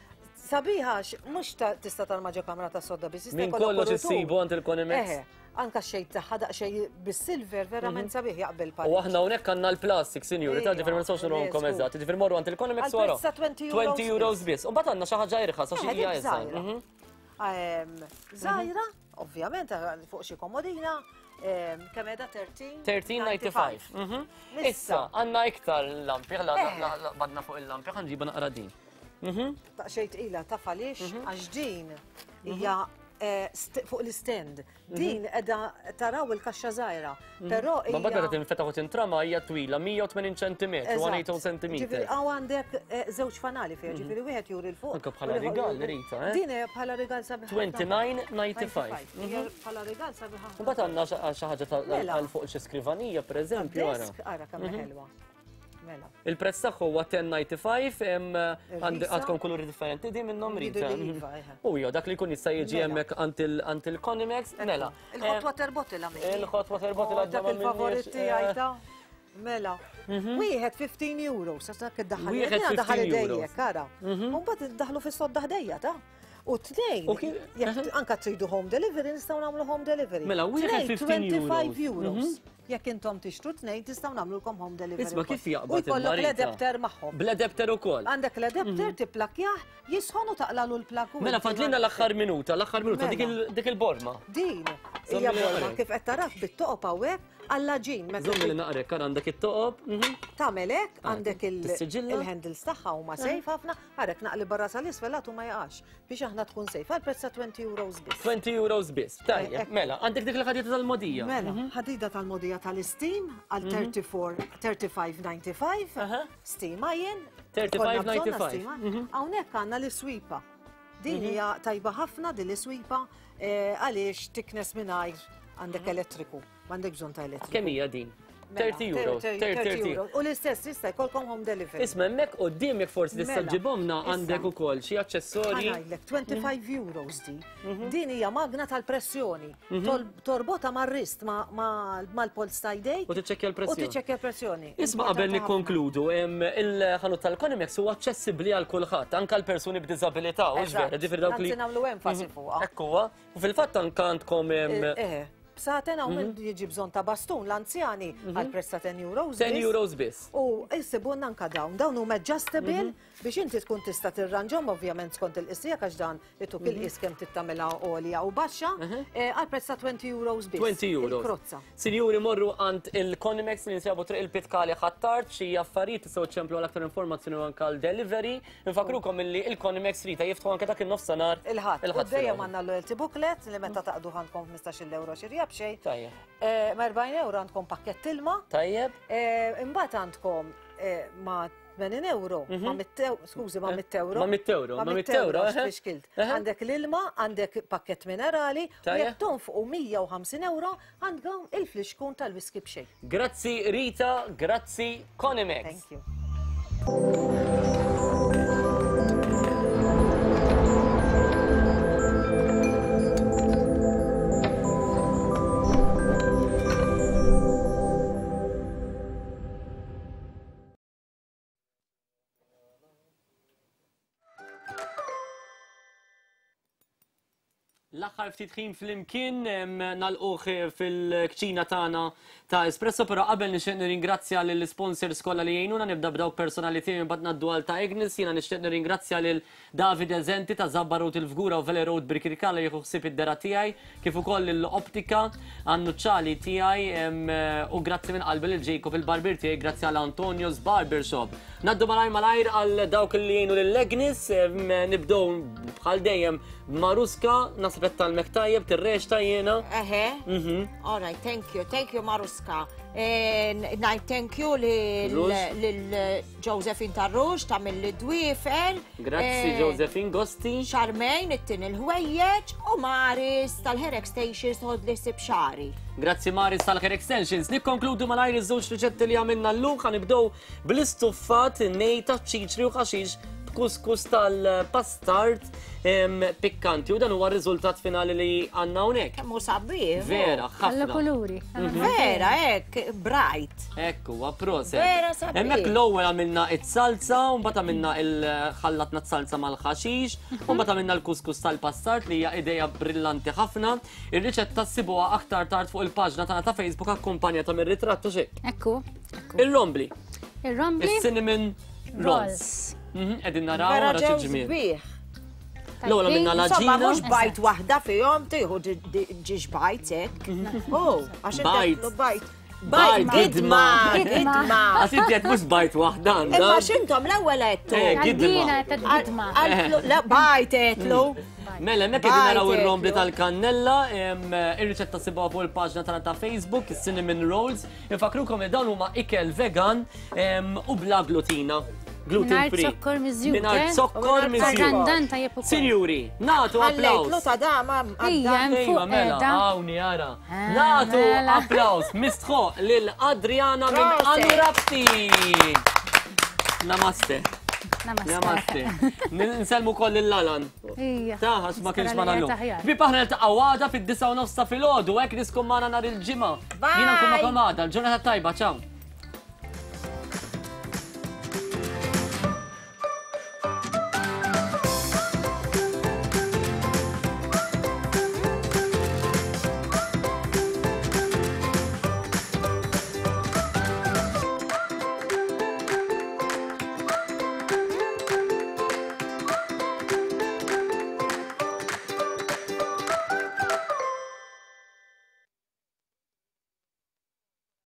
Sabiħa għax mhux tista' tarma ġo kamra ta' sodda biss. jista' Min jkollok kollox kuritur. issibu għand il-Conimex. Eħe, anka xejn tagħha daqsxejn bis-silver verament sabiħ jaqbel U aħna hawnhekk għandna l-plastik, sinjuri, ta' ġifier ma nistgħux nurhomkom eżatt. Ġifier morru għand il-Conimex Għal wara. prezz ta' 20 euros 20 euros biss. U mbagħad għandna xi ħaġa irħas għax Eħe, hija dik iżgħar. żgħira. Żgħira, ovvjament, fuq xi komodina, kemm qiegħda 13? 13.95. Issa, għandna iktar lampi, badna fuq il-lampi, ħa nġiba naqra din. Daqsxejn tqila taf għaliex għax din hija eh, fuq l-stand. Din qiegħda taraw il-kaxxa żgħira, però Ma mbagħad meta hija tinfetaħ u tintrama hija twila 180 cm, 180 cm. Ġifieri hawn għandek eh, żewġ fanali fiha, ġifieri wieħed juri l fuq. Anke bħala u l-ieħor rigal, juri- Rita, eh? Din hija bħala rigal sabiħ. 29.95. Hija bħala rigal sabiħ. Mbagħad għandna xi ħaġa Mela. għal fuq xi skrivanija pereżempju ara. Desk, ara kemm ħelwa. Mela. Il-prezz tagħha huwa 10.95, Irħisa. għandkom kuluri differenti di minnhom Jridu Rita. li iva, eħe. U jo, dak li jkun jista' jiġi Mela. hemmhekk għand il-Conimex, mela. Il-hot water bottle għamil. Il-hot water bottle Oh, għadna Dak ma il-favorit minniex, tiegħi eh. ta' Mela. Wieħed 15 euro, sa dak iddaħħal. Wieħed Jiena daħal 15 euros. idejjek, ara. U mbagħad iddaħlu fis-sodda ħdejja ta' U tnejn, jekk anka tridu home delivery, nistgħu nagħmlu home delivery. Mela, wieħed Tnejn, 15 25 euros. euros. Jekk intom tixtru tnejn, tistgħu nagħmlulkom home delivery. Isma' wkoll. kif jaqbad U jkollok il-marita? l-adapter magħhom. Bl-adapter ukoll. Għandek l-adapter tipplakjah, jisħon u taqlalu l-plak. u Mela inti fadlina l-aħħar minuta, l-aħħar minuta, dik Mela. il- dik il-borma. Din Żommi hija li borma naqrek. kif qed tarak bit-toqob hawnhekk għall-ġin. meta Żommi li naqrek, ara għandek it-toqob. Tagħmel hekk għandek il- Tissiġilla? il-handles tagħha huma safe ħafna, għarek naqli barra sal-isfel għatu ma jaqax biex aħna tkun safe għal prezz ta' 20 euros biss. 20 euros biss. Tajjeb, mela, għandek dik il-ħadida tal-modija. Mela, ħadida tal-modija tal-steam għal 34 35.95, steam iron. 35.95. Hawnhekk għandna l-iswipa. Din hija tajba ħafna din l-iswipa eh, għaliex tiknes mingħajr għandek elettriku, m'għandek bżonn ta' elettriku. Kemm hija din? Mela, 30 euros. 30 euros. U l-istess jista' jkollkom home delivery. Isma' hemmhekk quddiem jekk forsi tista' Mela, ġibhomna issa. għandek ukoll xi aċċessorji. Ħa ngħidlek, 25 euros di. Din hija magna tal-pressjoni. Torbota mar-rist mal-polz ta' jdejk. U tiċċekkja l-pressjoni. U tiċċekkja l-pressjoni. Isma' qabel nikkonkludu, il-ħanut tal-Conimex huwa aċċessibbli għal kulħadd, anke għal persuni b'diżabilità, u Eżatt. vera, ġifieri dawk li. Anzi nagħmlu enfasi fuqha. Ekku huwa. U fil-fatt anke għandkom Eh, bsaten hawn min jiġi bżonn ta' bastun l-anzjani għal prezz ta' 10 euros. 10 biss. euros biss. U jissibunna anka dawn, dawn huma adjustable biex inti tkun tista' tirranġhom ovvjament skont il-qisija għax dan ituk il-qis kemm tittamilha għolja u baxxa eh, għal prezz ta' 20 euros biss. 20 euros. Il-krozza. Sinjuri morru għand il-Conimex li nsibu triq il-Pitkali Ħ'Attard, xi affarijiet tistgħu ċemplu għal aktar informazzjoni u anke għal delivery. Infakrukom illi il-Conimex Rita jiftħu anke dak in-nofsinhar. Il-ħadd. U Il-ħadd. dejjem filgħodu. għandna loyalty booklet li meta taqdu għandkom 15 euro xirja b'xejn. Tajjeb. Eh, Ma 40 euro għandkom pakkett ilma. Tajjeb. Eh, Imbagħad għandkom eh, ma 80 euro, ma 100 euro, skużi, ma 100 euro. Ma 100 euro, ma 100 euro, għax eħe. tfixkilt. Għandek l-ilma, għandek pakkett minerali, u Tajjeb. jekk tonfqu 150 euro, għandkom il-flixkun tal-whisky b'xejn. Grazzi Rita, grazzi Conimex. Thank you. L-aħħar ftit ħin flimkien nagħlquh fil-kċina tagħna ta' Espresso, però qabel nixtieq nirringrazzja lill-sponsors kollha li jgħinuna, nibda b'dawk personali tiegħi imbagħad ngħaddu għal ta' Agnes. Jiena nixtieq nirringrazzja lil David Eżenti ta' Zabba Road il-Fgura u Vele Road Birkirkara li jieħu ħsieb id-dera tiegħi, kif ukoll lill-Optika għan-nuċċali tiegħi u grazzi minn qalbi lil Jacob il-barbier tiegħi, grazzi għal Antonio's Barbershop. Ngħaddu malajr malajr għal dawk li jgħinu lil Agnes, nibdew bħal dejjem Maruska, naħseb qed tgħallmek tajjeb, tirreċta jiena. Eħe. All right, thank you, thank you Maruska. Ngħid thank you lil Josephine Tarrux ta' mill dwiefer. Grazzi Josephine Gosti. Charmaine it-tin il-ħwejjeġ u Maris tal-Hair Extensions tħod li sib xari. Grazzi Maris tal-Hair Extensions. Nikkonkludu malajr iż-żewġ riċetti li għamilna llum ħa nibdew bl-istuffat nej ta' ċiċri u ħaxix b'kuskus tal-pastard pikkanti u dan huwa r-riżultat finali li għandna hawnhekk. Kemm hu sabiħ. Vera, ħafna. Alla kuluri. Vera, hekk, bright. Hekk huwa proset. Vera sabiħ. Hemmhekk l-ewwel għamilna it-salza, u mbagħad għamilna il-ħallatna t-salza mal-ħaxix, u mbagħad għamilna l-kuskus tal-pastard li hija idea brillanti ħafna. Ir-riċetta ssibuha aktar tard fuq il-paġna tagħna ta' Facebook akkumpanjata mir-ritratt u xejn. Ekku. Ir-rombli. Ir-rombli. Is-cinnamon rolls. Mhm, qegħdin naraw Vera wara xi ġew ġmiel. sbieħ. L-ewwel għamilna Insomma, l-għaġina. mhux bajt waħda fihom tieħu ġiex bajt hekk. Oh, għax inti Bajt. għedtlu bajt. Bajt, gidma. Gidma. Għax inti qed mhux bajt waħda għandha. Imma x'intom l-ewwel għedtu. Eh, gidma. Għaddina ta' gidma. Għaltlu, la bajt għedtlu. Mela, hemmhekk qegħdin naraw Bajt ir-rombli għedtlu. tal-kannella, ir-riċetta sibuha fuq il-paġna tagħna ta' Facebook, is-cinnamon rolls. Infakrukom li dawn huma ikel vegan u bla glutina. Gluten Mingħajr free. zokkor miżjud, Mingħajr eh? zokkor miżjud. Randan tajjeb ukoll. Sinjuri, nagħtu Ħallejtlu applaws. ta' dama Ija, hemm Ejwa, fuq mela, qiegħda. hawn jara. Nagħtu mela. applaws mistħoq lil Adriana minn Proset. Anurapti. Namaste. Namaste. Namaste. Nsellmu koll lil Alan. Ija. Ta' għax ma kienx Nispera magħna li llum. qed aħjar. Ħbieb aħna niltaqgħu għada fid-9 u nofs ta' filgħodu, hekk niskom magħna nhar il-Ġimgħa. Jiena nkun magħkom għada, l-ġurnata tajba, ciao.